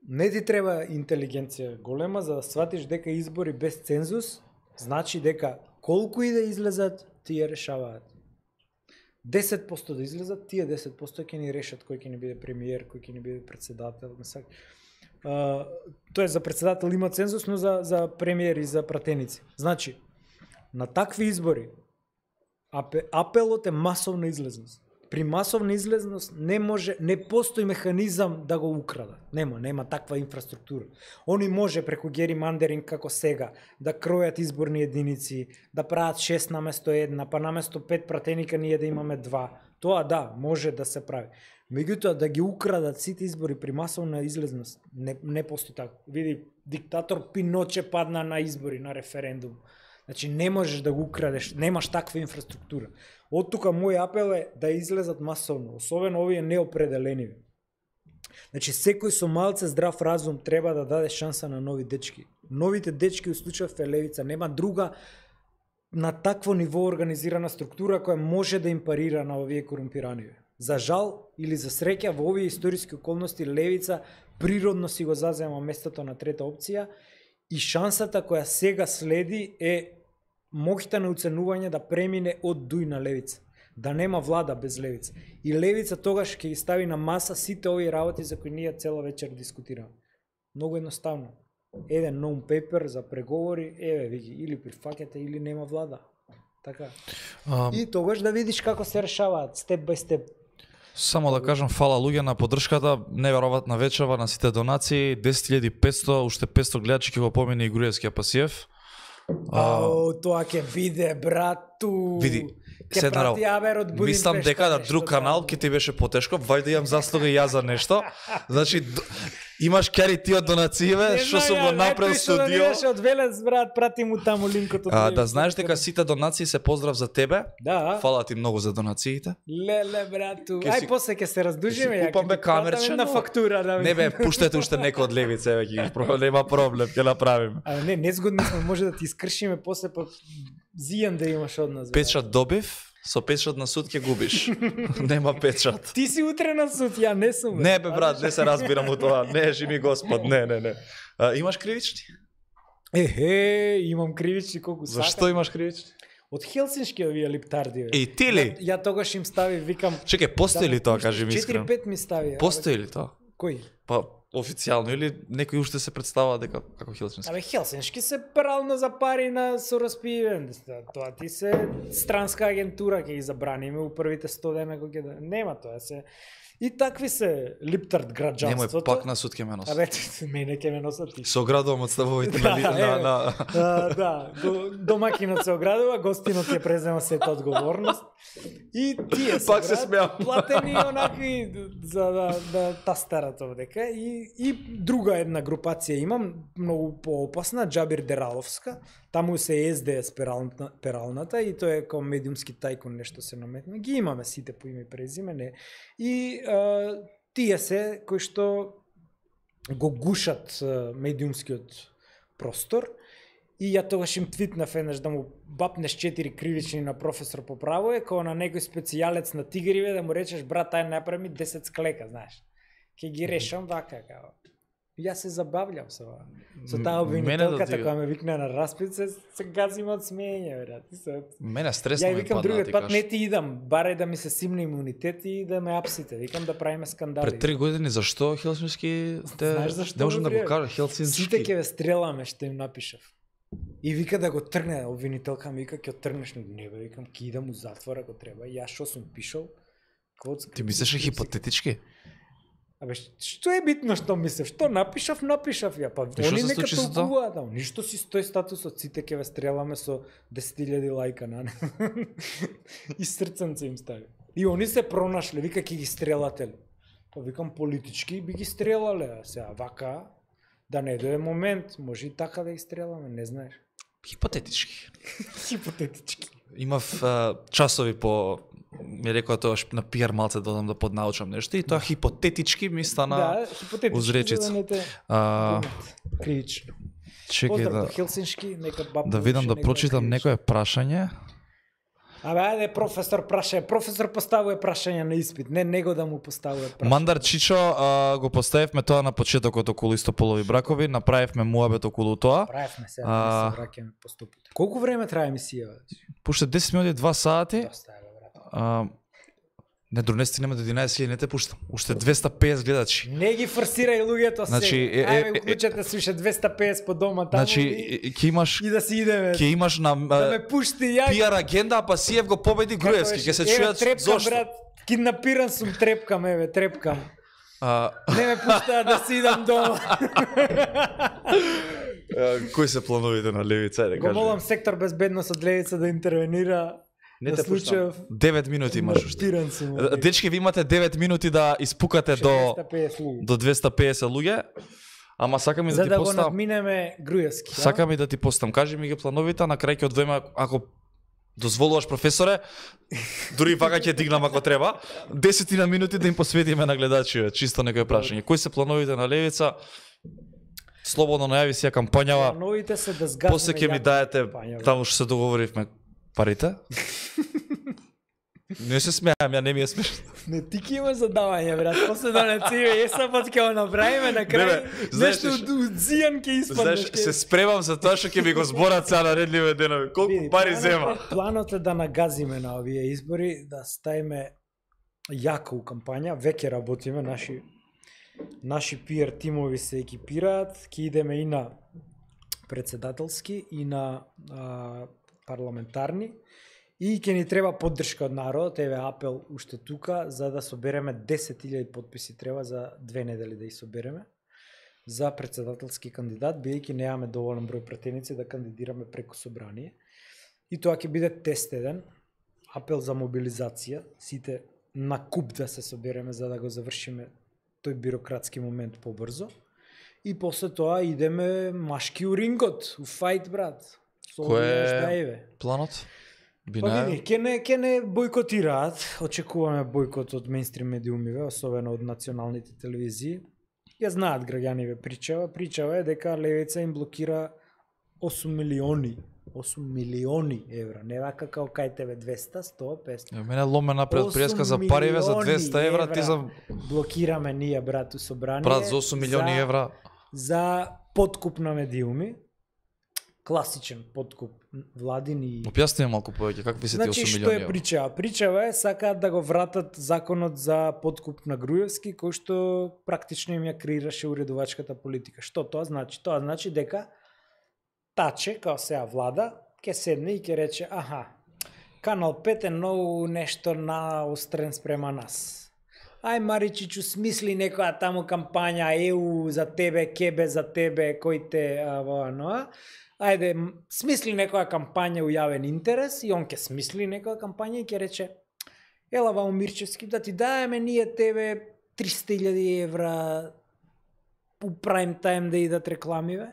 Не ти треба интелигенција голема за да сватиш дека избори без цензус значи дека колку и да излезат, тие решаваат. десет проценти да излезат, тие десет проценти ќе ни решат кој ќе ни биде премиер, кој ќе ни биде председател, Uh, тоа е за председател има цензус, но за, за премиер и за пратеници. Значи, на такви избори апелот е масовна излезност. При масовна излезност не може, не постои механизам да го украдат. Нема, нема таква инфраструктура. Они може преку геримандеринг како сега да кројат изборни единици, да прават шест наместо една, па наместо пет пратеника ние да имаме два. Тоа да, може да се прави. Меѓутоа да ги украдат сите избори при масовна излезност, не, не постои така. Види, диктатор Пиноче падна на избори, на референдум. Значи не можеш да го украдеш, немаш таква инфраструктура. Од тука мој апел е да излезат масовно, особено овие неопределени. Значи секој со малце здрав разум треба да даде шанса на нови дечки. Новите дечки, у случајов е левица, нема друга на такво ниво организирана структура која може да им парира на овие корумпирани. За жал или за среќа во овие историски околности левица природно си го зазема местото на трета опција и шансата која сега следи е моќта на уценување да премине од дуј на левица, да нема влада без левица. И левица тогаш ќе ги стави на маса сите овие работи за кои ние цела вечер дискутираме. Многу едноставно. Еден non-paper за преговори, еве види, или прифаќате или нема влада. Така. Um, и тогаш да видиш како се решаваат степ бај степ. Само да кажам фала луѓе на поддршката, неверојатна вечерва на сите донации, десет илјади и петсто, уште петсто гледачи ќе го помине и Груевскиот Пасиев. Ау, тоа ќе биде, брату. Види, ќе прати Абер од Будимпешта. Мислам дека на друг канал ќе ти беше потешко, вајде имам заслуга и ја за нешто. Значи имаш кари ти од донацииве, што сум го направил студио. Не од Велес, брат, прати му таму линкот од а, да знаеш дека сите донации се поздрав за тебе. Да. Фала ти многу за донациите. Леле, брату. Ај си, после ќе се раздужиме, ја. Купаме камерче на фактура, да. Не бе, пуштете уште некој од левица, еве ќе нема проблем, ќе направиме. А не, незгодни сме, може да ти искршиме после па зијан да имаш од нас. Печат добив. Со печат на суд ќе губиш. Нема печат. Ти си утре на суд, ја не сум. Бе. Не бе брат, не се разбирам од тоа. Не, живи Господ, не, не, не. А, имаш кривични? Ехе, имам кривични колку сакам. Зашто имаш кривични? Од Хелсиншки овие липтарди. Бе. И ти ли? Ја, ја тогаш им стави, викам. Чекај, постои ли тоа, кажи ми искрено? четири пет ми стави. Постои ли тоа? Кој? Па официјално или некој уште се представува дека како Хелсински? Абе Хелсиншки се прално за пари на сораспивен. Тоа ти се странска агентура, ќе ги забраниме у првите сто дена кога ќе да нема тоа се. И такви се липтард граѓанството. Немој пак на суд ќе ме носат. Абе мене ќе ме носат ти. Со оградувам од ставовите на на на. Да, да, домакинот се оградува, гостинот ќе презема сета одговорност. И тие се пак се смеам. Платени онакви за да да тастарат овдека и и друга една групација имам многу поопасна, Џабир Дераловска. Таму се Ес Де Ес пералната, пералната и тоа е како медиумски тајкун нешто се наметна. Ги имаме сите по име и презиме, не. И а, тие се кои што го гушат а, медиумскиот простор. И ја тогаш им твитнав еднаш да му бапнеш четири кривични на професор по право е како на некој специјалец на тигриве да му речеш брат ај направи десет склека, знаеш. Ќе ги решам вака како. Јас се забавljам со ова. Со таа обвинителката која ме викна на распит се, се газим од смење, брат. Се... Мене стресно ме падна. Ја викам другиот пат не ти идам, барај да ми се симне имунитет и да ме апсите. Викам да правиме скандали. Пред три години зашто Хелсински те знаеш зашто? Не можам да го кажа Хелсински. Сите ќе ве стреламе, што им напишав. И вика да го тргне, обвинителка ми вика ќе тргнеш на небе, викам ќе идам у затвор ако треба. Јас што сум пишал? Коцка. Ти мислиш хипотетички? Абе, што е битно што мислев? Што напишав, напишав ја. Па они нека толкуваат, да. Ништо си стои статусот, сите ќе ве стреламе со десет илјади лајка на не. И срценце им стави. И они се пронашле, вика ќе ги стрелате. Па викам политички би ги стрелале, сега вака да не дојде момент, може и така да ги стреламе, не знаеш. Хипотетички. Хипотетички. Имав а, часови по ми рекоа тоа на пиар малце додам да поднаучам нешто и тоа хипотетички ми стана да, хипотетички, узречица. За да не те а, кривично. Чекај да Хелсиншки, нека баб да видам да прочитам некое прашање. Абе, ајде, професор прашање. Професор поставува прашање на испит, не него да му поставува прашање. Мандар Чичо, а, го поставивме тоа на почетокот околу истополови бракови, направивме муабет околу тоа. Правевме се, да се враќаме постапот. Колку време трае емисија? Пуште десет минути, два сати. Доста е, брат. А, Не, донести нема до единаесет илјади, не те пуштам. Уште двесте и песет гледачи. Не ги форсирај луѓето се. Значи, е, е, Ајде, е, уклучете се уште двесте и песет по дома таму Значи, и, ќе имаш и да си идеме. ќе имаш на Да ме пушти ја. пиар агенда, па Сиев го победи Груевски, ќе се Еве, чујат трепкам, зошто. брат, киднапиран сум, трепкам, еве, трепкам. А, Не ме пуштаат да си идам дома. кои се плановите на Левица, ајде Го молам кажи. сектор безбедност од Левица да интервенира. Не на те случајов пуштам. девет минути имаш уште. Киднапиран сум. Дечки, ви имате девет минути да испукате до двесте и песет луѓе. до двесте и песет луѓе. Ама сакам и да За ти да го постам. надминеме Груевски. а? Сакам и да ти постам. Кажи ми ги плановите, а на крај ќе одвоиме ако дозволуваш, професоре, дури вака ќе дигнам ако треба, десет минути да им посветиме на гледачите, чисто некој прашање. Кои се плановите на Левица? Слободно најави си ја кампањава. Плановите се да згазиме. После ќе ми јако даете, кампања, таму што се договоривме, парите. Не се смеам, ја не ми е смешно. Не, ти ки имаш задавање, брат. После да не циве, ЕСА пат ќе го направиме на Не, крај. бе, знаеш Нешто што- од зијан ќе испаднеш. Знаеш, се спремам за тоа што ќе ми го зборат сега наредливе денови. Колку Види, пари планот е- зема? Планот е да нагазиме на овие избори, да ставиме јако у кампања, веќе работиме, наши наши пиар тимови се екипираат, ќе идеме и на председателски и на а, парламентарни и ќе ни треба поддршка од народот, еве апел уште тука за да собереме десет илјади потписи треба за две недели да ги собереме за председателски кандидат, бидејќи немаме доволен број пратеници да кандидираме преку собрание. И тоа ќе биде тест еден, апел за мобилизација, сите на куп да се собереме за да го завршиме тој бирократски момент побрзо. И после тоа идеме машки у рингот, у фајт, брат. Со Кој овие е ждаеве. планот? Па Бинаев? види, ке не, ке не бојкотираат, очекуваме бојкот од мејнстрим медиумиве, особено од националните телевизии. Ја знаат граѓаниве причава, причава е дека Левица им блокира осум милиони, осум милиони евра, не вака као кај тебе двесте, сто, песто. Ја, мене ломе напред осум преска за париве за милиони двесте евра, ти евра за блокираме ние, брат, у собрание. брат за осум милиони за- евра. За подкуп на медиуми. Класичен подкуп владин и Објасни ми малку повеќе какви се тие Значи, осум што милиони е евра. причава? Причава е, сакаат да го вратат законот за подкуп на Груевски, кој што практично им ја креираше уредувачката политика. Што тоа значи? Тоа значи дека Таче, као сеа влада, ќе седне и ќе рече, аха, Канал пет е многу нешто наострен спрема нас. Ај, Маричичу, смисли некоја таму кампања, ЕУ за тебе, Кебе за тебе, кој те, ава, ноа. Ајде, м, смисли некоја кампања у јавен интерес и он ќе смисли некоја кампања и ќе рече ела вамо Мирчевски, да ти даеме ние тебе триста илјади евра у прайм тајм да идат рекламиве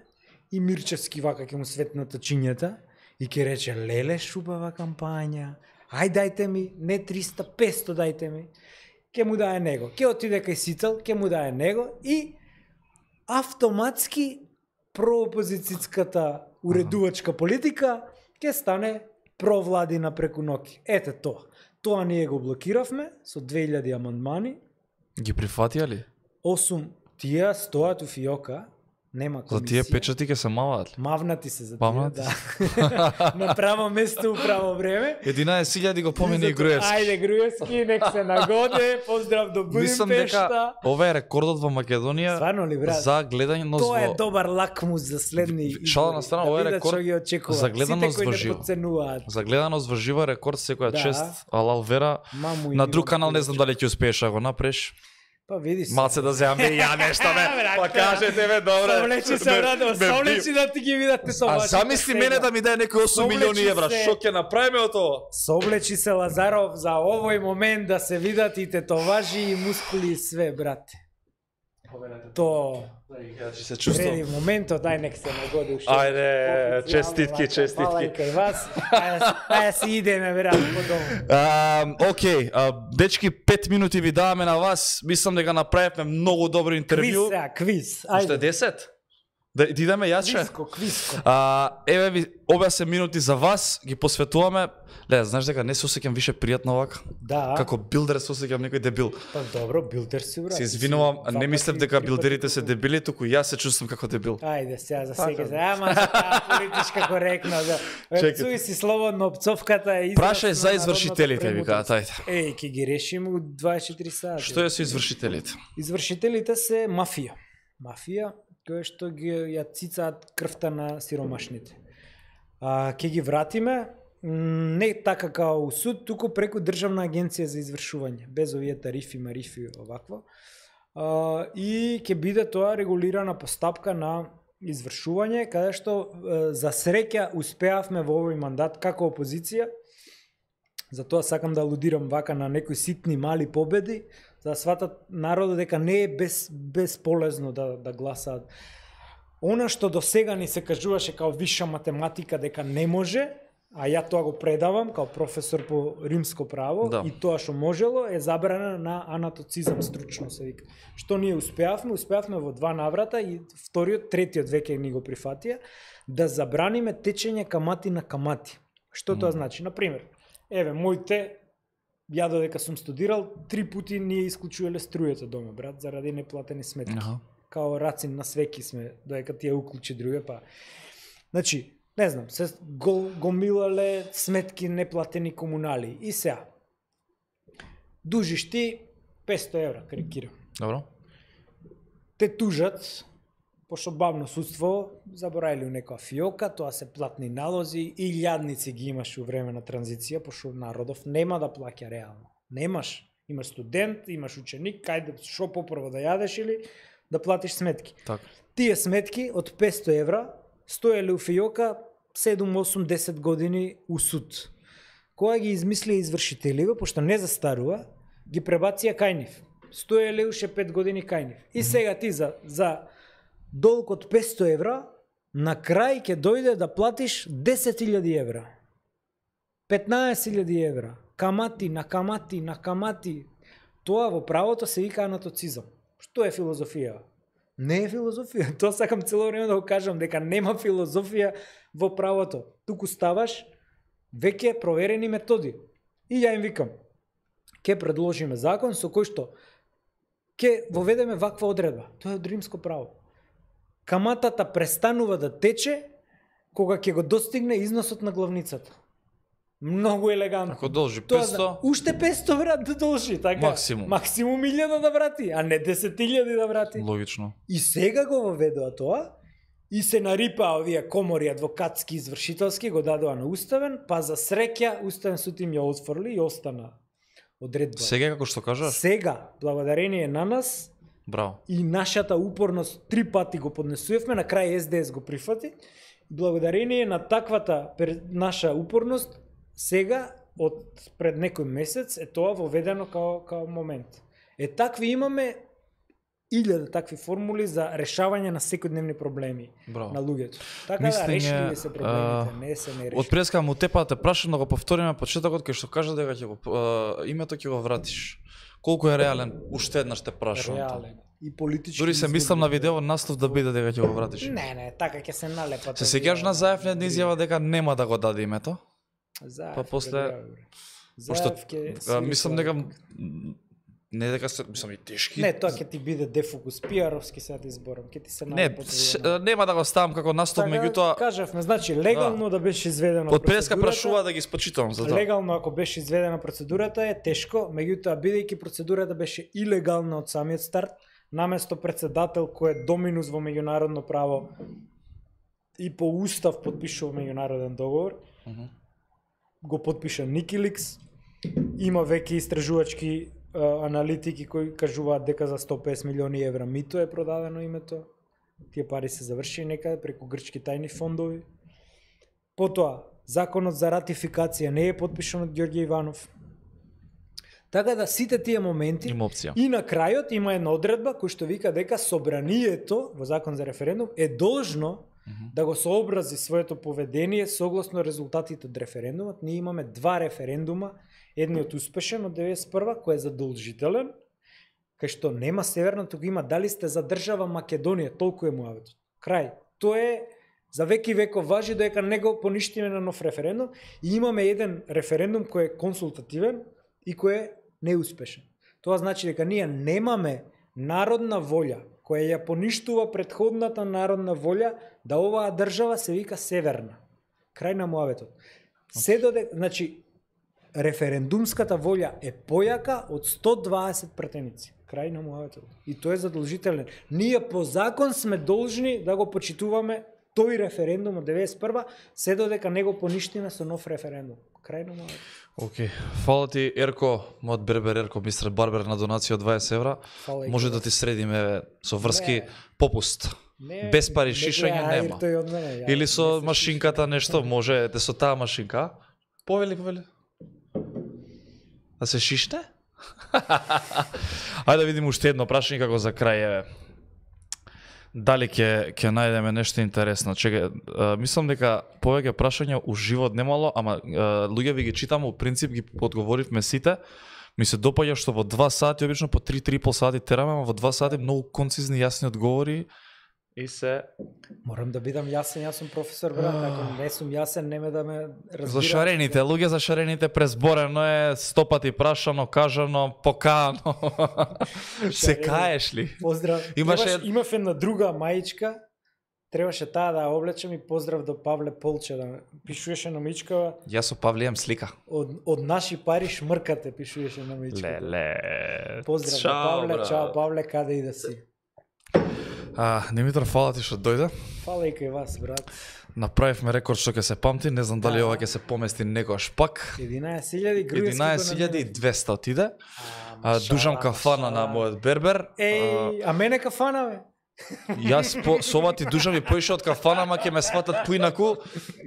и Мирчевски вака ќе му светнат очињата и ќе рече леле шубава кампања, ај дајте ми, не триста, песто дајте ми, ќе му дае него, ќе отиде кај Сител, ќе му дае него и автоматски проопозицијската уредувачка политика ќе стане провладина преку ноќ. Ете тоа. Тоа ние го блокиравме со две илјади амандмани, Ги прифатија ли? осум тие стоат у фиока, нема комисија. За тие печати ќе се маваат ли? Мавнати се за тие, Мавнати да. На право место, у право време. единаесет илјади го помени и Зато, Груевски. Ајде Груевски, нек се нагоде, поздрав до Мислам дека Будимпешта. ова е рекордот во Македонија Стварно ли, брат? за гледање Тоа е во добар лакмус за следни Шала избори, на страна, да ова е видат рекорд што ги очекуваат. за гледаност Сите кои во не живо. подценуваат. за гледаност во живо рекорд секоја Да. чест, алал вера. Маму и На Иван друг канал не знам Кулич. дали ќе успееш да го направиш. Па види се. Малце да земам и ја нешто бе. Брате, Па кажете бе, добре. Совлечи се, Ме- брат, ме совлечи да ти ги видат те со А вашите замисли сега. мене да ми даде некои осум Совлечи милиони евра, се. што ќе направиме од тоа? Совлечи се Лазаров за овој момент да се видат и тетоважи и мускули и све, брате. То Ја ќе се преди чувствувам. моментот, ај нек се нагоди уште. Ајде, Официјално, честитки, вака, честитки. Фала и кај вас. Ајде, ајде си идеме, брат, по дому. А, окей, а, дечки, пет минути ви даваме на вас. Мислам дека направивме многу добро Квиз, интервју. сега, квиз. Уште Ајде. десет? Да да идеме јаче. Квиско, квиско. А, еве ви објасне минути за вас, ги посветуваме. Ле, знаеш дека не се осеќам више пријатно овака. Да. Како билдер се осеќам некој дебил. Па добро, билдер си брат. Се извинувам, Два не мислев пати, дека три билдерите пати се толку. дебили, туку јас се чувствувам како дебил. Ајде сега за Така. сега. за- Ама за таа политичка коректно. Да. Чекайте. Цуи си слободно, опцовката е израз Прашај на за народната извршителите, ви премудрост. кажат, ајде. Еј, ќе ги решиме у дваесет и четири сати. Што е со извршителите? Извршителите се мафија. Мафија која што ги ја цицаат крвта на сиромашните. А, ќе ги вратиме м, не така као у суд, туку преку Државна агенција за извршување, без овие тарифи, марифи овакво. А, и ќе биде тоа регулирана постапка на извршување, каде што е, за среќа успеавме во овој мандат како опозиција. Затоа сакам да алудирам вака на некои ситни мали победи, за да сватат народот дека не е без, безполезно да, да гласаат. Она што до сега ни се кажуваше као виша математика дека не може, а ја тоа го предавам као професор по римско право, Да. и тоа што можело е забрана на анатоцизам стручно се вика. Што ние успеавме, успеавме во два наврата и вториот, третиот веќе ни го прифатија, да забраниме течење камати на камати. Што тоа значи? Например, еве, моите, ја додека сум студирал, три пати ние исклучувале струјата дома, брат, заради неплатени сметки. Аха. Као рацин на свеки сме, додека ти ја уклучи друга, па... Значи, не знам, се го, гомилале сметки неплатени комунали. И сега, дужиш ти песто евра, карикирам. Добро. Те тужат, пошто бавно судство, забораили у некоја фиока, тоа се платни налози, и илјадници ги имаш у време на транзиција, пошто народов нема да плаќа реално. Немаш. Имаш студент, имаш ученик, кајде шо попрво да јадеш или да платиш сметки. Така. Тие сметки од песто евра стоеле у фиока седум, осум, десет години у суд. Кога ги измислија извршителиве, пошто не застарува, ги пребација кај нив. Стоеле уште пет години кај нив. И сега ти за, за долг од песто евра, на крај ќе дојде да платиш десет илјади евра. петнаесет илјади евра. Камати на камати на камати. Тоа во правото се вика анатоцизам. Што е филозофија? Не е филозофија. Тоа сакам цело време да го кажам, дека нема филозофија во правото. Туку ставаш веќе проверени методи. И ја им викам, ќе предложиме закон со кој што ќе воведеме ваква одредба. Тоа е од римско право. Каматата престанува да тече кога ќе го достигне износот на главницата. Многу елегантно. Ако должи Тоа песто, да, уште песто брат да должи, така. Максимум. Максимум илјада да врати, а не десет илјади да врати. логично. И сега го воведоа тоа, и се нарипаа овие комори адвокатски извршителски, го дадоа на уставен, па за среќа уставен суд им ја отфрли и остана одредба. Сега како што кажаш? Сега, благодарение на нас Браво. и нашата упорност, три пати го поднесувавме, на крај Ес Де Ес го прифати. Благодарение на таквата пер- наша упорност, сега од пред некој месец е тоа воведено као, као момент. Е такви имаме илјада такви формули за решавање на секојдневни проблеми Браво. на луѓето. Така Мислење, да решливи се проблемите, а, не се не Од решливи. преска му тепа те прашам да го повториме почетокот кај што кажа дека ќе го а, името ќе го вратиш. Колку е реален? Уште еднаш те прашувам. тоа. Реален и политички. Дури се изводи. мислам на видео наслов да биде дека ќе го вратиш. Не, не, така ќе се налепат. Се сеќаш на Заев на една изјава дека нема да го даде името? Заев, Па после- бре, бре. Пошто Заев ќе а, свири мислам тоа. дека м, не дека се мислам и тешки. Не, тоа ќе ти биде дефокус, пиаровски сега ти зборам, ќе ти се Не, налепат ш- овие на- нема да го ставам како наслов, Така, меѓутоа кажавме, значи легално да, беше изведена од преска процедурата, прашува да ги спочитувам за тоа. Легално ако беше изведена процедурата е тешко, меѓутоа бидејќи процедурата беше илегална од самиот старт, наместо председател кој е доминус во меѓународно право и по устав подпишува меѓународен договор, Мгм. го подпиша Никиликс. Има веќе истражувачки а, аналитики кои кажуваат дека за сто и песет милиони евра мито е продадено името. Тие пари се заврши некаде преку грчки тајни фондови. Потоа, законот за ратификација не е подпишан од Ѓорѓе Иванов. Така да сите тие моменти Има опција. и на крајот има една одредба која што вика дека собранието во закон за референдум е должно да го сообрази своето поведение согласно резултатите од референдумот. Ние имаме два референдума, едниот успешен од деветдесет и прва кој е задолжителен, кај што нема северна, туку има дали сте за држава Македонија, толку е муаветот. Крај. тоа е за веки веков важи дека не го поништиме на нов референдум и имаме еден референдум кој е консултативен и кој е неуспешен. Тоа значи дека ние немаме народна волја која ја поништува претходната народна волја да оваа држава се вика северна. Крај на муаветот. Се доде, значи референдумската волја е појака од сто дваесет пратеници. Крај на муаветот. И тој е задолжителен. Ние по закон сме должни да го почитуваме тој референдум од деветдесет и прва, се додека не го поништиме со нов референдум. Крај на муаветот. Океј. Фала ти Ерко, мојот бербер Ерко, мистер Барбер на донација од дваесет евра. Фала Може да ти средиме со врски Не. попуст. Не, Без пари не шишање гледа, нема. ајр тој од мене, ја, Или не со се машинката нешто, може те со таа машинка. Повели, повели. Да се шишне? Ајде да видиме уште едно прашање како за крај еве. Дали ќе ќе најдеме нешто интересно? Чекај, а, мислам дека повеќе прашања у живот немало, ама а, луѓе ви ги читам, у принцип ги одговоривме сите. Ми се допаѓа што во два сати, обично по три три и пол сати тераме, ама во два сати многу концизни јасни одговори и се Морам да бидам јасен, јас сум професор, брат, ако не сум јасен, неме да ме разбира. за шарените, луѓе за шарените презборено е, сто пати прашано, кажано, покано. Се Шарени. каеш ли? Поздрав. Имаше- Имаше имав една друга маичка, требаше таа да ја облечем и поздрав до Павле Полче да ме- пишуваше на маичкава Јас со Павле имам слика. од од наши пари шмркате, пишуваше на маичката. Леле. Поздрав до Чао, Павле, брат. чао Павле, каде и да си. А, Димитар, фала ти што дојде. Фала и кај вас, брат. Направивме рекорд што ќе се памти, не знам дали Да. ова ќе се помести некојаш пак. единаесет илјади грујевски единаесет илјади и двесте отиде. А, шала, дужам кафана шала. на мојот бербер. Еј, а мене кафана, бе? А, јас по, со ова ти дужам и поише од кафана, ама ќе ме сватат поинаку,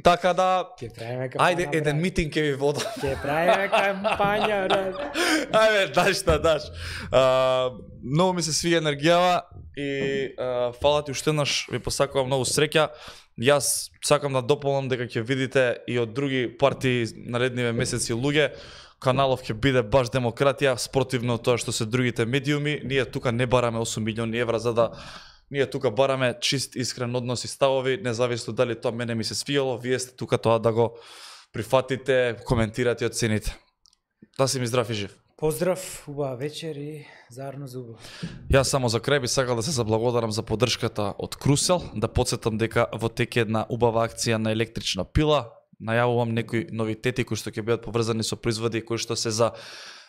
така да Ќе правиме кафана, ајде еден брат. митинг ќе ви водам. Ќе правиме кампања, брат. Ајде, даш šta даш. А, многу ми се свија енергијава и а, фала ти уште еднаш, ви посакувам многу среќа. Јас сакам да дополнам дека ќе видите и од други партии наредниве месеци луѓе. Каналов ќе биде баш демократија, спротивно од тоа што се другите медиуми. Ние тука не бараме осум милиони евра за да ние тука бараме чист искрен однос и ставови, независно дали тоа мене ми се свијало, вие сте тука тоа да го прифатите, коментирате и оцените. Да си ми здрав и жив. Поздрав, убава вечер и заедно за убава. Јас само за крај би сакал да се заблагодарам за поддршката од Крусел, да подсетам дека во теке една убава акција на електрична пила. Најавувам некои новитети кои што ќе бидат поврзани со производи кои што се за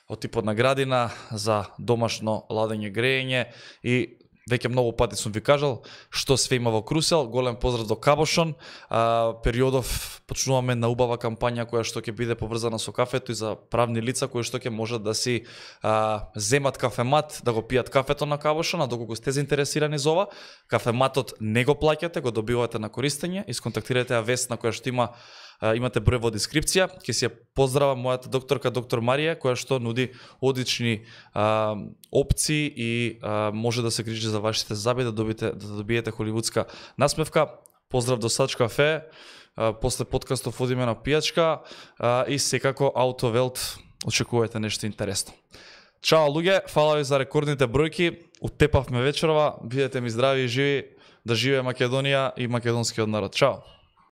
од типот на градина, за домашно ладење, грејење и веќе многу пати сум ви кажал што све има во Крусел. Голем поздрав до Кабошон. А, периодов почнуваме на убава кампања која што ќе биде поврзана со кафето и за правни лица кои што ќе можат да си а, земат кафемат, да го пијат кафето на Кабошон, а доколку сте заинтересирани за ова, кафематот не го плаќате, го добивате на користење, исконтактирате ја Весна која што има Uh, имате број во дескрипција. Ќе си ја поздравам мојата докторка доктор Марија, која што нуди одлични uh, опции и uh, може да се грижи за вашите заби, да добиете да добиете холивудска насмевка. Поздрав до Сач кафе. Uh, после подкастов одиме на пијачка uh, и секако Автовелт очекувате нешто интересно. Чао луѓе, фала ви за рекордните бројки. Утепавме вечерова. Бидете ми здрави и живи. Да живее Македонија и македонскиот народ. Чао.